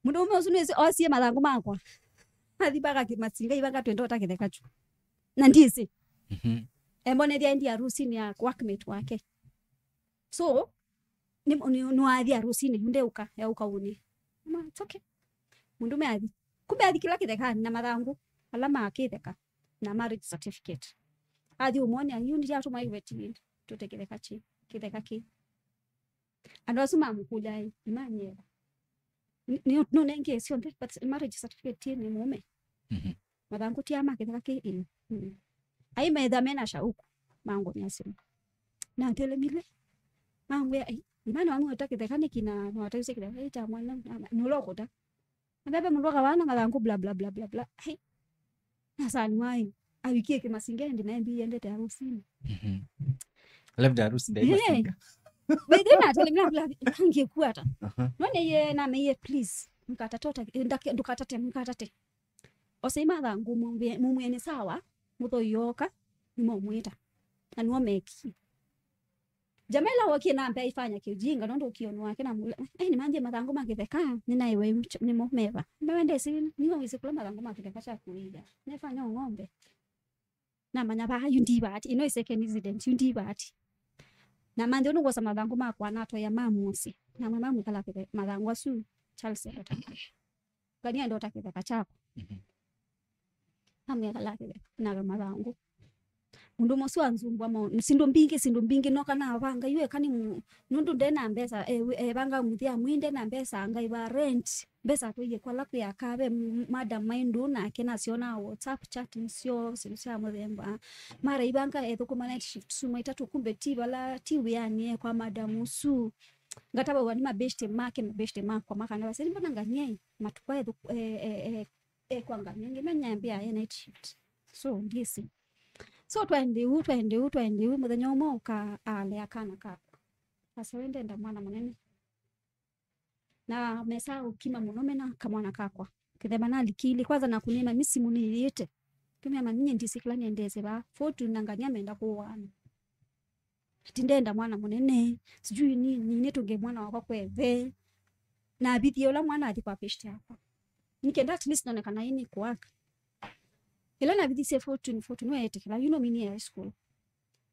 Mũndũũme ũsu nĩsĩ osie mathangũ makwa. Athi mpaka kĩ-, masinga ivanga twenda ũta kĩtheka kyu. Na ndisĩ. Mhm. Embonethya endi harusinĩ ya workmate wake. So, nĩ, nĩ, nĩwathi harusinĩ, yu ndeũka, eũka ũnĩ. Ma, it's okay. Mũndũũme athi. Kumbe athi kĩla kĩthekanĩ na mathangũ ala ma kĩtheka na marriage certificate. Athi ũmwonea, yu ndiatũma iveti tũte kĩtheka kĩ, kĩtheka kĩ. Andũ asu mamũkũlya, "Ĩ, Imani, nĩ, nĩ, nũnengee syonthe, but marriage certificate nĩ mũũme? Mhm. Mathangũ ti aa ma kĩtheka kĩ?" "Ĩĩ." Mm. Ai metha mena shauku, mangũnĩa simũ. Natelemile. Mangwĩa, "Ai, Imani, wamwĩta kĩtheka nĩkĩ na nĩwatavisye kĩtheka kĩ kya mwana, nũla ũkũta?" Na veve mũndũ akawana mathangũ, bla, bla, bla, bla, bla. Ai. Nasani waĩ, avikie kĩmasinga ĩndĩ na ĩmbi yendete harusinĩ. Mhm. Labda harusi ndai. Eh. Masinga. By the way, natelemile, bla, angĩkwata. Aha. None ye nameye, "Please, mkatate, ndake-, ndũkatate, mkatate." Osei mathangũ, mumwĩe, mumwĩe nĩ sawa, mũthoi yoka, nĩmomwĩta. Na nĩmo mekie. Jamela wokie na mbea ifanya kiujinga, nũndũ ũkĩonĩ wake na mũla, "Ai, nĩmanthie mathangũ ma kĩtheka, nĩnaĩwe nĩmo meva." Mbewe ndesi, nĩwe wĩsĩ kũla mathangũ ma kĩtheka kyakuĩĩa. Nefanya ng'ombe. Namanya vaa, yu ndi vati, ĩno ĩ second incident, yu ndi vati. Na manthĩ ũnũ kwosa mathangũ makwa, natwaia mamu mũsyĩ. Namwe mamu kala kĩtheka, mathangũ asu, Charles endota. Ngania ndota kĩtheka kyakwa. Mhm. Amwĩa kala kĩtheka na mathangũ. Mũndũ ũmwe ũsu anzumbwa mo, syĩndũ mbingĩ, syĩndũ mbingĩ, noka navanga, yu eka nĩ mu-, nũndũ nde na mbesa, e, wi-, evanga mũthya, mwĩ nde na mbesa, ngaĩva rent, mbesa atwaie kwala kwĩ aka ve m-, madam maĩ ndũũ nake, nasyonaa WhatsApp chat nĩsyo, syĩndũ sya mũthemba. Mara ivanga ethũkũma night shift suma itatũ, kumbe ti vala, ti wĩanĩ, e kwa madam ũsu. Ngatavawa nĩ mabeshte make, mabeshte makwa makana, "Vase, mbona Ngania ĩ, matukũ ethũ-, e, e, e, e, kwa Ngania, nginya nyambĩa e night shift." So, ndiĩsĩ. So, twaende ũu, twaende ũu, twaende ũu, mũthenya ũmwe ũka alea kana kakwa. Asa, "We ndenda mwana mũnene." Na mesa ũkima mũno mena kamwana kakwa. Kĩthemba nalikili, kwanza nakunĩma misimu nĩyĩte. Kĩmya mami, nyie ndisĩ kĩla nĩendese vaa. Fortune na Ngania menda kũũaana. Ati ndenda mwana mũnene, sijui nini, nĩtũnge mwana wakwa kweve. Na avithie ũla mwana athi kwa beshte yakwa. Nikenda at least none kana ĩnĩ kũaka. Ĩla navithisye Fortune, Fortune weetĩkĩla, you know me nĩ high school.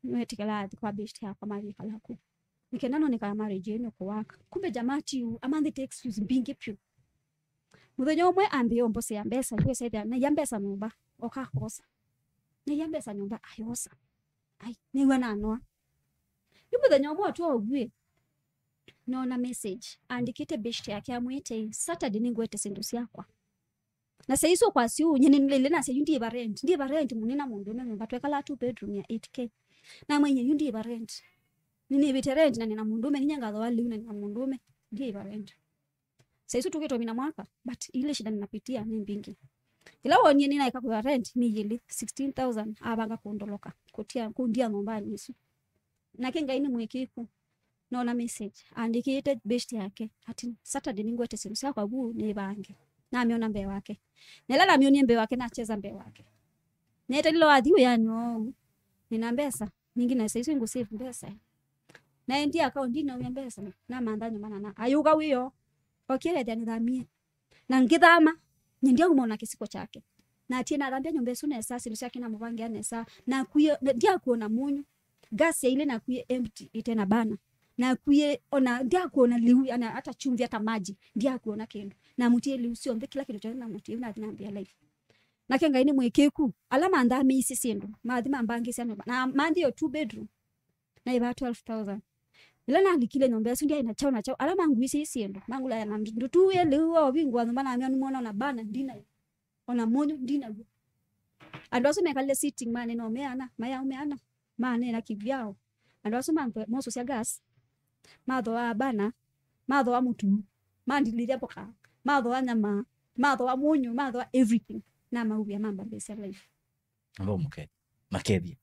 Nĩweetĩkĩla athi kwa beshte yakwa mavikala ku. Nikenda none kana marriage ĩno kũaka. Kumbe jamaa ti ũu, amanthĩte excuse mbingĩ vyũ. Mũthenya ũmwe ambĩĩa ũmbosea mbesa, yu esa ĩthĩa, naia mbesa nyũmba, oka akosa. Naia mbesa nyũmba, ayosa. Ai, nĩw'a nanoa. Yu mũthenya ũmwe atwa ũvuĩ, noona message, andĩkĩte beshte yake amwĩte, "Saturday nĩngwete syĩndũ syakwa." Na saa isu kwasya ũu, nyie nĩnĩlĩlye nasya, "Yu ndiĩva rent, ndiĩva rent mũnina mũndũũme nyũmba, twekalaa two bedroom ya eight K." Namwĩie, "Yu ndiĩva rent. Nĩnĩvĩte rent na nĩna mũndũũme, ninyie ngathoa lĩu na nĩna mũndũũme, ndiĩva rent." Saa isu tũkĩtũmina mwaka, but ile shida ninapitia nĩ mbingĩ. Ĩla wonie nĩnaeka kũĩva rent nĩ yĩlĩ, sixteen thousand, avanga kũndoloka, kũtia, kũndia nyũmbanĩ ĩsu. Nake Ngai nĩ mũĩkĩĩku. Noona message, andĩkĩĩte beshte yake, ati, "Saturday nĩngwete syĩndũ syakwa vu nĩvange." Namyona mbee wake. Na ĩla namyonie mbee wake, nacheza mbee wake. Neetalile wathi wĩanĩ oou. Nĩna mbesa. Ningĩ na saa isu ngũ save mbesa. Naendie akaũndi naumya mbesa. Namantha nyũmba na na. Ayũka wĩoo. Okie ethĩa nĩthamie. Na ngĩthama, nyendia kuma ona kĩsiko kyake. Na atie nathambia nyũmba ĩsu nesa, syĩndũ syake namũvangĩa nesa. Nakuie, ndiakuona mũnyũ. Gas yaile nakuie empty, ĩte na bana. Nakuie, ona ndiakuona liu, ana hata chumvi, hata maji. Ndiakuona kĩndũ. Namũtie liu syonthe, kĩla kĩndũ kyonthe namũtie, nathi nambia life. Nake Ngai nĩ mũĩkĩĩku. Ala manthamĩisye syĩndũ, mathi mambangĩsya nyũmba. Na manthie o two bedroom. Naĩvaa twelve thousand. Ĩla nalikile nyũmba ĩsu, ndyaĩ na kyaũ na kyaũ. Ala manguisye syĩndũ, mangũlaya na ndu-, ndutu ĩ lĩu wa ũvingũa nyũmba, namya nĩmwona na bana ndinayo. Ona mũnyũ ndinaw'o. Andũ asu mekalile sitting, manena o me ana, mayaũ me ana, manena kĩvyao. Andũ asu mangwe-, mosũsya gas, mathoa bana, mathoa mũtu, mandilĩthya mboka, mathoa nyama, mathoa mũnyũ, mathoa everything. Namauvia mambambĩsya life. Amba mũkethie. Makethie.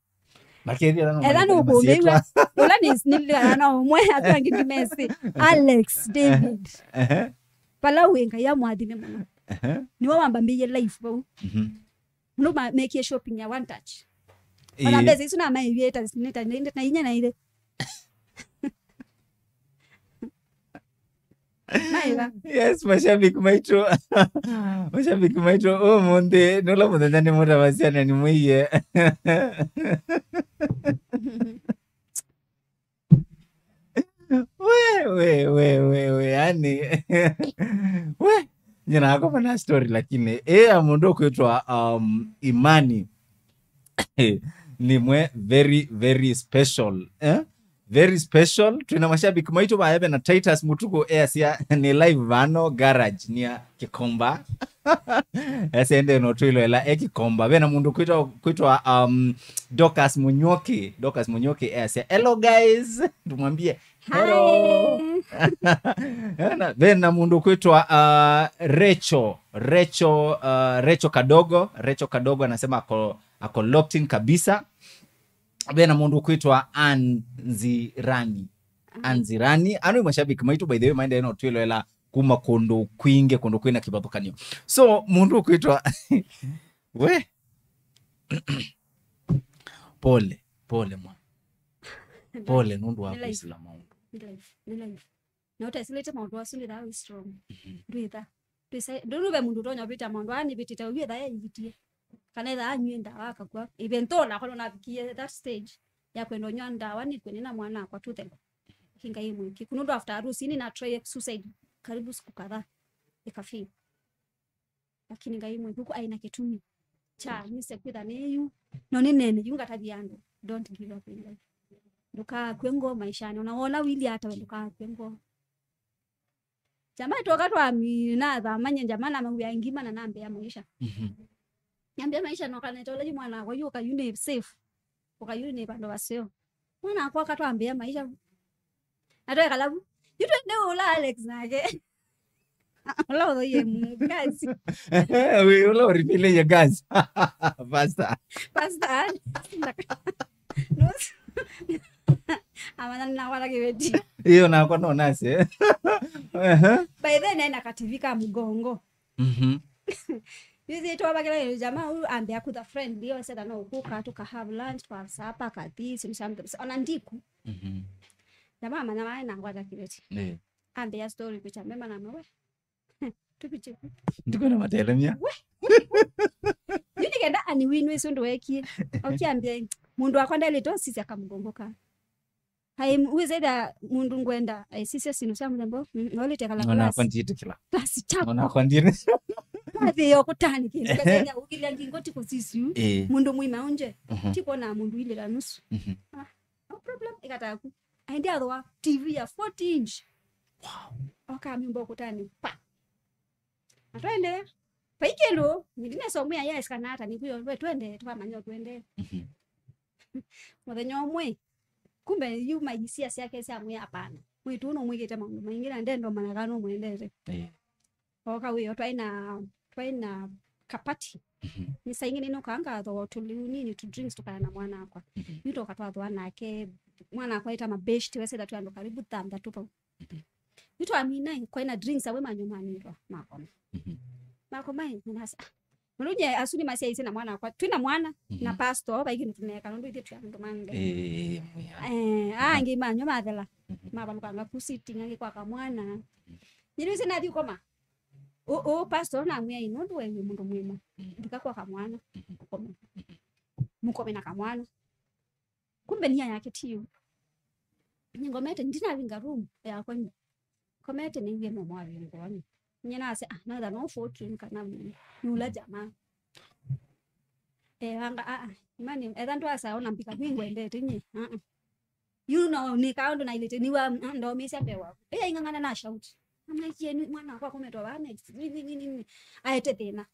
Makethie ala no. Ela no kũmĩw'a. Ũla nĩ nĩlĩana na ũmwe, asu angĩ ndimesĩ. Alex David. Ehe. Vala wĩ, Ngai amwathime mũno. Ehe. Nĩwe wambambĩie life vau. Mhm. Mũndũ ma-, mekie shopping ya One Touch. Ona mbesa isu namaĩvie ta, nĩ ta, nĩ ta, na inya na ile. Maĩva. Yes, mashabiki maitũ. Mashabiki maitũ, ũmũnthĩ nũla mũthenya nĩmũtavasya na nĩmwĩie. We, we, we, we, we, yani. We, nyina akoma na story, lakini ĩ ya mũndũ ũkwĩtwa, um, Imani. Nĩmwe very, very special, eh? Very special. Twĩna mashabiki maitũ vaya, vena Titus Mutuku easya nĩ live vano garage nĩa Kikomba. Ese ende no twĩloela e Kikomba. Vena mũndũ kwĩtwa, kwĩtwa, um, Dorcas Munyoki. Dorcas Munyoki easya, "Hello guys." Tumwambie, "Hello." Hi. Vena, vena mũndũ kwĩtwa, uh, Rachel. Rachel, uh, Rachel Kadogo. Rachel Kadogo anasema ako, ako locked in kabisa. Vena mũndũ kwĩtwa Anzirani. Anzirani. Ano nĩ mashabiki maitũ, by the way, maendee no twĩloela kuma kũndũ kwingĩ, kũndũ kwĩna kĩvathũkanio. So, mũndũ kwĩtwa, we? Pole, pole mwana. Pole nũndũ wa kwĩsĩla maũndũ. Nĩ life, nĩ life. Na ũtesĩlĩte maũndũ asu ndĩthaa wĩ strong. Mhm. Ndwĩtha. Ndwĩsa-, ndũnũ ve mũndũ ũtonya ũvĩta maũndũ aa nĩvĩtĩte ũyu etha eĩvitie. Kana etha anyw'e ndawa akakw'a. Even though nakwa nũnavikie that stage ya kwenda ũnywa ndawa nĩkw'e nĩ na mwana akwa tũthela. Lakini Ngai mwĩkĩku. Nũndũ after harusi nĩna try suicide karibu siku kadhaa. Ĩkafail. Lakini Ngai mwĩkĩku aĩ na kĩtumi kya nĩse kwĩtha nĩ yu. No nĩnene yu ngatavya andũ. Don't give up in life. Ndũkakw'e ngoo maishanĩ. Ona wona wili ata we ndũkakw'e ngoo. Jamaa twoka twamina thamanya jamaa namawia ngima na nambea maisha. Mhm. Nambea maisha no kana tola yu mwana wakwa yu kayu nĩ safe. Ũkayu nĩ vandũ vaseo. Mwana wakwa katwambĩa maisha. Atwekala vu. Yu twende ũla Alex nake. Ũla ũthoie mu gas. Wĩ, ũla ũripile ye gas. Pastor. Pastor. Nũs-, amanya nĩnakwata kĩveti. Iyo nakwa no nase. Ehe. By then ena kativi ka mũgongo. Mhm. Yuzi twavakĩla ĩlĩ jamaa ũyũ ambĩa kutha friendly, osetha no ũkũka, tũka have lunch, tũka have supper, kathi, sindu sya mũthemba, ona ndiku. Mhm. Jamaa amanya wae na ngwata kĩveti. Ndio. Ambĩa story kucha mema na mawe. Tupiche ku. Ndiko na matelemia. We. Yu nĩkenda ani winu isu ndwekie. Okiambia mũndũ wakwa ndelĩte osisya kamũgongo ka. Ai, wĩsĩtha mũndũ ngwenda aisisya sindu sya mũthemba ũũ, mm, nolĩte kala. Ona class. Kwa ndiĩtĩkĩla. Class chaku. Ona kwa ndiĩtĩ. Wathi yo kũtani kĩndũ. Ehe. Kathenya ũkĩlya ngingo ti kũsisyu. Eh. Mũndũ mwĩma ũnje. Mhm. Ti kwona mũndũ ilĩla nusu. Mhm. Ah, no problem, ĩkataku. Aende athwa T V ya forty inch. Wow. Oka mimbo kũtani. Pa. Na twaendeea. Vai kĩndũ, ndinesa ũmwĩa yes kana ata, nĩkwĩo, we twende, tũkamanya twende. Mhm. Mũthenya ũmwe, kumbe yu maisia syake syamwĩa hapana. Mwĩĩtu ũũ nũmwĩkĩte maũndũ maingĩ na ndenda ũmanya kana nũmwendete. Eh. Oka wĩo, twaĩ na, twaĩ na kapati. Mhm. Nĩ saa ingĩ nĩnũkaa ngathooa tũliu nini tu drinks tũkaya na mwana akwa. Mhm. Yu twoka twathooa nake, mwana akwa ĩta mabeshti, wesĩla twĩ andũ karibu thanthatũ vau. Mhm. Yu twamina, kwaĩ na drinks, awe manywa manĩtwa, makoma. Mhm. Makoma, ĩ, nĩnasya, ah, mũndũ nye asu nĩmasyaĩĩsye na mwana wakwa, twĩ na mwana, na, mhm, pastor, vai kĩndũ tũneeka, nũndũ ithyĩ twĩ andũ ma Ngai. Ĩĩ, mwĩa. Eh, aa, aha, angĩ manywa mathela, mhm, mavalũkanga ku sitting, angĩ kwa kamwana. Mhm. Nĩnĩsĩ nathi ũkoma. Ũ, ũ, pastor namwĩa, ĩ, nũndũ we wĩ mũndũ mwĩma, mhm, ndika kwa kamwana, mhm, ũkome. Mhm. Mũkome na kamwana. Kumbe nia yake ti yu. Nĩngomete, ndinavinga room yakwa nĩ. Komete nĩw'e mũmwe avingũa nĩ. Nye nasya, ah, naitha no fortune kana nĩ, nĩ ũla jamaa. Eh, anga, ah, ah, imani, etha ndwasa ona mbika kwingwendete nye. Ah, ah. You know, nĩ kaũndũ nailĩte, nĩwa, ah, ndomĩsya mbee waku. Ĩya ing'ang'ana na shout. Amwĩkie nĩ mwana wakwa akometwa vaa next. Nĩ, nĩ, nĩ, nĩ, nĩ. Aete thĩna.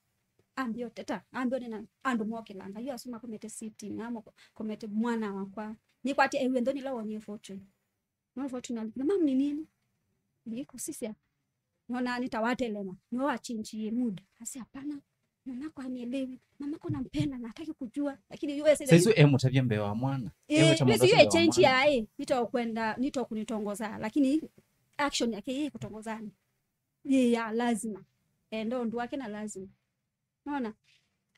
Ambĩa ũteta, ambĩa ũnena, andũ mokĩlanga. Yu asu makomete sitting, amo komete mwana wakwa. Nĩkwatĩ ewie nthoni ĩla wonie fortune. No fortune alipina, "Mam, ni nini?" Nilikusisya. Nona nitawatelema. Ndio wa change ye mood. Asi hapana. Mamako hanielewi. Mamako nampenda na hataki kujua. Lakini yeye sasa saizi emũtavya mbee wa mwana. Eh, emũtavya mbee wa change mwana. Yae, nitokwenda, nitokunitongoza, lakini action yake yeye kutongozana. Yeye ya lazima. Eh, ndo ndu wake na lazima. Naona?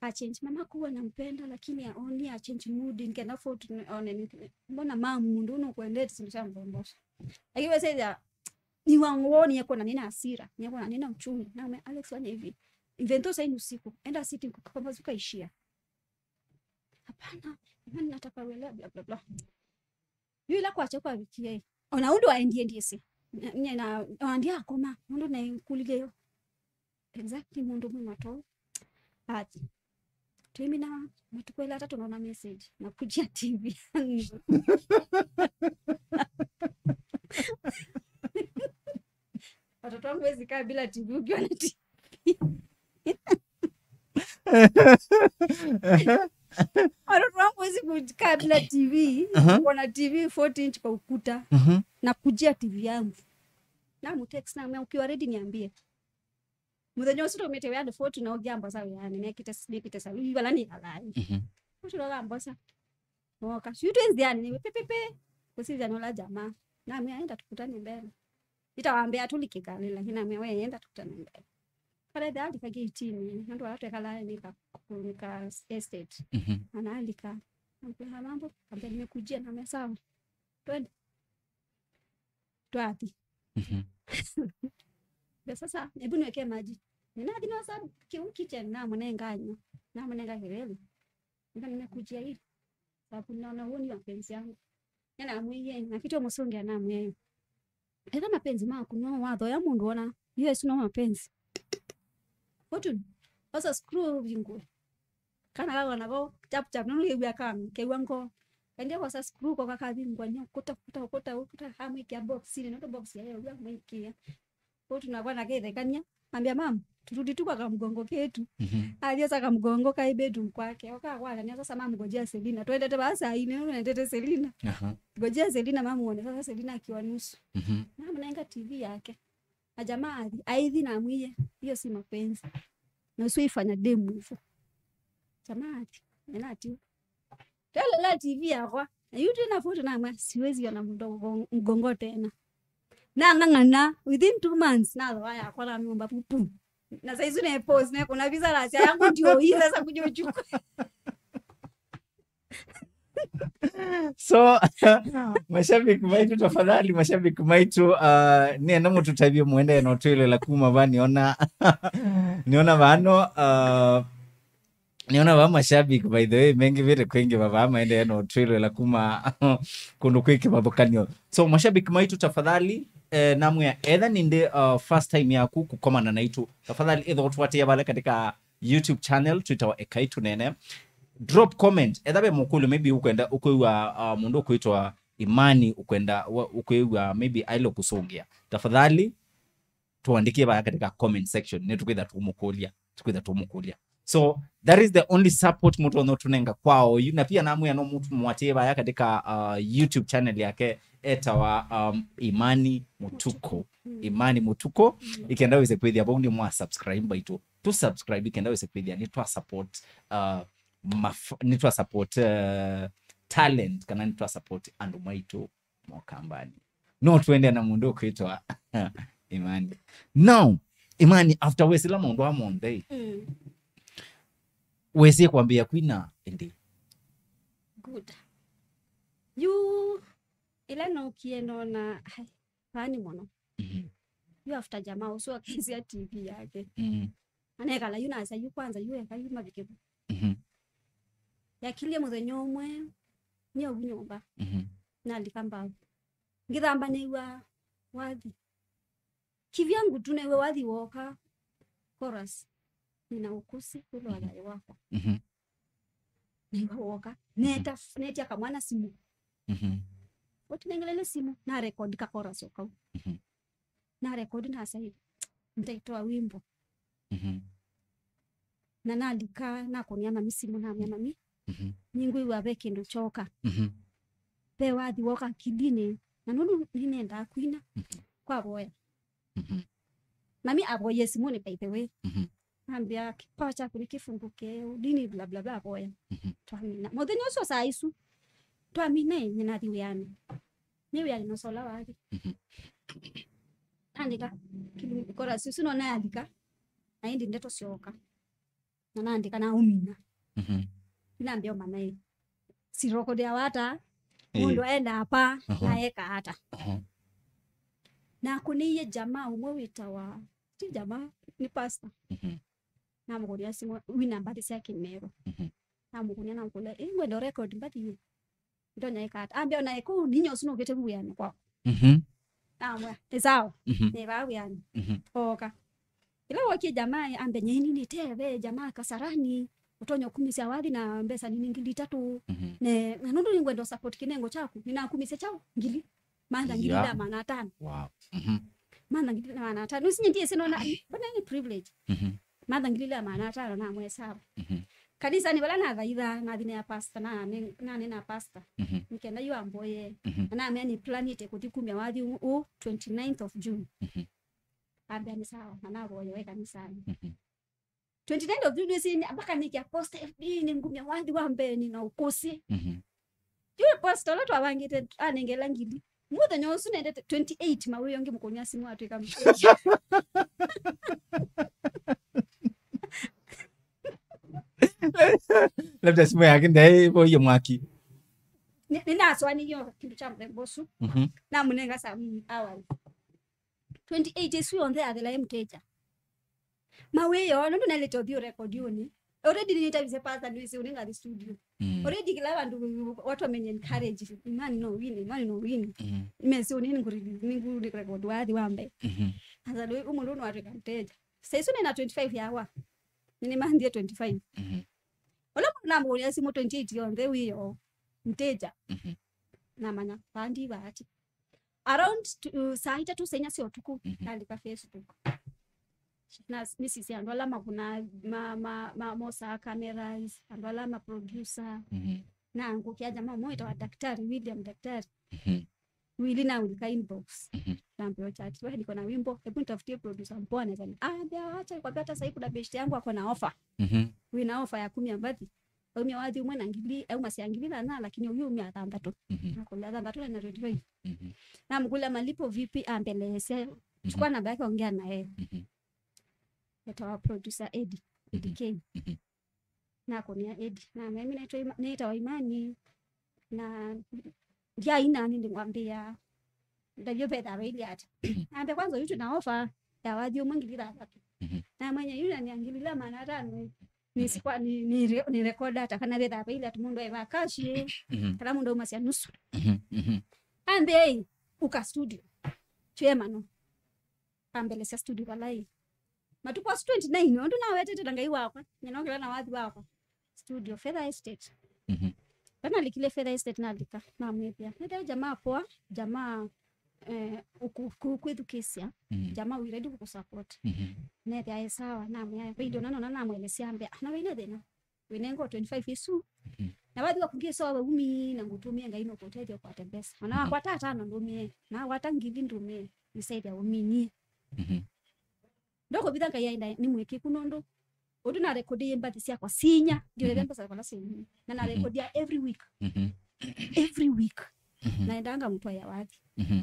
A change. Mamako huwa nampenda, lakini aoni a change mood, nikenda fortune, one ni, mbona mam, mundu unokwendete sindu sya mbombosha. Lakini wewe sasa, ni wangu woni yako na nina hasira, ni yako na nina uchungu. Na ume, Alex, fanya hivi. Even though sasa ni usiku, enda sitting kupambazuka ishia. Hapana, imani nataka uelewe, bla, bla, bla. Yu ĩla kwakya kwavikie, ona ũndũ aendie ndiĩsĩ. Nye na, ona ndiakoma, ũndũ naĩkũlilye yo. Exactly, mũndũ mwĩma too. Athi. Tũimina matukũ elĩ atatũ naona message, "Nakujia T V yangu." Watoto wangu hawezi kaa bila T V ukiwa na T V. Watoto wangu hawezi kukaa bila T V, aha, kuona T V forty inch kwa ukuta. Mhm. "Nakujia T V yangu." Namu text namwĩa, "Ukiwa ready niambie." Mũthenya ũsu twaumĩte wĩanĩ forty na ũngĩ ambosa wĩanĩ, nĩkĩte, nĩkĩte saluni, vala nĩkalaa. Mhm. Ũcio akambosa. Nooka. Sio twĩ nzianĩ, nĩ pepepe. Kũsithya nĩ ũla jamaa. Namwĩa, "Enda tukutane mbele." Itawambĩa tũlikĩkane, lakini namwĩa, "We, enda tukutane mbele." Kale alika gate-inĩ, nũndũ ala twekalaa nĩ ka, nĩ ka estate. Mhm. Analika. Namwĩa, "Mambo?" Ambia, "Nimekujia." Namwĩa, "Sawa." Twende. Twathi. Mhm. Ndio sasa, hebu niwekee maji. Ninathi nosa kĩu kitchen, namũnenga anywa. Namũnenga kĩlele. Ndio nimekujia hii. Sababu naona huo ni mapenzi yangu. Nĩnamwĩie, nakĩte mũsũngĩa namwĩa, "Eka mapenzi maku no wathoya mũndũ ona, hiyo si no mapenzi." Fortune, osa screw vingwe. Kana kakona ko, chap chap, nũndũ kew'a kanu, kew'a ngo. Kaendie kosa screw ko kakavingwa nyo, kuta, kuta, kuta, kuta, amwĩkĩa box-inĩ, nũndũ box yayo w'a mwĩkĩa. Fortune nakwa nakethekania, ambia, "Mam, turudi tu kwa kamgongo ketu." Mhm. Athi osa kamgongo kaĩ bedroom kwake. Okakwatania sasa, "Mam, ngojea Selina." Twendete vaa saa ine, nũndũ nendete Selina. Aha. "Ngojea Selina, mam, uone." Sasa Selina akiwa nusu. Mhm. Namũnenga T V yake. Na jamaa athi, aithi namwĩie, "Hiyo si mapenzi." Na usiifanya demu hivyo. Jamaa athi, nĩnatiwa. Twelele T V yakwa. Na yu twĩna photo namwĩa, "Siwezi ona mũndũ wa mgongo tena." Nang'ang'ana, within two months, nathoa yakwa na nyũmba pupu. Na saizi ne pose, ne kuna visa la sia yangu ndio hii sasa kuja uchukue. So, mashabiki maitũ, tafadhali, mashabiki maitũ, uh, nĩenda mũtũtavye mũendee na ũtwĩlĩla kuma va nĩona, nĩona vano, uh, nĩona va mashabiki, by the way, mengĩ vĩte kwĩngĩ va, va maendee na ũtwĩlĩla kuma kũndũ kwĩ kĩvathũkanyo. So, mashabiki maitũ, tafadhali, eh, namwĩa, etha nĩndĩ, uh, first time yaku kũkomana naitũ, tafadhali, ĩtha ũtũatĩe vale katika YouTube channel twĩtawa Ekai Tũnene. Drop comment. Etha ve mũkũlyo, maybe ũkwenda, ũkwĩw'a, uh, mũndũ ũkwĩtwa Imani, ũkwenda, wa-, ũkwĩw'a, maybe aile kũsũngĩa. Tafadhali, tũandĩkie vaya katika comment section. Nĩtũkwĩtha tũmũkũlya. Tũkwĩtha tũmũkũlya. So, that is the only support mũtonya ũtũnenga kwa oyu. Na pia namwĩa no mũtũmũatĩe vaya katika, uh, YouTube channel yake etawa, um, Imani Mũtuko. Mm. Imani Mũtuko. Mm. Ĩkenda wĩse kwĩthĩa vau nĩ mwa subscribe baitũ. Tũ subscribe ĩkenda wĩse kwĩthĩa nĩ twa support, uh, maf-, nĩ twa support, uh, talent, kana nĩ twa support andũ maitũ mokambani. No twende na mũndũ ũkwĩtwa Imani. Now, Imani, after wesĩla maũndũ aa monthe, mm, wesĩ kwambĩĩa kwina ĩndĩ? Good. Yu, ĩla nookie nona, ai, vaa nĩ mũno. Mhm. Yu after jamaa ũsu akesya T V yake. Mhm. Anekala yu nasa yu kwanza yu eka yu mavike vu. Mhm. Yakilie mũthenya ũmwe, nĩ ũvu nyũmba. Mhm. Nalika mbao. Ngĩthamba nĩw'a wathi. Kivyangu tu nĩw'a wathi woka, chorus. Nina ũkũsĩ, wĩlo, mhm, thayũ wakwa. Mhm. Nĩw'a woka. Neta, mhm, netia kamwana simũ. Mhm. Ũtinengelele simũ, na record ka chorus o kau. Mhm. Na record na sai, ntaitoa wimbo. Mhm. Na nalika, nakũnia mami simũ, namwĩa, "Mami, mhm, nĩngwĩw'a ve kĩndũ kyoka." Mhm. Ve wathi woka akilinĩ, na nũndũ nĩnendaa kwina, mhm, kwavoya. Mhm. Mami avoyie simũnĩ, by the way. Mhm. Ambĩa, "Kipawa chako ni kifunguke, dini bla bla bla," avoya. Mhm. Twamina. Mũthenya ũcio saa isu, twamina ĩ, nĩnathi wĩanĩ. Nĩ wĩanĩ nosola wathi. Mhm. Naandĩka, kĩlungu, chorus isu no nayalika, na ĩndĩ ndeto syoka. Na naandĩka na ũmina. Mhm. Inambĩa ũmanya ĩ, sirokodea wata, ĩĩ, mũndũ aenda apa, aha, na eka ata. Aha. Nakũnĩie jamaa ũmwe wĩtawa, ti jamaa, nĩ pastor. Mhm. Namũkũnia simũ, wina mbathi sya Kĩmerũ. Mhm. Namũkũnia, namũkũlya, "Ĩ, ngwenda record mbathi ĩ." Ndonya ĩka ata? Ambĩa, "Ona ĩkũ, ninya ũsu nũkĩte vu wĩanĩ kwaku." Mhm. Namwĩa, "Nĩ sawa, mhm, nĩ vaa wĩanĩ." Mhm. Ooka. Ĩla wokie jamaa, ambĩa, "Nyeni nĩteve, jamaa Kasarani." Ũtonya ũkumĩsya wathi na mbesa nini ngili itatũ. Mhm. Ne, na nũndũ nĩngwenda support kĩnengo kyaku, nĩnakumĩsya kyaũ? Ngili. Mantha ngili Yeah. ila maana atano. Wow. Mhm. Mantha ngili ila maana atano. Nĩsinye ndiĩsĩ nona, mbona nĩ privilege. Mhm. Mantha ngili ila maana atano na mwesava. Mhm. Kanisanĩ vala nathaitha, nathi nĩa pastor, na ne-, nanena pastor. Mhm. Nĩkenda yu amboye. Mhm. Na namea nĩ planĩte kũthi kumya wathi ũ, ũ twenty-ninth of June. Mhm. Ambĩa nĩ sawa, na navoye we kanisanĩ. Mhm. Twenty-ninth of June, nĩsĩ mpaka nĩkĩa post F B nĩ ngumya wathi wa mbee nĩ na ũkũsĩ. Mhm. Yu post ũla twavangĩte anengela ngili. Mũthenya ũsu nendete twenty-eight mawĩo ngĩ mũkũnya simu atwĩka mchezo. Labda simu yake ndaĩ voie mwaki. Nĩ, nĩnaswaniyo kĩndũ kya mũthemba ũsu. Mhm. Namũnenga some hours. Twenty-eight ĩsu yonthe yathela ĩ mteja. Mawĩo, nũndũ nelĩte ũthiĩ ũrekodiũnĩ. Already nĩnĩtavisye pastor nĩwĩsĩ ũnĩ ngathi studio. Mm. Already kĩla vandũ watu wamenye encourage. Imani no win, imani no win. Mm. Mesi ũnĩ nĩngũrelease, nĩngũrecord wathi wa mbee. Mhm. Asa lwe ũmũndũ no atwĩka mteja. Saisu nĩna twenty-five yawa. Nĩmanthie twenty-five. Mhm. Ũla mũndũ namũkũnia simu twenty-eight yonthe wĩyo mteja. Mhm. Namanya vandi vaati. Around to, saa itatũ saa inya sya ũtukũ, mhm, nalika Facebook. Na s-, nĩsisya andũ ala makũna, ma, ma, ma, mosaa cameras, andũ ala ma producer. Mhm. Na ngũkĩa jamaa ũmwe wĩtawa Daktari William Daktari. Mhm. Wili na ulika inbox. Mhm. Nambeo chat, "Wewe niko na wimbo, hebu nitafutie producer mpoa naweza ni." Ah, ambia, "Acha nikwambia, hata sasa kuna best yangu ako na offer." Mhm. Wina offer ya kumya mbathi. Aumya wathi ũmwe na ngili, aumasya ngili thana, lakini ũyu aumya thanthatũ. Mhm. Nakũlya thanthatũ na twenty-five. Mhm. Namũkũlya malipo vipi, ambeleesya. Mhm. Chukua namba yake, ongea naye. Mhm. Etawa producer Eddie, Eddie, mhm, K. Mhm. Nakũnĩa Eddie. Namwĩa, "Mimi naitwa Ima-, nĩtawa Imani. Na ndyaina nĩ ndĩngwambĩa. Ndavyo vetha vaili ati." Mhm. Ambe, "Kwanza ũyu twĩna offer ya wathi ũmwe ngili thanthatũ." Mhm. Namwĩa, "Yu na ngili ila maana atano. Nĩsikwa, nĩ, nĩ re-, nĩ record ata kana vetha vaili ati mũndũ aĩva cash, mhm, kana mũndũ aumasya nusu." Mhm. Mhm. Ambe, "Ei, uka studio. Twĩe mano." Ambelesya studio vala ĩ. Matukũ asu twenty-nine, ũndũ nawetete na Ngai wakwa, nyina ũkĩla na wathi wakwa. Studio, Feather Estate. Mhm. Vanalikile Feather Estate nalika, namwĩthĩa. Nĩthĩa jamaa poa, jamaa, eh, ũku-, ku-, kwĩthukĩĩsya, mhm, jamaa wĩ ready kũkũsupport. Mhm. Nethĩa e sawa, namwĩa, video nanona namwelesya ambĩa, "Na vaina thĩna." Wĩnengwa twenty-five ĩsu. Mhm. Na wathi wa kũngĩsa wa umi na ngũtũmie Ngai no kũtethia kwate mbesa. Ona, mhm, wakwata atano ndũmie, na wakwata ngili ndũmie, nisaithia uminie. Mhm. Ndokũvitha Ngai aenda nĩ mwĩkĩku nũndũ ũndũ na record ĩ mbathi syakwa sinya, ndio, mhm, mbesa kwa sinya. Na na, mhm, record ya every week. Mhm. Every week. Mhm. Naendanga mtu ya wathi. Mhm.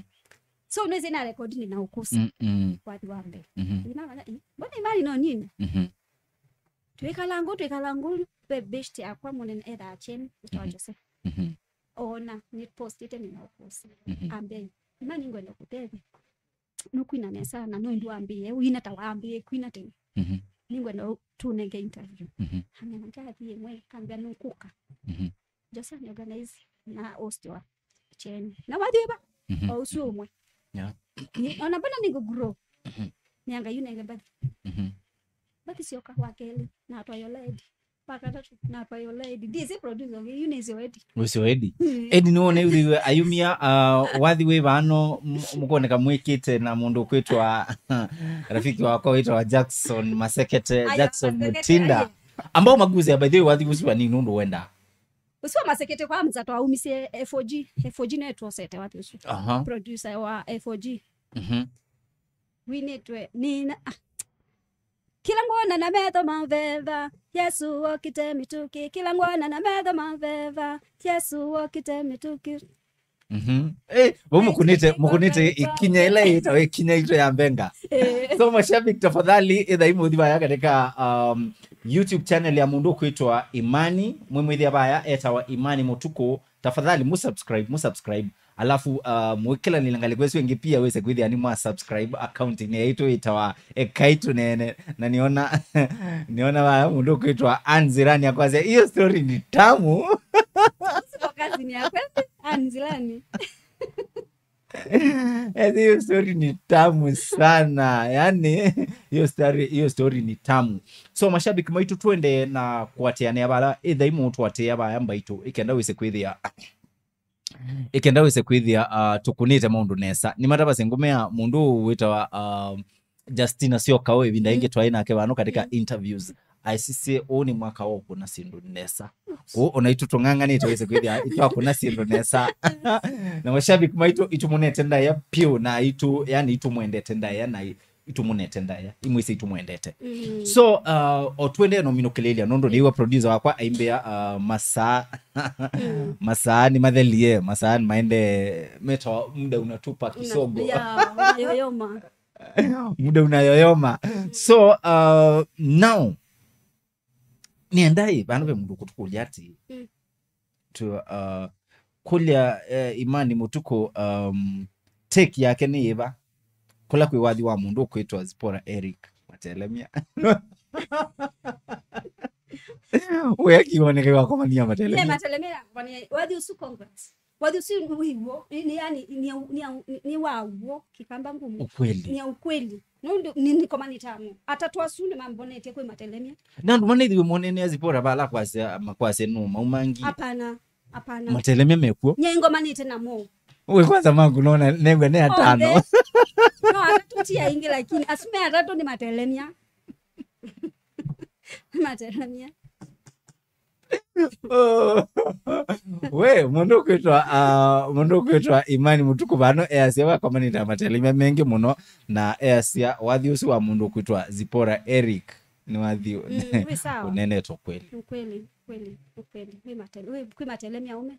So nĩsĩ na record nĩ na ũkũsĩ. Mm, mm. Wathi wa mbee. Mhm. Ina wana, eh, mbona Imani no nini? Mhm. Twĩkala ngũ, twĩkala ngũ, ve best yakwa mũnene ethaa Chen, ĩtawa, mhm, Jose. Mhm. Ona, nĩ postĩte nĩ na ũkũsĩ. Mhm. Ambe, "Imani ngwenda kũtethya. Nũkwina nesa na no ndu ambĩe, wina ta wambĩe kwina tene. Mhm. Nĩngwenda ũ-, tũnenge interview." Mhm. Ambe, "Ngathiĩ mwe, kambia nũkũka." Mhm. Jose nĩ organize na host wa Chen. Na wathi va? Mhm. O ũsu ũmwe. Yeah. Ni, ona mbona nĩngũ grow. Mhm. Nĩanga yu nenge mbathi. Mhm. Mbathi syoka wa kelĩ, na atwayola Eddie. Wa katatũ, na atwayola Eddie. Ndiĩsĩ producer ũngĩ, yu nĩsĩ Eddie. Wĩsĩ Eddie? Mm. Eddie nĩwona yu ayumia, uh, wathi wĩ vano, m-, mũkoneka mwĩkĩte na mũndũ kwĩtwa rafiki wakwa wĩtawa Jackson Masekete, aya, Jackson Masekete, Mutinda. Aye. Ambao maguze, by the way, wathi ũsu wa nini nũndũ wenda? Ũsu wa Masekete kwa mza twaumisye F O G. F O G nĩtwosete wathi ũsu. Aha. Producer wa F O G. Mhm. Winĩtwe nĩ na, ah. Kĩla ngwona na metho ma veva, Yesu wokite mĩtũkĩ. Kĩla ngwona na metho ma veva, Yesu wokite mĩtũkĩ. Mhm. Eh, vau mũkũnĩte, mũkũnĩte ĩkinya ĩla ĩtawa ĩkinya itũ ya mbenga. Eh. So, mashabiki, tafadhali, ĩthai mũthi vaya katika, um, YouTube channel ya mũndũ ũkwĩtwa Imani. Mwĩmwĩthĩa vaya etawa Imani Mũtukũ. Tafadhali, mũsubscribe, mũsubscribe. Alafu, uh, mwĩkĩlanĩle ngalĩko ĩsu ĩngĩ pia wĩse kwĩthĩa nĩ mwa subscribe account-inĩ yaitũ ĩtawa Ekai Tũneene. Na nĩona, nĩona vaya mũndũ ũkwĩtwa Anzirani akwasya, "Hiyo story ni tamu." Siko kazi ni ya kweli, Anzirani. Eti, hiyo story ni tamu sana. Yani, Hiyo story, hiyo story ni tamu. So, mashabiki maitũ, twende na kũatĩanĩa vala ĩthai mũtũatĩa vaya mbaitũ, ĩkenda wĩse kwĩthĩa, ĩkenda wĩse kwĩthĩa, uh, tũkũnĩte maũndũ nesa. Nĩmatavasye ngũmea mũndũ ũũ wĩtawa, uh, Justina Syoka, ũũ ĩvinda ĩngĩ twaĩ nake vano katika interviews. Aisisye ũũ nĩ mwaka wa ũkũna syĩndũ nesa. Kũu ona itũ tũng'ang'anĩte wĩse kwĩthĩa itwakũna syĩndũ nesa. Na mashabiki maitũ itũmũnete ndaĩa piũ, na itũ, yani, itũmwendete ndaĩa, na i- itũmũnete ndaĩa, imwĩsĩ itũmwendete. So, uh, o twende no minũkĩlĩlya, nũndũ nĩiwa producer wakwa aimbĩa, uh, masaa, masaa nĩ mathelie, masaa nĩ maende, metawa muda unatupa kisogo. Ya, unayoyoma. Muda unayoyoma. So, uh, now, nĩenda ĩ, vandũ ve mũndũ kũtũkũlya atĩ, tu, uh, kũlya, eh, Imani Mũtukũ, um, take yake nĩ yĩva kũla kwĩ wathi wa mũndũ ũkwĩtwa Zipporah Eric Matelemya. Ũya kĩoneke wakomania Matelemya. Matelemya, wathi ũsu, congrats. Wathi ũsu wĩ w'o, nĩ, nĩ, yani, nĩ, nĩ, nĩ wa w'o, kĩkamba ngumu. Ukweli. Nĩ ya ukweli. Nũndũ nĩ, nĩkomanĩte amwe. Atatũ asu nĩmambonetye kwĩ Matelemya. Na andũ manĩthiwe monene Zipporah vala kwasya, makwasya nũ maumangi. Hapana, hapana. Matelemya mekw'o. Nyie ngomanĩte namo. Ũĩ kwanza maku nona negwe nĩ atano. Onthe. No, atatũ ti aingĩ, lakini asu me atatũ nĩ Matelemya. Matelemya. We, mũndũ ũkwĩtwa, uh, mũndũ ũkwĩtwa Imani Mũtukũ vano easya wakomanĩte Matelemya mengĩ mũno, na easya wathi ũsu wa mũndũ ũkwĩtwa Zipporah Eric nĩ wathi, mm, wĩ sawa. Ũnenetwe kweli. Kweli, kweli, kweli. Kwĩ Mate-, kwĩ, kwĩ Matelemya ũme.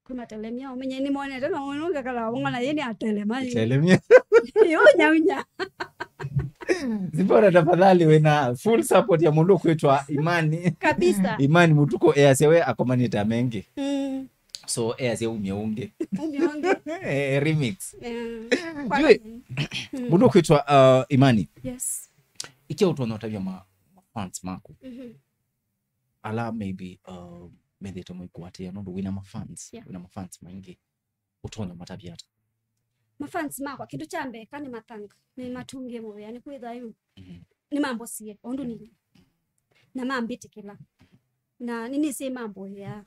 Kwĩ Matelemya ũme. Nyie nĩmonete na mũndũ ngakala wong'ona yĩ nĩ Atelema yĩ. Atelemya. Yĩ ũnyaunya. Zipporah, tafadhali, wĩna full support ya mũndũ ũkwĩtwa Imani. Kabisa. Imani Mũtukũ easya we akomanĩte mengĩ. Mm. So easya umye ũngĩ. Umye ũngĩ. Eh, remix. Eh, kwa Jue, nini? Mm. Mũndũ ũkwĩtwa, uh, Imani. Yes. Ikia ũtonya ũtavya ma, ma fans maku. Mhm. Ala maybe, uh, methĩte mũikũatĩĩa nũndũ wĩna ma fans, yeah, wĩna ma fans maingĩ, ũtonya matavya ata? Ma fans makwa, kĩndũ kya mbee, ka nĩ mathanga, nĩ matũngĩe mũvea, nĩ kwĩthwa yu, mhm, nĩ mambosie ũndũ nĩlĩ, na mambĩtĩkĩla, na nĩnĩsĩ mamboea,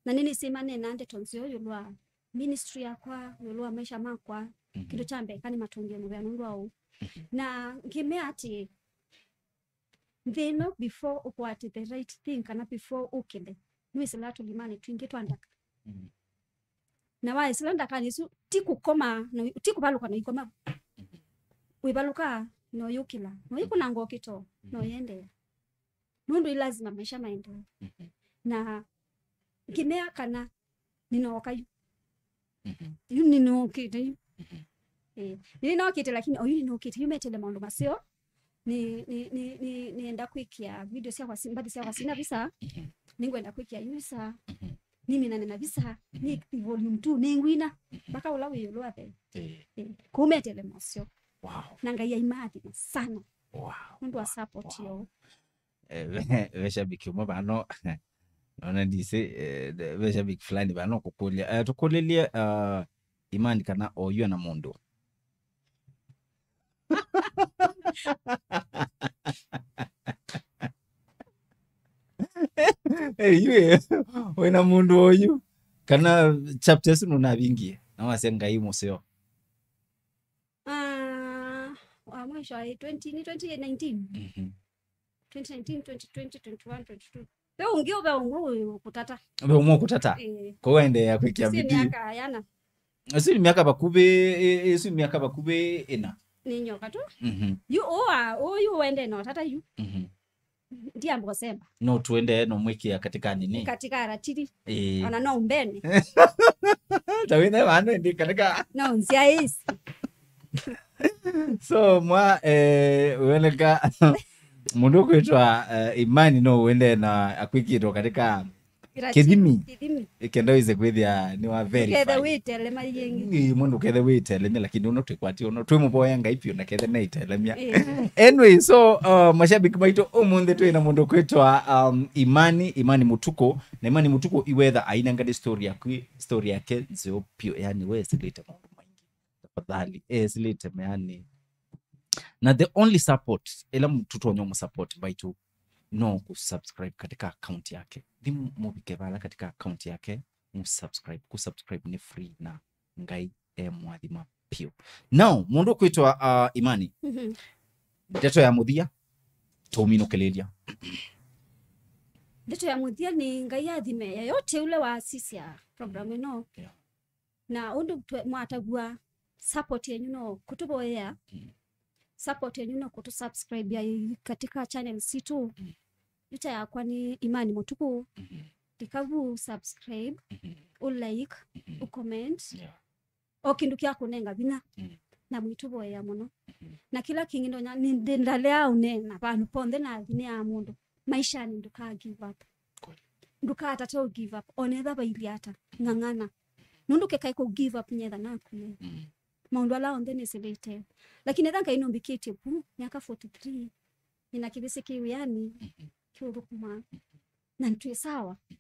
na nĩnĩsĩ manena ndeto nzeo ĩũlũ wa ministry yakwa, ĩũlũ wa maisha makwa. Mhm. Kĩndũ kya mbee, ka nĩ matũngĩe mũvea nũndũ wa ũu. Mhm. Na ngĩmea atĩ, nthĩ ĩno, before ũkwate the right thing, kana before ũkĩle, nĩwĩsĩlaa tũlimanĩ twingĩ twa ndaka. Mhm. Na waĩsĩla ndakanĩ isu, ti kũkoma, na wĩ-, ti kũvalũka na ikoma. Mhm. Wĩvalũkaa, na ũyũkĩla, na ũyĩkũnanga ũkĩto, na, mhm, ũyĩendeea. Nũndũ ĩ lazima maisha maendee. Mhm. Na ngĩmea kana nĩnooka yu. Mhm. Yu nĩnũkĩte yu. Mhm. Eh, nĩnokĩte, lakini oyu nĩnũkĩte yu metele maũndũ maseo. Nĩ, nĩ, nĩ, nĩ, nĩenda kwĩkĩa video syakwa si-, mbathi syakwa sina visa. Mhm. Nĩngwenda kwĩkĩa yu visa. Mhm. Niminane na visa. Mhm. Nĩ volume two nĩngwina. Mhm. Mpaka ũla wĩ ĩũlũ wa the. Eh. Eh, kũu metele maseo. Wow. Na Ngai aimathime sana. Wow. Nũndũ wa, wow, support, wow, yoo. Eh, ve, ve shabiki ũmwe vano, nona ndisĩ, eh, ve shabiki fulani vano kũkũlya. Eh, tũkũlĩlye, uh, Imani kana oyu ena mũndũ. Eh, yu, eh, wĩna mũndũ oyu. Kana chapter ĩsu nũnavingie. Na wasya Ngai mũseo. Ah, wa mwisho aĩ twenty, nĩ twenty nineteen? Mhm. Twenty nineteen, twenty twenty, twenty-one, twenty-two. Ve ũngĩ ũve ũmwe wĩ kũtata. Ve ũmwe kũtata? Ĩĩ. Kwa ũendeea kwĩkĩa bidii. Myaka yana. Ĩsu nĩ myaka vakuvĩ, ĩ-, ĩsu nĩ myaka vakuvĩ ĩna. Nĩ nyoka tu. Mhm. Yu ũa, ũyu wende na ũtata yu. Mhm. Ndiamba ũsemba. No tuende no mwĩkĩa katika nini? Katika ratiri. Eh. Ona no mbene. Ta wĩna vano ndi katika. No nzia isi. So, mwa, eh, wĩoneka mũndũ ũkwĩtwa, eh, Imani no wende na akwĩkĩtwo katika Ratiri, kĩthimi. Kĩthimi. Ĩkenda wĩse kwĩthĩa nĩ wa verify. Ndũkethe wĩtelemya yĩngĩ. Ĩĩ, mũndũ kethe wĩtelemya, lakini ũno twĩkwatĩ ũno. Twĩmũvoya Ngai vyũ na kethe neitelemya. Ĩĩ. Anyway, so, uh, mashabiki maitũ, ũmũnthĩ twĩ na mũndũ kwĩtwa, um, Imani, Imani Mũtukũ. Na Imani Mũtukũ iwetha ainengane story yaku, story yake nzeo vyũ, yani we silite maũndũ maingĩ. Tafadhali, eh, silite, yani. Na the only support ĩla m-, tũtonya mũsupport mbaitũ no kũsubscribe katika account yake. Thi mũvike vala katika account yake, mũsubscribe. Kũsubscribe nĩ free na Ngai e mwathima piũ. Now, mũndũ ũkwĩtwa, uh, Imani, Mhm. ndeto ya mũthia, tũminũkĩlĩlya. Ndeto ya mũthia nĩ Ngai athime yeyote ũla wasisya program ĩno. Yeah. Na ũndũ twe-, mwatavw'a support yenyu no kũtũvoyea. Mm. Support yenyu no kũtũsubscribe ya katika channel situ. Mm. Ndeto yakwa nĩ Imani Mũtuku. Mhm. Ndikavu subscribe, Mhm. u like, Mhm. u comment. Yeah. O kĩndũ kya kũnenga vinya. Mm. Na mwĩtũvoyea mũno. Mhm. Na kĩla kĩngĩ ndonya, nĩ ndĩ ndalea ũneena vandũ ponthe na thineaa mũndũ. Maishanĩ ndũka give up. Kweli. Ndũkatate ũ give up. Onetha vailyĩ ata, ng'ang'ana. Nũndũ kekaĩ kũ give up nyetha naku. Mm. Maũndũ ala onthe nĩsĩlĩte. Lakini etha Ngai nũmbĩkĩtye vu, myaka forty-three, nĩna kĩvĩsĩ kĩ wĩanĩ, Mhm. kĩũthũkũma. Mhm. Na nĩtwĩ sawa. Mhm.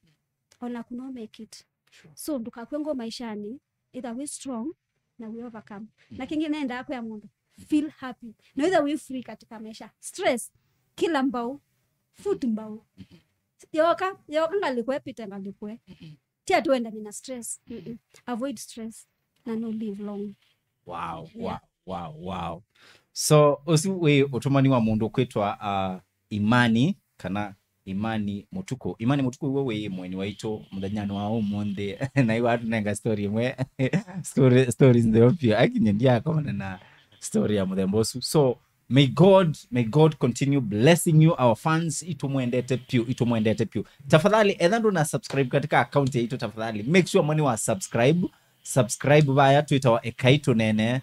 Ona kuno make it. Sure. So, ndũkakw'e ngoo maishanĩ, either wĩ strong na wĩ overcome. Na Mhm. kĩngĩ nendaa kwĩa mũndũ, feel happy. Na either wĩ free katika maisha. Stress, kila mbau, foot mbau. Mhm. Yoka, yoka ngalĩkwe, pite ngalĩkwe. Mhm. Ti ati wendane na stress. Mm-mm. Avoid stress na no live long. Wow, Yeah. wow, wow, wow. So, ũsu wĩ ũtũmani wa mũndũ kwĩtwa, uh, Imani, kana Imani Mũtuku. Imani Mũtuku, iwe wĩ mweni waitũ mũthenyanĩ wa ũmũnthĩ. Na iwe atũnenga story ĩmwe. Story, stories ntheo pia. Akinye ndiakomana na story ya mũthemba ũsu. So, may God, may God continue blessing you, our fans. Itũmwendete piũ, itũmwendete piũ. Tafadhali, etha ndũna subscribe katika account yaitũ, tafadhali make sure moni wa subscribe. Subscribe vaya twĩtawa Ekai Tũnene.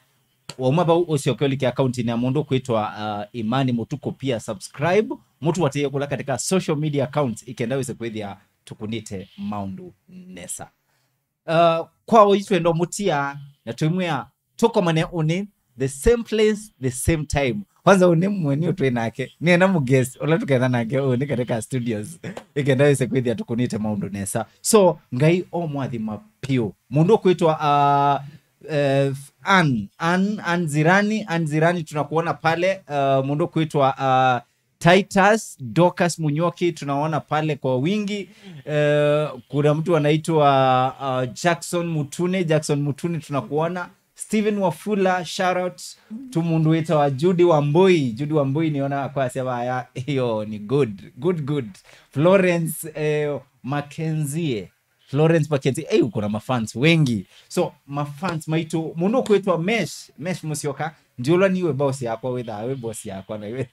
Wauma vau ũsyoke ũlike account-inĩ ya mũndũ kwĩtwa, uh, Imani Mũtuku pia subscribe. Mũtũatĩĩe kũla katika social media accounts ikenda wĩse kwĩthĩa tũkunĩte maũndũ nesa. Uh, kwa ũi twenda mũtia na twĩmwĩa tũkomane ũnĩ, the same place, the same time. Kwanza ũnĩ mweni ũtwĩ nake. Nĩena mũguest, ũla tũketha nake ũnĩ katika studios. Ikenda wĩse kwĩthĩa tũkunĩte maũndũ nesa. So, Ngai o mwathima piũ. Mũndũ ũkwĩtwa, uh, uh, Ann, Ann, Ann Zirani, Ann Zirani tunakuona pale. Uh, mũndũ ũkwĩtwa, uh, Titus, Dorcas Munyoki, tunaona pale kwa wingi. Eh, kuna mtu anaitwa, uh, Jackson Mutune, Jackson Mutune, tunakuona. Steven Wafula, shout out to mũndũ wĩtawa Judy Wambui. Judy Wambui, niona kwasya vaya. Hiyo ni good. Good, good. Florence, eh, Mackenzie. Florence Mackenzie, hey, uko na mafans wengi. So, mafans maitũ, mũndũ ũkwĩtwa Mesh, Mesh Musyoka, ndiũlwa niwe boss yakwa, wĩthaa wĩ boss yakwa, na iwe.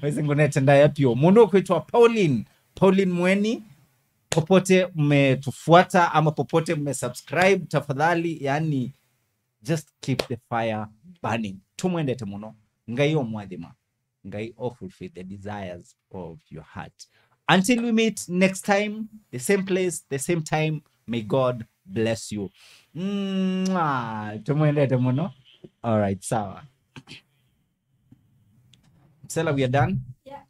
Wĩsĩ ngũnete ndaya piũ. Mũndũ ũkwĩtwa Pauline, Pauline Mweni, popote mmetufuata ama popote mmesubscribe, tafadhali, yani, just keep the fire burning. Tũmwendete mũno. Ngai o mwathima. Ngai o fulfill the desires of your heart. Until we meet next time, the same place, the same time, may God bless you. Mwah. Tũmwendete mũno. All right, sawa. Msela, we are done. Yeah.